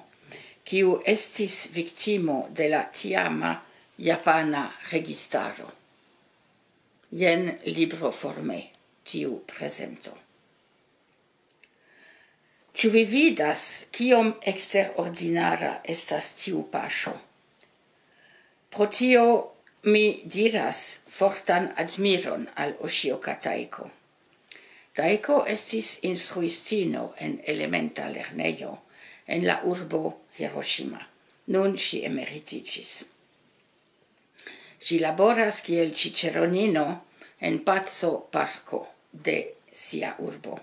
kiu estis viktimo de la tiama japana registaro. Jen libroforme tiu prezento. Ĉu vi vidas, kiom eksterordinara estas tiu paŝo? Pro tio mi diras fortan admiron al Oshio Kataiko. Taiko estis instruistino en elementa lernejo en la urbo Hiroshima. Nun ŝi emeritiĝis. Ŝi laboras kiel ĉiĉeronino en paco parko de sia urbo.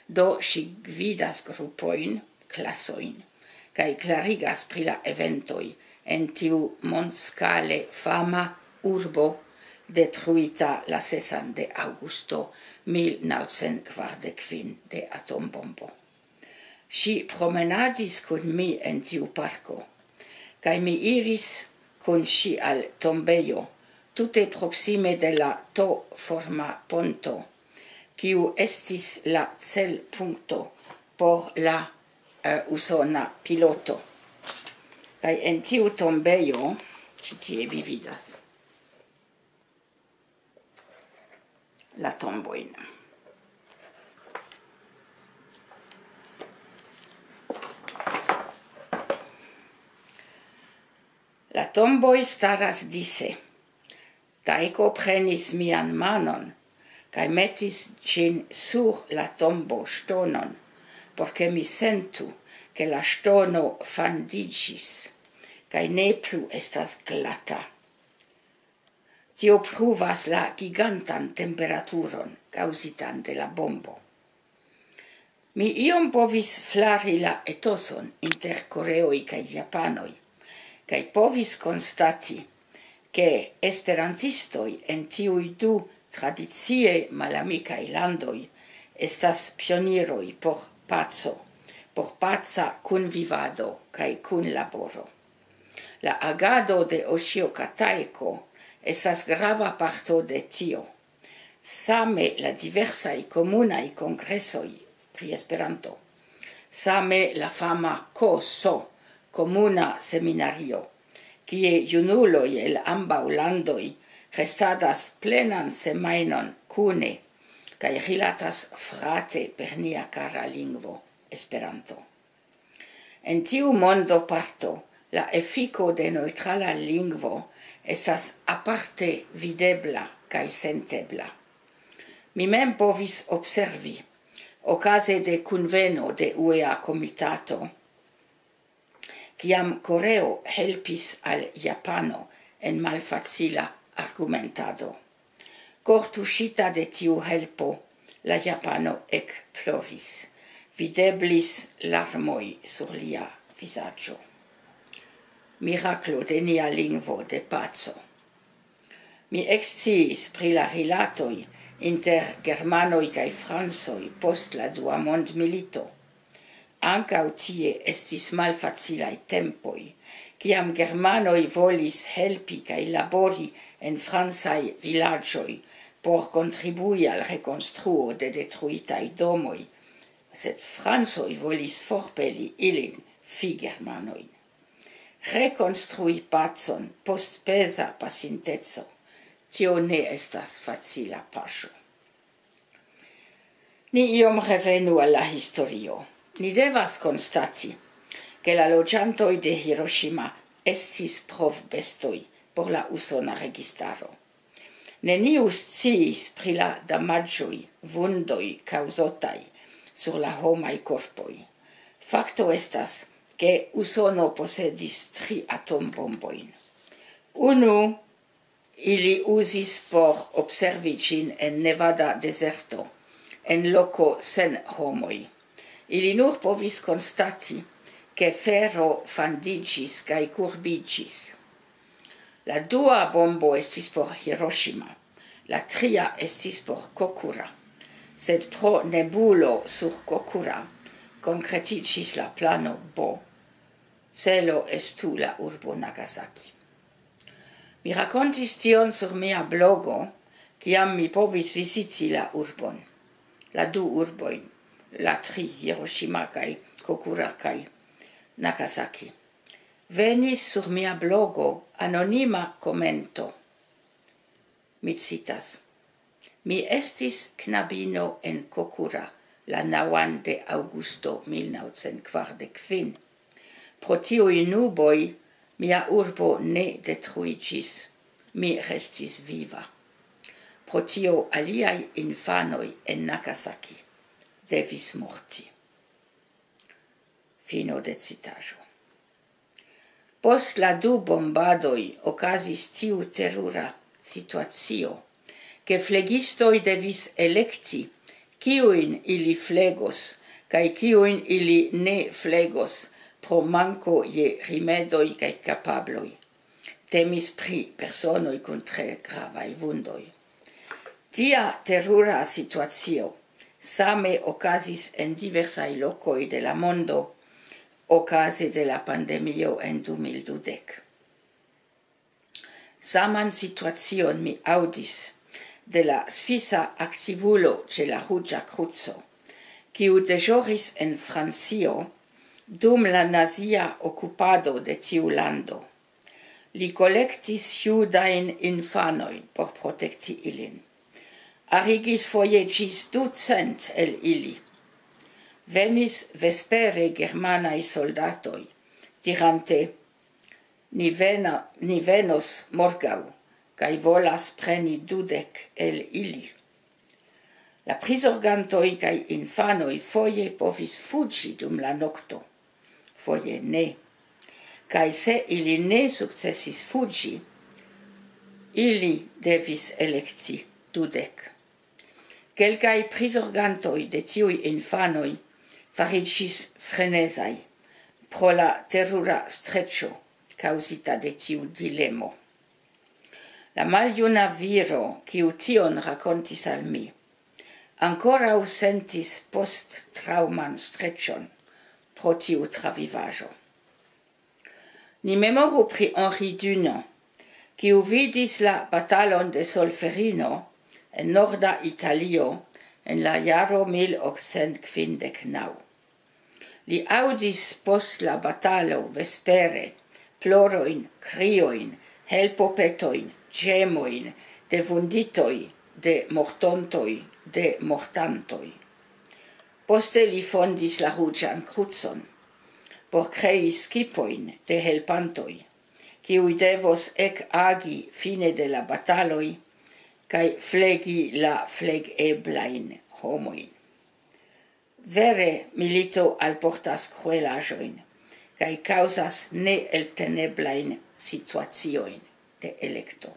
Do ŝi gvidas grupojn, klasojn, kaj klarigas pri la eventoj en tiu mondskale fama urbo, detruita la sesan de aŭgusto mil naŭcent kvardek kvin de atombombo. Ŝi promenadis kun mi en tiu parko, kaj mi iris kun ŝi al tombejo, tute proksime de la to-forma ponto, kiu estis la celpunkto por la, eh, usona piloto. Kaj en tiu tombejo, ĉi tie vi vidas la tombojn. La tomboj staras dise. Taiko prenis mian manon kaj metis ĝin sur la tombo ŝtonon, por ke mi sentu, ke la ŝtono fandiĝis kaj ne plu estas glata. Tio pruvas la gigantan temperaturon kaŭzitan de la bombo. Mi iom povis flari la etoson inter koreoj kaj japanoj, kaj povis konstati, ke esperantistoj en tiuj du tradicie malamikaj landoj estas pioniroj por paco, por paca kunvivado kaj kunlaboro. La agado de Oshio Kataeko estas grava parto de tio. Same la diversaj komunaj kongresoj pri Esperanto. Same la fama K S O, komuna seminario, kie junuloj el ambaŭ landoj restadas plenan semajnon kune kaj rilatas frate per nia kara lingvo, Esperanto. En tiu mondo parto, la efiko de neŭtrala lingvo estas aparte videbla kaj sentebla. Mi mem povis observi, okaze de kunveno de U E A komitato, kiam Koreo helpis al Japano en malfacila argumentado. Kortuŝita de tiu helpo, la Japano ekploris. Videblis larmoj sur lia vizaĝo. Miraklo de nia lingvo de paco. Mi eksciis pri la rilatoj inter germanoj kaj francoj post la Dua Mondmilito. Ankaŭ tie estis malfacilaj tempoj, kiam germanoj volis helpi kaj labori en francaj vilaĝoj por kontribui al rekonstruo de detruitaj domoj, sed francoj volis forpeli ilin, fi germanojn. Rekonstrui pacon post peza pasinteco, tio ne estas facila paŝo. Ni iom revenu al la historio. Ni devas konstati, ke la loĝantoj de Hiroshima estis provbestoj por la usona registaro. Neniu sciis pri la damaĝoj, vundoj kaŭzotaj sur la homaj korpoj. Fakto estas, ke Usono posedis tri atombombojn. Unu ili uzis por observi ĝin en Nevada dezerto, en loko sen homoj. Ili nur povis konstati, ke fero fandiĝis kaj kurbiĝis. La dua bombo estis por Hiroshima, la tria estis por Kokura, sed pro nebulo sur Kokura konkretiĝis la plano B. Celo estu la urbo Nagasaki. Mi rakontis tion sur mia blogo, kiam mi povis viziti la urbon, la du urbojn, la tri, Hiroshima kaj Kokura kaj Nagasaki. Venis sur mia blogo anonima komento. Mi citas: "Mi estis knabino en Kokura la naŭan de aŭgusto mil naŭcent kvardek kvin. Pro tiuj nuboj mia urbo ne detruiĝis. Mi restis viva. Pro tio aliaj infanoj en Nagasaki devis morti." Fino de citaĵo. Post la du bombadoj okazis tiu terura situacio, ke flegistoj devis elekti, kiujn ili flegos kaj kiujn ili ne flegos pro manko je rimedoj kaj kapabloj. Temis pri personoj kun tre gravaj vundoj. Tia terura situacio same okazis en diversaj lokoj de la mondo okaze de la pandemio en du mil dudek. Saman situacion mi aŭdis de la svisa aktivulo ĉe la Ruĝa Kruco, kiu deĵoris en Francio dum la nazia okupado de tiu lando. Li kolektis judajn infanojn por protekti ilin. Arigis foje ĝis ducent el ili. Venis vespere germanaj soldatoj, dirante: "Ni vena-, ni venos morgaŭ, kaj volas preni dudek el ili." La prizorgantoj kaj infanoj foje povis fuĝi dum la nokto, foje ne. Kaj se ili ne sukcesis fuĝi, Ili devis elekti dudek. Kelkaj prizorgantoj de tiuj infanoj fariĝis frenezaj pro la terura streĉo kaŭzita de tiu dilemo. La maljuna viro, kiu tion rakontis al mi, ankoraŭ sentis post-traŭman streĉon pro tiu travivaĵo. Ni memoru pri Henri Dunant, kiu vidis la batalon de Solferino en norda Italio en la jaro mil okcent kvindek naŭ. Li aŭdis post la batalo vespere plorojn, kriojn, helpopetojn, ĝemojn de vunditoj, de mortontoj, de mortantoj. Poste li fondis la Ruĝan Krucon por krei skipojn de helpantoj, kiuj devos ekagi fine de la bataloj kaj flegi la flegeblajn homojn. Vere, milito alportas kruelaĵojn kaj kaŭzas neelteneblajn situaciojn de elekto.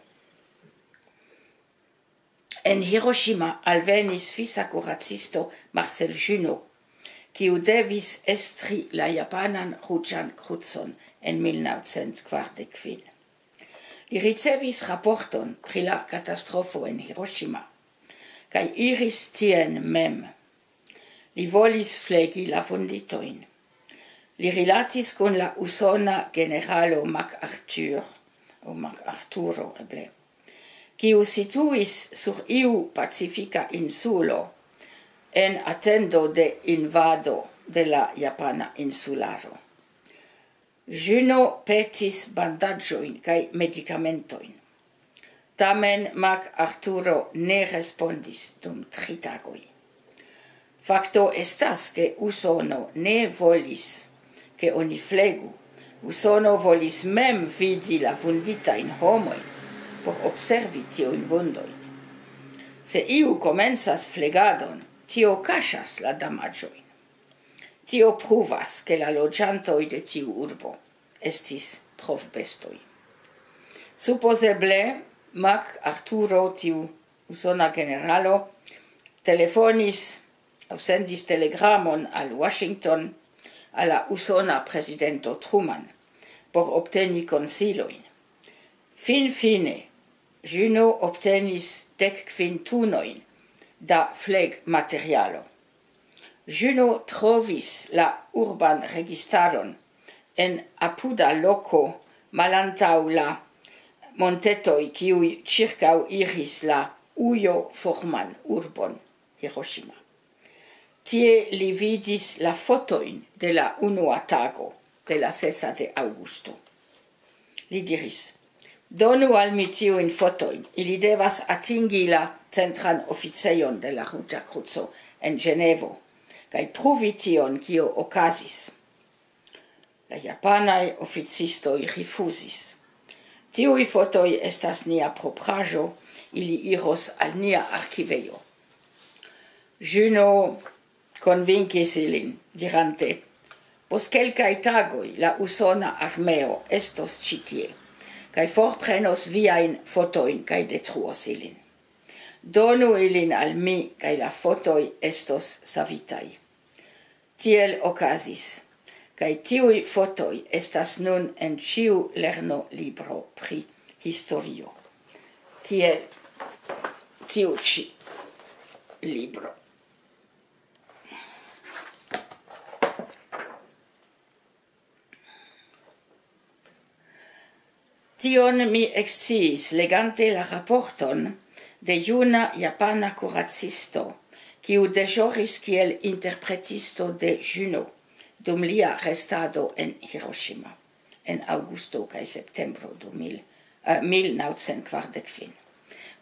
En Hiroshima alvenis svisa kuracisto Marcel Junot, kiu devis estri la japanan Ruĝan Krucon en mil naŭcent kvardek kvin. Li ricevis raporton pri la katastrofo en Hiroshima, kaj iris tien mem. Li volis flegi la vunditojn. Li rilatis kun la usona generalo MacArthur, aŭ MacArturo eble, kiu situis sur iu pacifika insulo en atendo de invado de la japana insularo. Junot petis bandaĝojn kaj medikamentojn. Tamen MacArturo ne respondis dum tri tagoj. Fakto estas, ke Usono ne volis, ke oni flegu. Usono volis mem vidi la vunditajn homojn por observi tiujn vundojn. Se iu komencas flegadon, tio kaŝas la damaĝojn. Tio pruvas, ke la loĝantoj de tiu urbo estis provbestoj. Supozeble MacArturo, tiu usona generalo, telefonis aŭ sendis telegramon al Washington, al la usona prezidento Truman, por obteni konsilojn. Finfine, Junot obtenis dek kvin tunojn da flegmaterialo. Junot trovis la urban registaron en apuda loko malantaŭ la montetoj, kiuj ĉirkaŭ iris la ujo-forman urbon Hiroshima. Tie li vidis la fotojn de la unua tago de la sesa de aŭgusto. Li diris: "Donu al mi tiujn fotojn, ili devas atingi la centran oficejon de la Ruĝa Kruco en Ĝenevo, kaj pruvi tion, kio okazis." La japanaj oficistoj rifuzis. "Tiuj fotoj estas nia propraĵo, ili iros al nia arkivejo." Junot konvinkis ilin, dirante: "Post kelkaj tagoj la usona armeo estos ĉi tie, kaj forprenos viajn fotojn kaj detruos ilin. Donu ilin al mi, kaj la fotoj estos savitaj." Tiel okazis, kaj tiuj fotoj estas nun en ĉiu lernolibro pri historio, kiel tiu ĉi libro. Tion mi eksciis legante la raporton de juna japana kuracisto, kiu deĵoris kiel interpretisto de Junot dum lia restado en Hiroshima en aŭgusto kaj septembro du mil, eh, mil naŭcent kvardek kvin.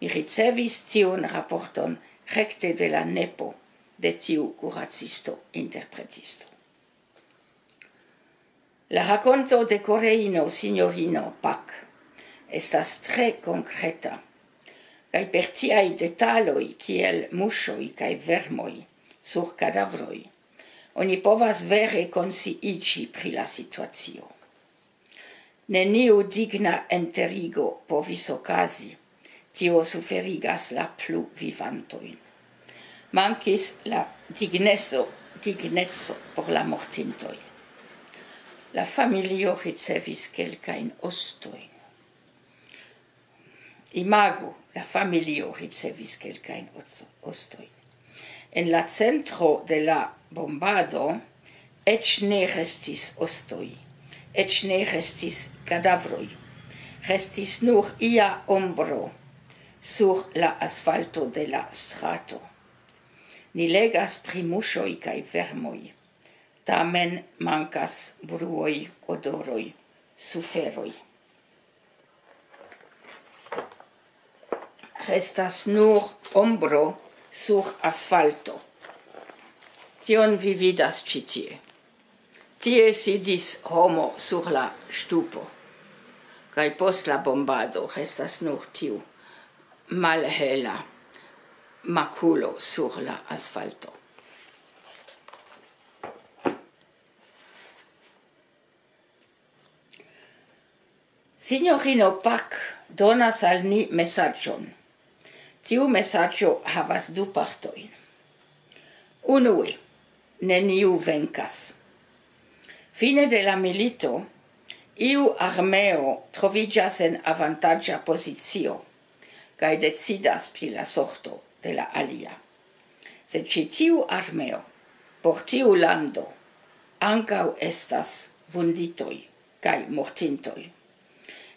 Mi ricevis tiun raporton rekte de la nepo de tiu kuracisto interpretisto. La rakonto de Koreino sinjorino Pak estas tre konkreta, kaj per tiaj detaloj kiel muŝoj kaj vermoj sur kadavroj, oni povas vere konsciiĝi pri la situacio. Neniu digna enterigo povis okazi, Tio suferigas la plu vivantojn. Mankis la digneco, digneco por la mortintoj. La familio ricevis kelkajn ostojn. Imagu, la familio ricevis kelkajn oco-, ostojn. En la centro de la bombado eĉ ne restis ostoj, eĉ ne restis kadavroj. Restis nur ia ombro sur la asfalto de la strato. Ni legas pri muŝoj kaj vermoj. Tamen mankas bruoj, odoroj, suferoj. Restas nur ombro sur asfalto. Tion vi vidas ĉi tie. Tie sidis homo sur la ŝtupo. Kaj post la bombado restas nur tiu malhela makulo sur la asfalto. Sinjorino Pak donas al ni mesaĝon. Tiu mesaĝo havas du partojn. Unue, neniu venkas. Fine de la milito, iu armeo troviĝas en avantaĝa pozicio kaj decidas pri la sorto de la alia. Sed ĉi tiu armeo, por tiu lando, ankaŭ estas vunditoj kaj mortintoj.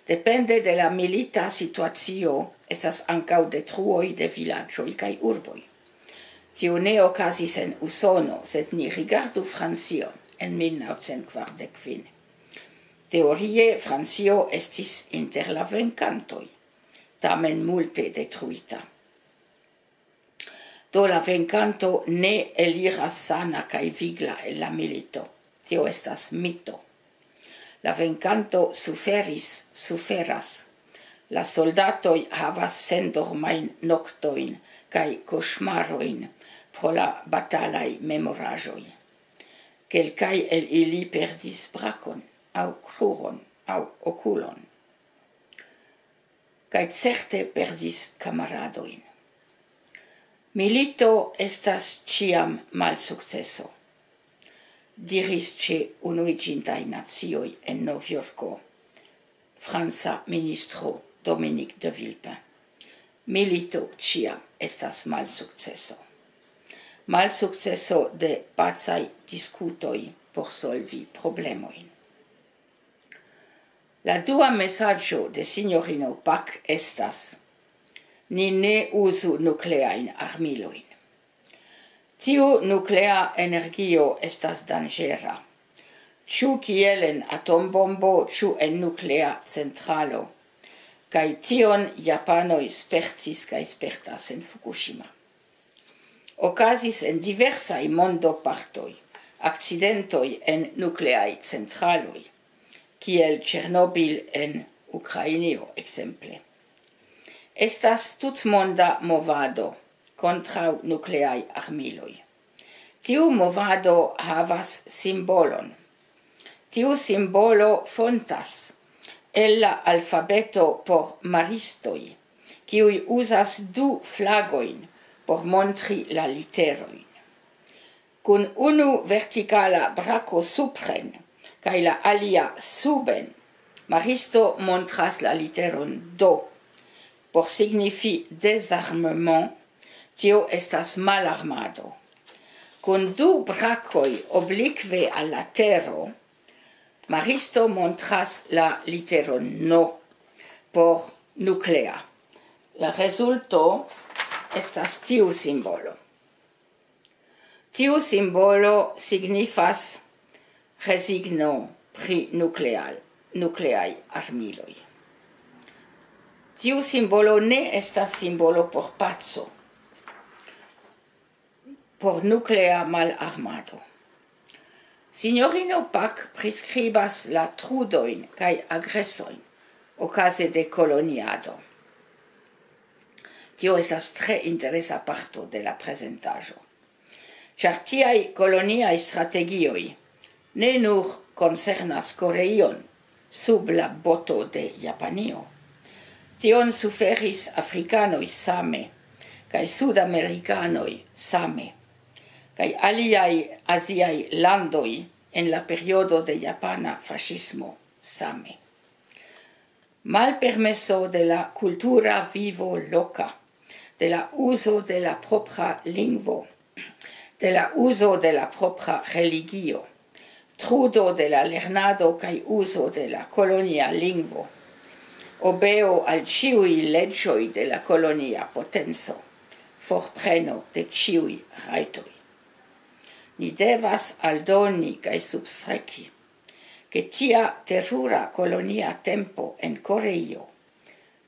Depende de la milita situacio, estas ankaŭ detruoj de vilaĝoj kaj urboj. Tio ne okazis en Usono, sed ni rigardu Francion en mil naŭcent kvardek kvin. Teorie Francio estis inter la venkantoj, tamen multe detruita. Do la venkanto ne eliras sana kaj vigla el la milito. Tio estas mito. La venkanto suferis, suferas. La soldatoj havas sendormajn noktojn kaj koŝmarojn pro la batalaj memoraĵoj. Kelkaj el ili perdis brakon aŭ kruron aŭ okulon. Kaj certe perdis kamaradojn. Milito estas ĉiam malsukceso, diris ĉe Unuiĝintaj Nacioj en Novjorko franca ministro Dominique de Villepin. Milito ĉiam estas malsukceso. Malsukceso de pacaj diskutoj por solvi problemojn. La dua mesaĝo de sinjorino Pak estas: ni ne uzu nukleajn armilojn. Tiu nuklea energio estas danĝera. Ĉu kiel en atombombo, ĉu en nuklea centralo. Kaj tion japanoj spertis kaj spertas en Fukushima. Okazis en diversaj mondopartoj akcidentoj en nukleaj centraloj, kiel Ĉernobil en Ukrainio, ekzemple. Estas tutmonda movado kontraŭ nukleaj armiloj. Tiu movado havas simbolon. Tiu simbolo fontas el la alfabeto por maristoj, kiuj uzas du flagojn por montri la literojn. Kun unu vertikala brako supren kaj la alia suben, maristo montras la literon D. Por signifi désarmement, tio estas malarmado. Kun du brakoj oblikve al la tero, maristo montras la literon N por nuklea. La rezulto estas tiu simbolo. Tiu simbolo signifas rezigno pri nukleal-, nukleaj armiloj. Tiu simbolo ne estas simbolo por paco, por nuklea malarmado. Sinjorino Pak priskribas la trudojn kaj agresojn okaze de koloniado. Tio estas tre interesa parto de la prezentaĵo, ĉar tiaj koloniaj strategioj ne nur koncernas Koreion sub la boto de Japanio, Tion suferis afrikanoj same, kaj sudamerikanoj same, kaj aliaj aziaj landoj en la periodo de japana faŝismo same. Malpermeso de la kultura vivo loka, de la uzo de la propra lingvo, de la uzo de la propra religio, trudo de la lernado kaj uzo de la kolonia lingvo, obeo al ĉiuj leĝoj de la kolonia potenco, forpreno de ĉiuj rajtoj. Ni devas aldoni kaj substreki, ke tia terura kolonia tempo en Koreio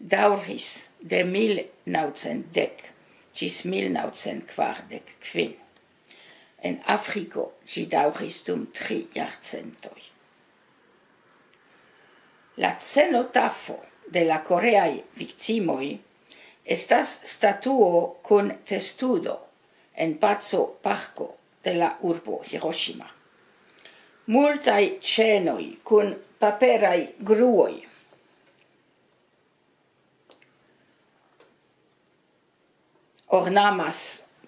daŭris de mil naŭcent dek ĝis mil naŭcent kvardek kvin. En Afriko ĝi daŭris dum tri jarcentoj. La cenotafo de la koreaj viktimoj estas statuo kun testudo en paco parko de la urbo Hiroshima. Multaj ĉenoj kun paperaj gruoj ornamas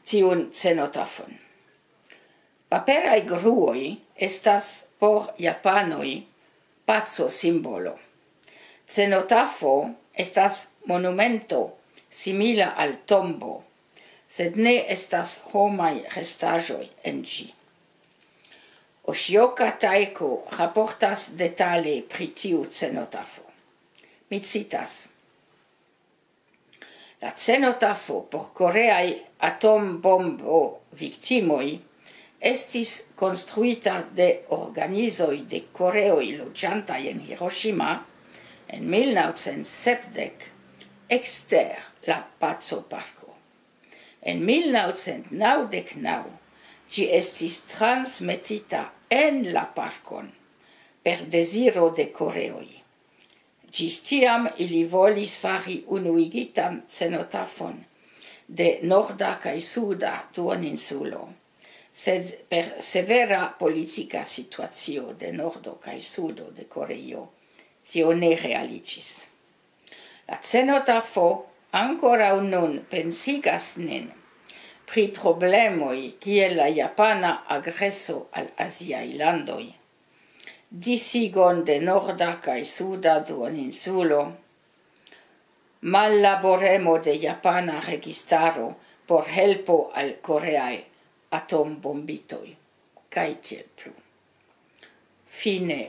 tiun cenotafon. Paperaj gruoj estas por japanoj paco simbolo. Cenotafo estas monumento simila al tombo, sed ne estas homaj restaĵoj en ĝi. Oshioka Taiko raportas detale pri tiu cenotafo. Mi citas: "La cenotafo por koreaj atombombo viktimoj estis konstruita de organizoj de koreoj loĝantaj en Hiroshima en mil naŭcent sepdek ekster la Paco Parko. En mil naŭcent naŭdek naŭ ĝi estis transmetita en la parkon per deziro de koreoj. Ĝis tiam ili volis fari unuigitan cenotafon de norda kaj suda duoninsulo, sed per severa politika situacio de nordo kaj sudo de Koreio tio ne realiĝis." La cenotafo ankoraŭ nun pensigas nin pri problemoj kiel la japana agreso al aziaj landoj, disigon de norda kaj suda duoninsulo, mallaboremo de japana registaro por helpo al koreaj atombombitoj, kaj tiel plu. Fine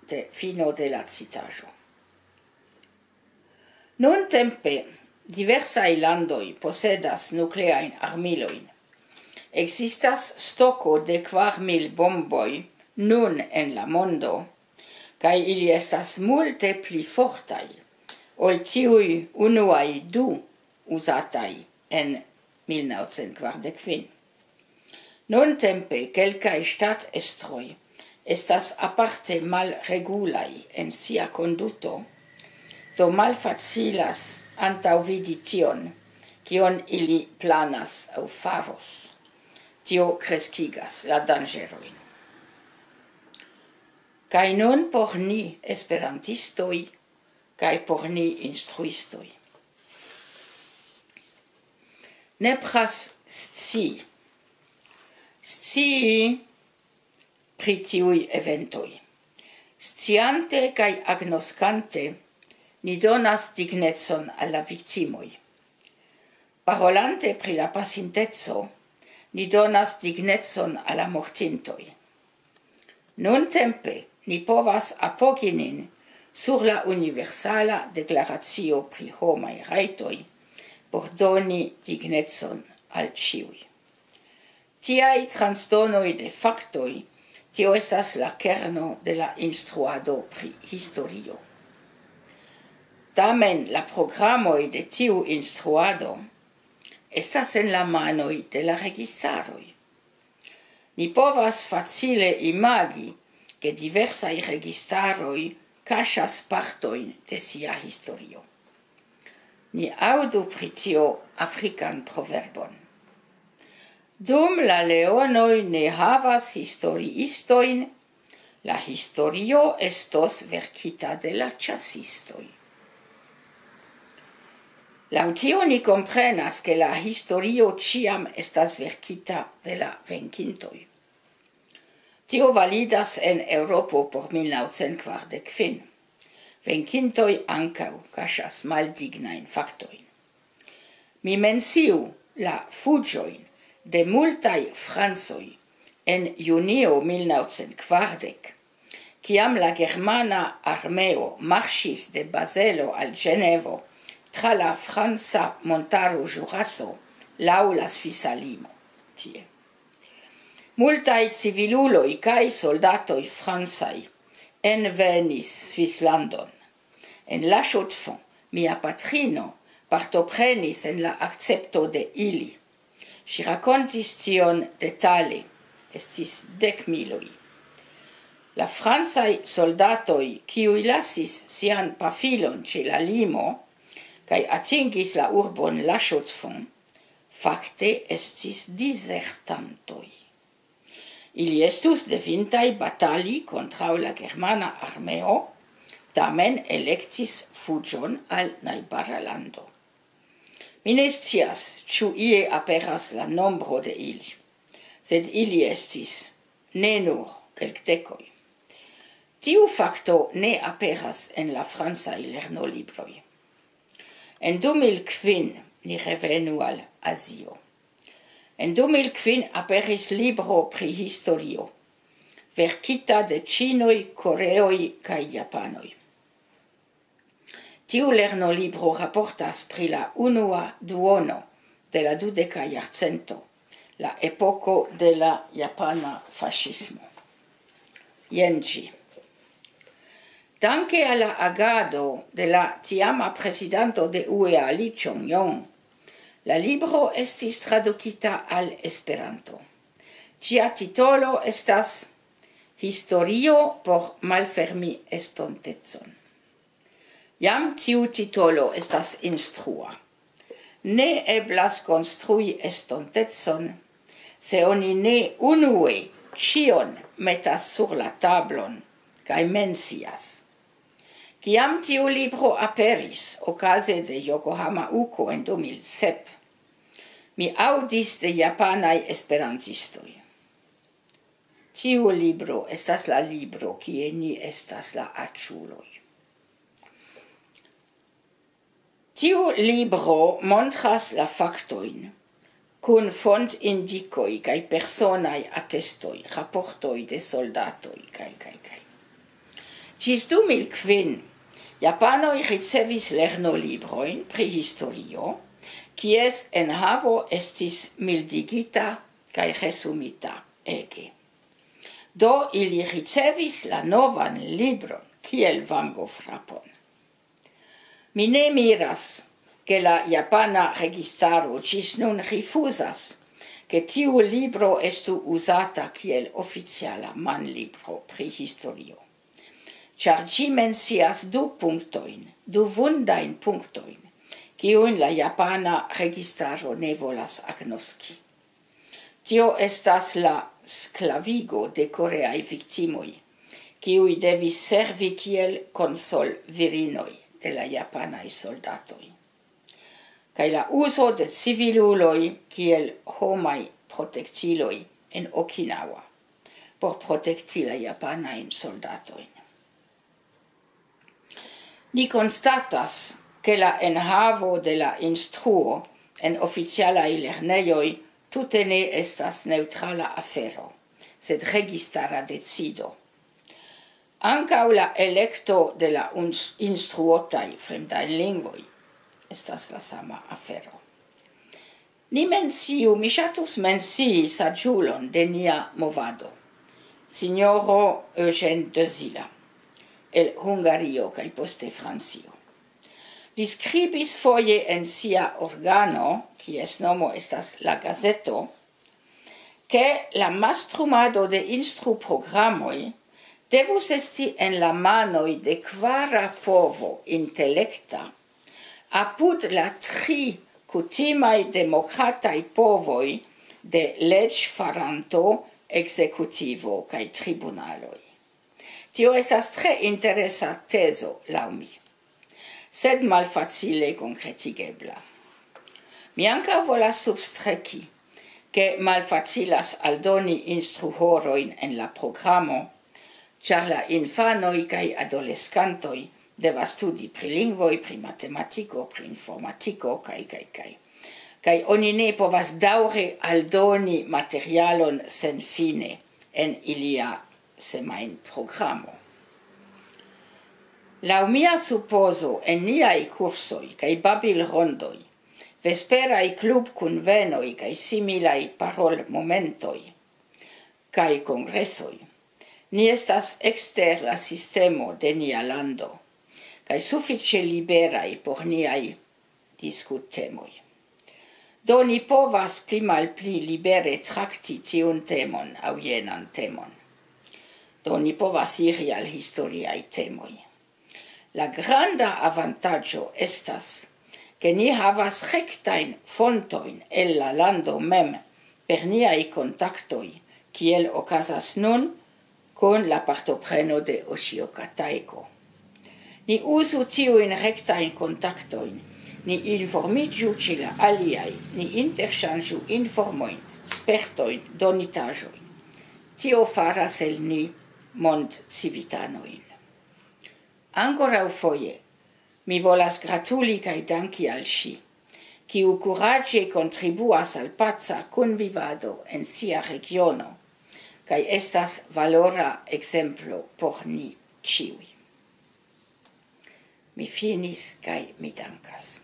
de, fino de la citaĵo. Nuntempe diversaj landoj posedas nukleajn armilojn. Ekzistas stoko de kvar mil bomboj nun en la mondo, kaj ili estas multe pli fortaj ol tiuj unuaj du uzataj en mil naŭcent kvardek kvin. Nuntempe kelkaj ŝtatestroj estas aparte malregulaj en sia konduto, do malfacilas antaŭvidi tion, kion ili planas aŭ faros. Tio kreskigas la danĝerojn. Kaj nun por ni esperantistoj, kaj por ni instruistoj. Nepras scii. Scii pri tiuj eventoj. Sciante kaj agnoskante, ni donas dignecon al la viktimoj. Parolante pri la pasinteco, ni donas dignecon al la mortintoj. Nuntempe ni povas apogi nin sur la Universala Deklaracio pri Homaj Rajtoj por doni dignecon al ĉiuj. Tiaj transdonoj de faktoj, tio estas la kerno de la instruado pri historio. Tamen la programoj de tiu instruado estas en la manoj de la registaroj. Ni povas facile imagi, ke diversaj registaroj kaŝas partojn de sia historio. Ni aŭdu pri tio afrikan proverbon: "Dum la leonoj ne havas historiistojn, la historio estos verkita de la ĉasistoj." Laŭ tio ni komprenas, ke la historio ĉiam estas verkita de la venkintoj. Tio validas en Eŭropo por mil naŭcent kvardek kvin. Venkintoj ankaŭ kaŝas maldignajn faktojn. Mi menciu la fuĝojn de multaj francoj en junio mil naŭcent kvardek, kiam la germana armeo marŝis de Bazelo al Ĝenevo tra la franca montaro Ĵuraso laŭ la svisa limo. Tie. Multaj civiluloj kaj soldatoj francaj envenis Svislandon. En La Chaux-de-Fonds mia patrino partoprenis en la akcepto de ili. Ŝi rakontis tion detale. Estis dek miloj. La francaj soldatoj, kiuj lasis sian pafilon ĉe la limo kaj atingis la urbon La Chaux-de-Fonds, fakte estis dizertantoj. Ili estus devintaj batali kontraŭ la germana armeo, tamen elektis fuĝon al najbara lando. Mi ne scias, ĉu ie aperas la nombro de ili, sed ili estis ne nur kelkdekoj. Tiu fakto ne aperas en la francaj lernolibroj. En du mil kvin ni revenu al Azio. En du mil kvin aperis libro pri historio, verkita de ĉinoj, koreoj kaj japanoj. Tiu lernolibro raportas pri la unua duono de la dudeka jarcento, la epoko de la japana faŝismo. Jen ĝi. Danke al la agado de la tiama prezidanto de U E A, Lee Chong-yong, la libro estis tradukita al Esperanto. Ĝia titolo estas Historio por malfermi estontecon. Jam tiu titolo estas instrua. Ne eblas konstrui estontecon, se oni ne unue ĉion metas sur la tablon kaj mencias. Kiam tiu libro aperis okaze de Yokohama Uko en du mil sep, mi aŭdis de japanaj esperantistoj: "Tiu libro estas la libro, kie ni estas la aĉuloj." Tiu libro montras la faktojn kun fontindikoj kaj personaj atestoj, raportoj de soldatoj, kaj, kaj, kaj. Ĝis du mil kvin, japanoj ricevis lernolibrojn pri historio, kies enhavo estis mildigita kaj resumita ege. Do ili ricevis la novan libron kiel vangofrapon. Mi ne miras, ke la japana registaro ĝis nun rifuzas, ke tiu libro estu uzata kiel oficiala manlibro pri historio, ĉar ĝi mencias du punktojn, du vundajn punktojn, kiujn la japana registaro ne volas agnoski. Tio estas la sklavigo de koreaj viktimoj, kiuj devis servi kiel konsolvirinoj de la japanaj soldatoj, kaj la uzo de civiluloj kiel homaj protektiloj en Okinawa por protekti la japanajn soldatojn. Ni konstatas, ke la enhavo de la instruo en oficialaj lernejoj tute ne estas neŭtrala afero, sed registara decido. Ankaŭ la elekto de la uns-, instruotaj fremdaj lingvoj estas la sama afero. Ni menciu, mi ŝatus mencii saĝulon de nia movado, sinjoro Eugène Dezila, el Hungario kaj poste Francio. Li skribis foje en sia organo, kies nomo estas La Gazeto, ke la mastrumado de instruprogramoj devus esti en la manoj de kvara povo intelekta, apud la tri kutimaj demokrataj povoj de leĝfaranto, ekzekutivo kaj tribunaloj. Tio estas tre interesa tezo, laŭ mi. sed malfacile konkretigebla. Mi ankaŭ volas substreki, ke malfacilas aldoni instruhorojn en la programo, ĉar la infanoj kaj adoleskantoj devas studi pri lingvoj, pri matematiko, pri informatiko, kaj, kaj, kaj. Kaj oni ne povas daŭre aldoni materialon senfine en ilia semajnprogramo. Laŭ mia supozo, en niaj kursoj kaj babilrondoj, vesperaj klubkunvenoj kaj similaj parolmomentoj kaj kongresoj, ni estas ekster la sistemo de nia lando kaj sufiĉe liberaj por niaj diskuttemoj. Do ni povas pli malpli libere trakti tiun temon aŭ jenan temon. Do ni povas iri al historiaj temoj. La granda avantaĝo estas, ke ni havas rektajn fontojn el la lando mem per niaj kontaktoj, kiel okazas nun kun la partopreno de Oshio Kataiko. Ni uzu tiujn rektajn kontaktojn, ni informiĝu ĉe la aliaj, ni interŝanĝu informojn, spertojn, donitaĵojn. Tio faras el ni mondcivitanojn. Ankoraŭfoje, mi volas gratuli kaj danki al ŝi, kiu kuraĝe kontribuas al paca kunvivado en sia regiono, kaj estas valora ekzemplo por ni ĉiuj. Mi finis kaj mi dankas.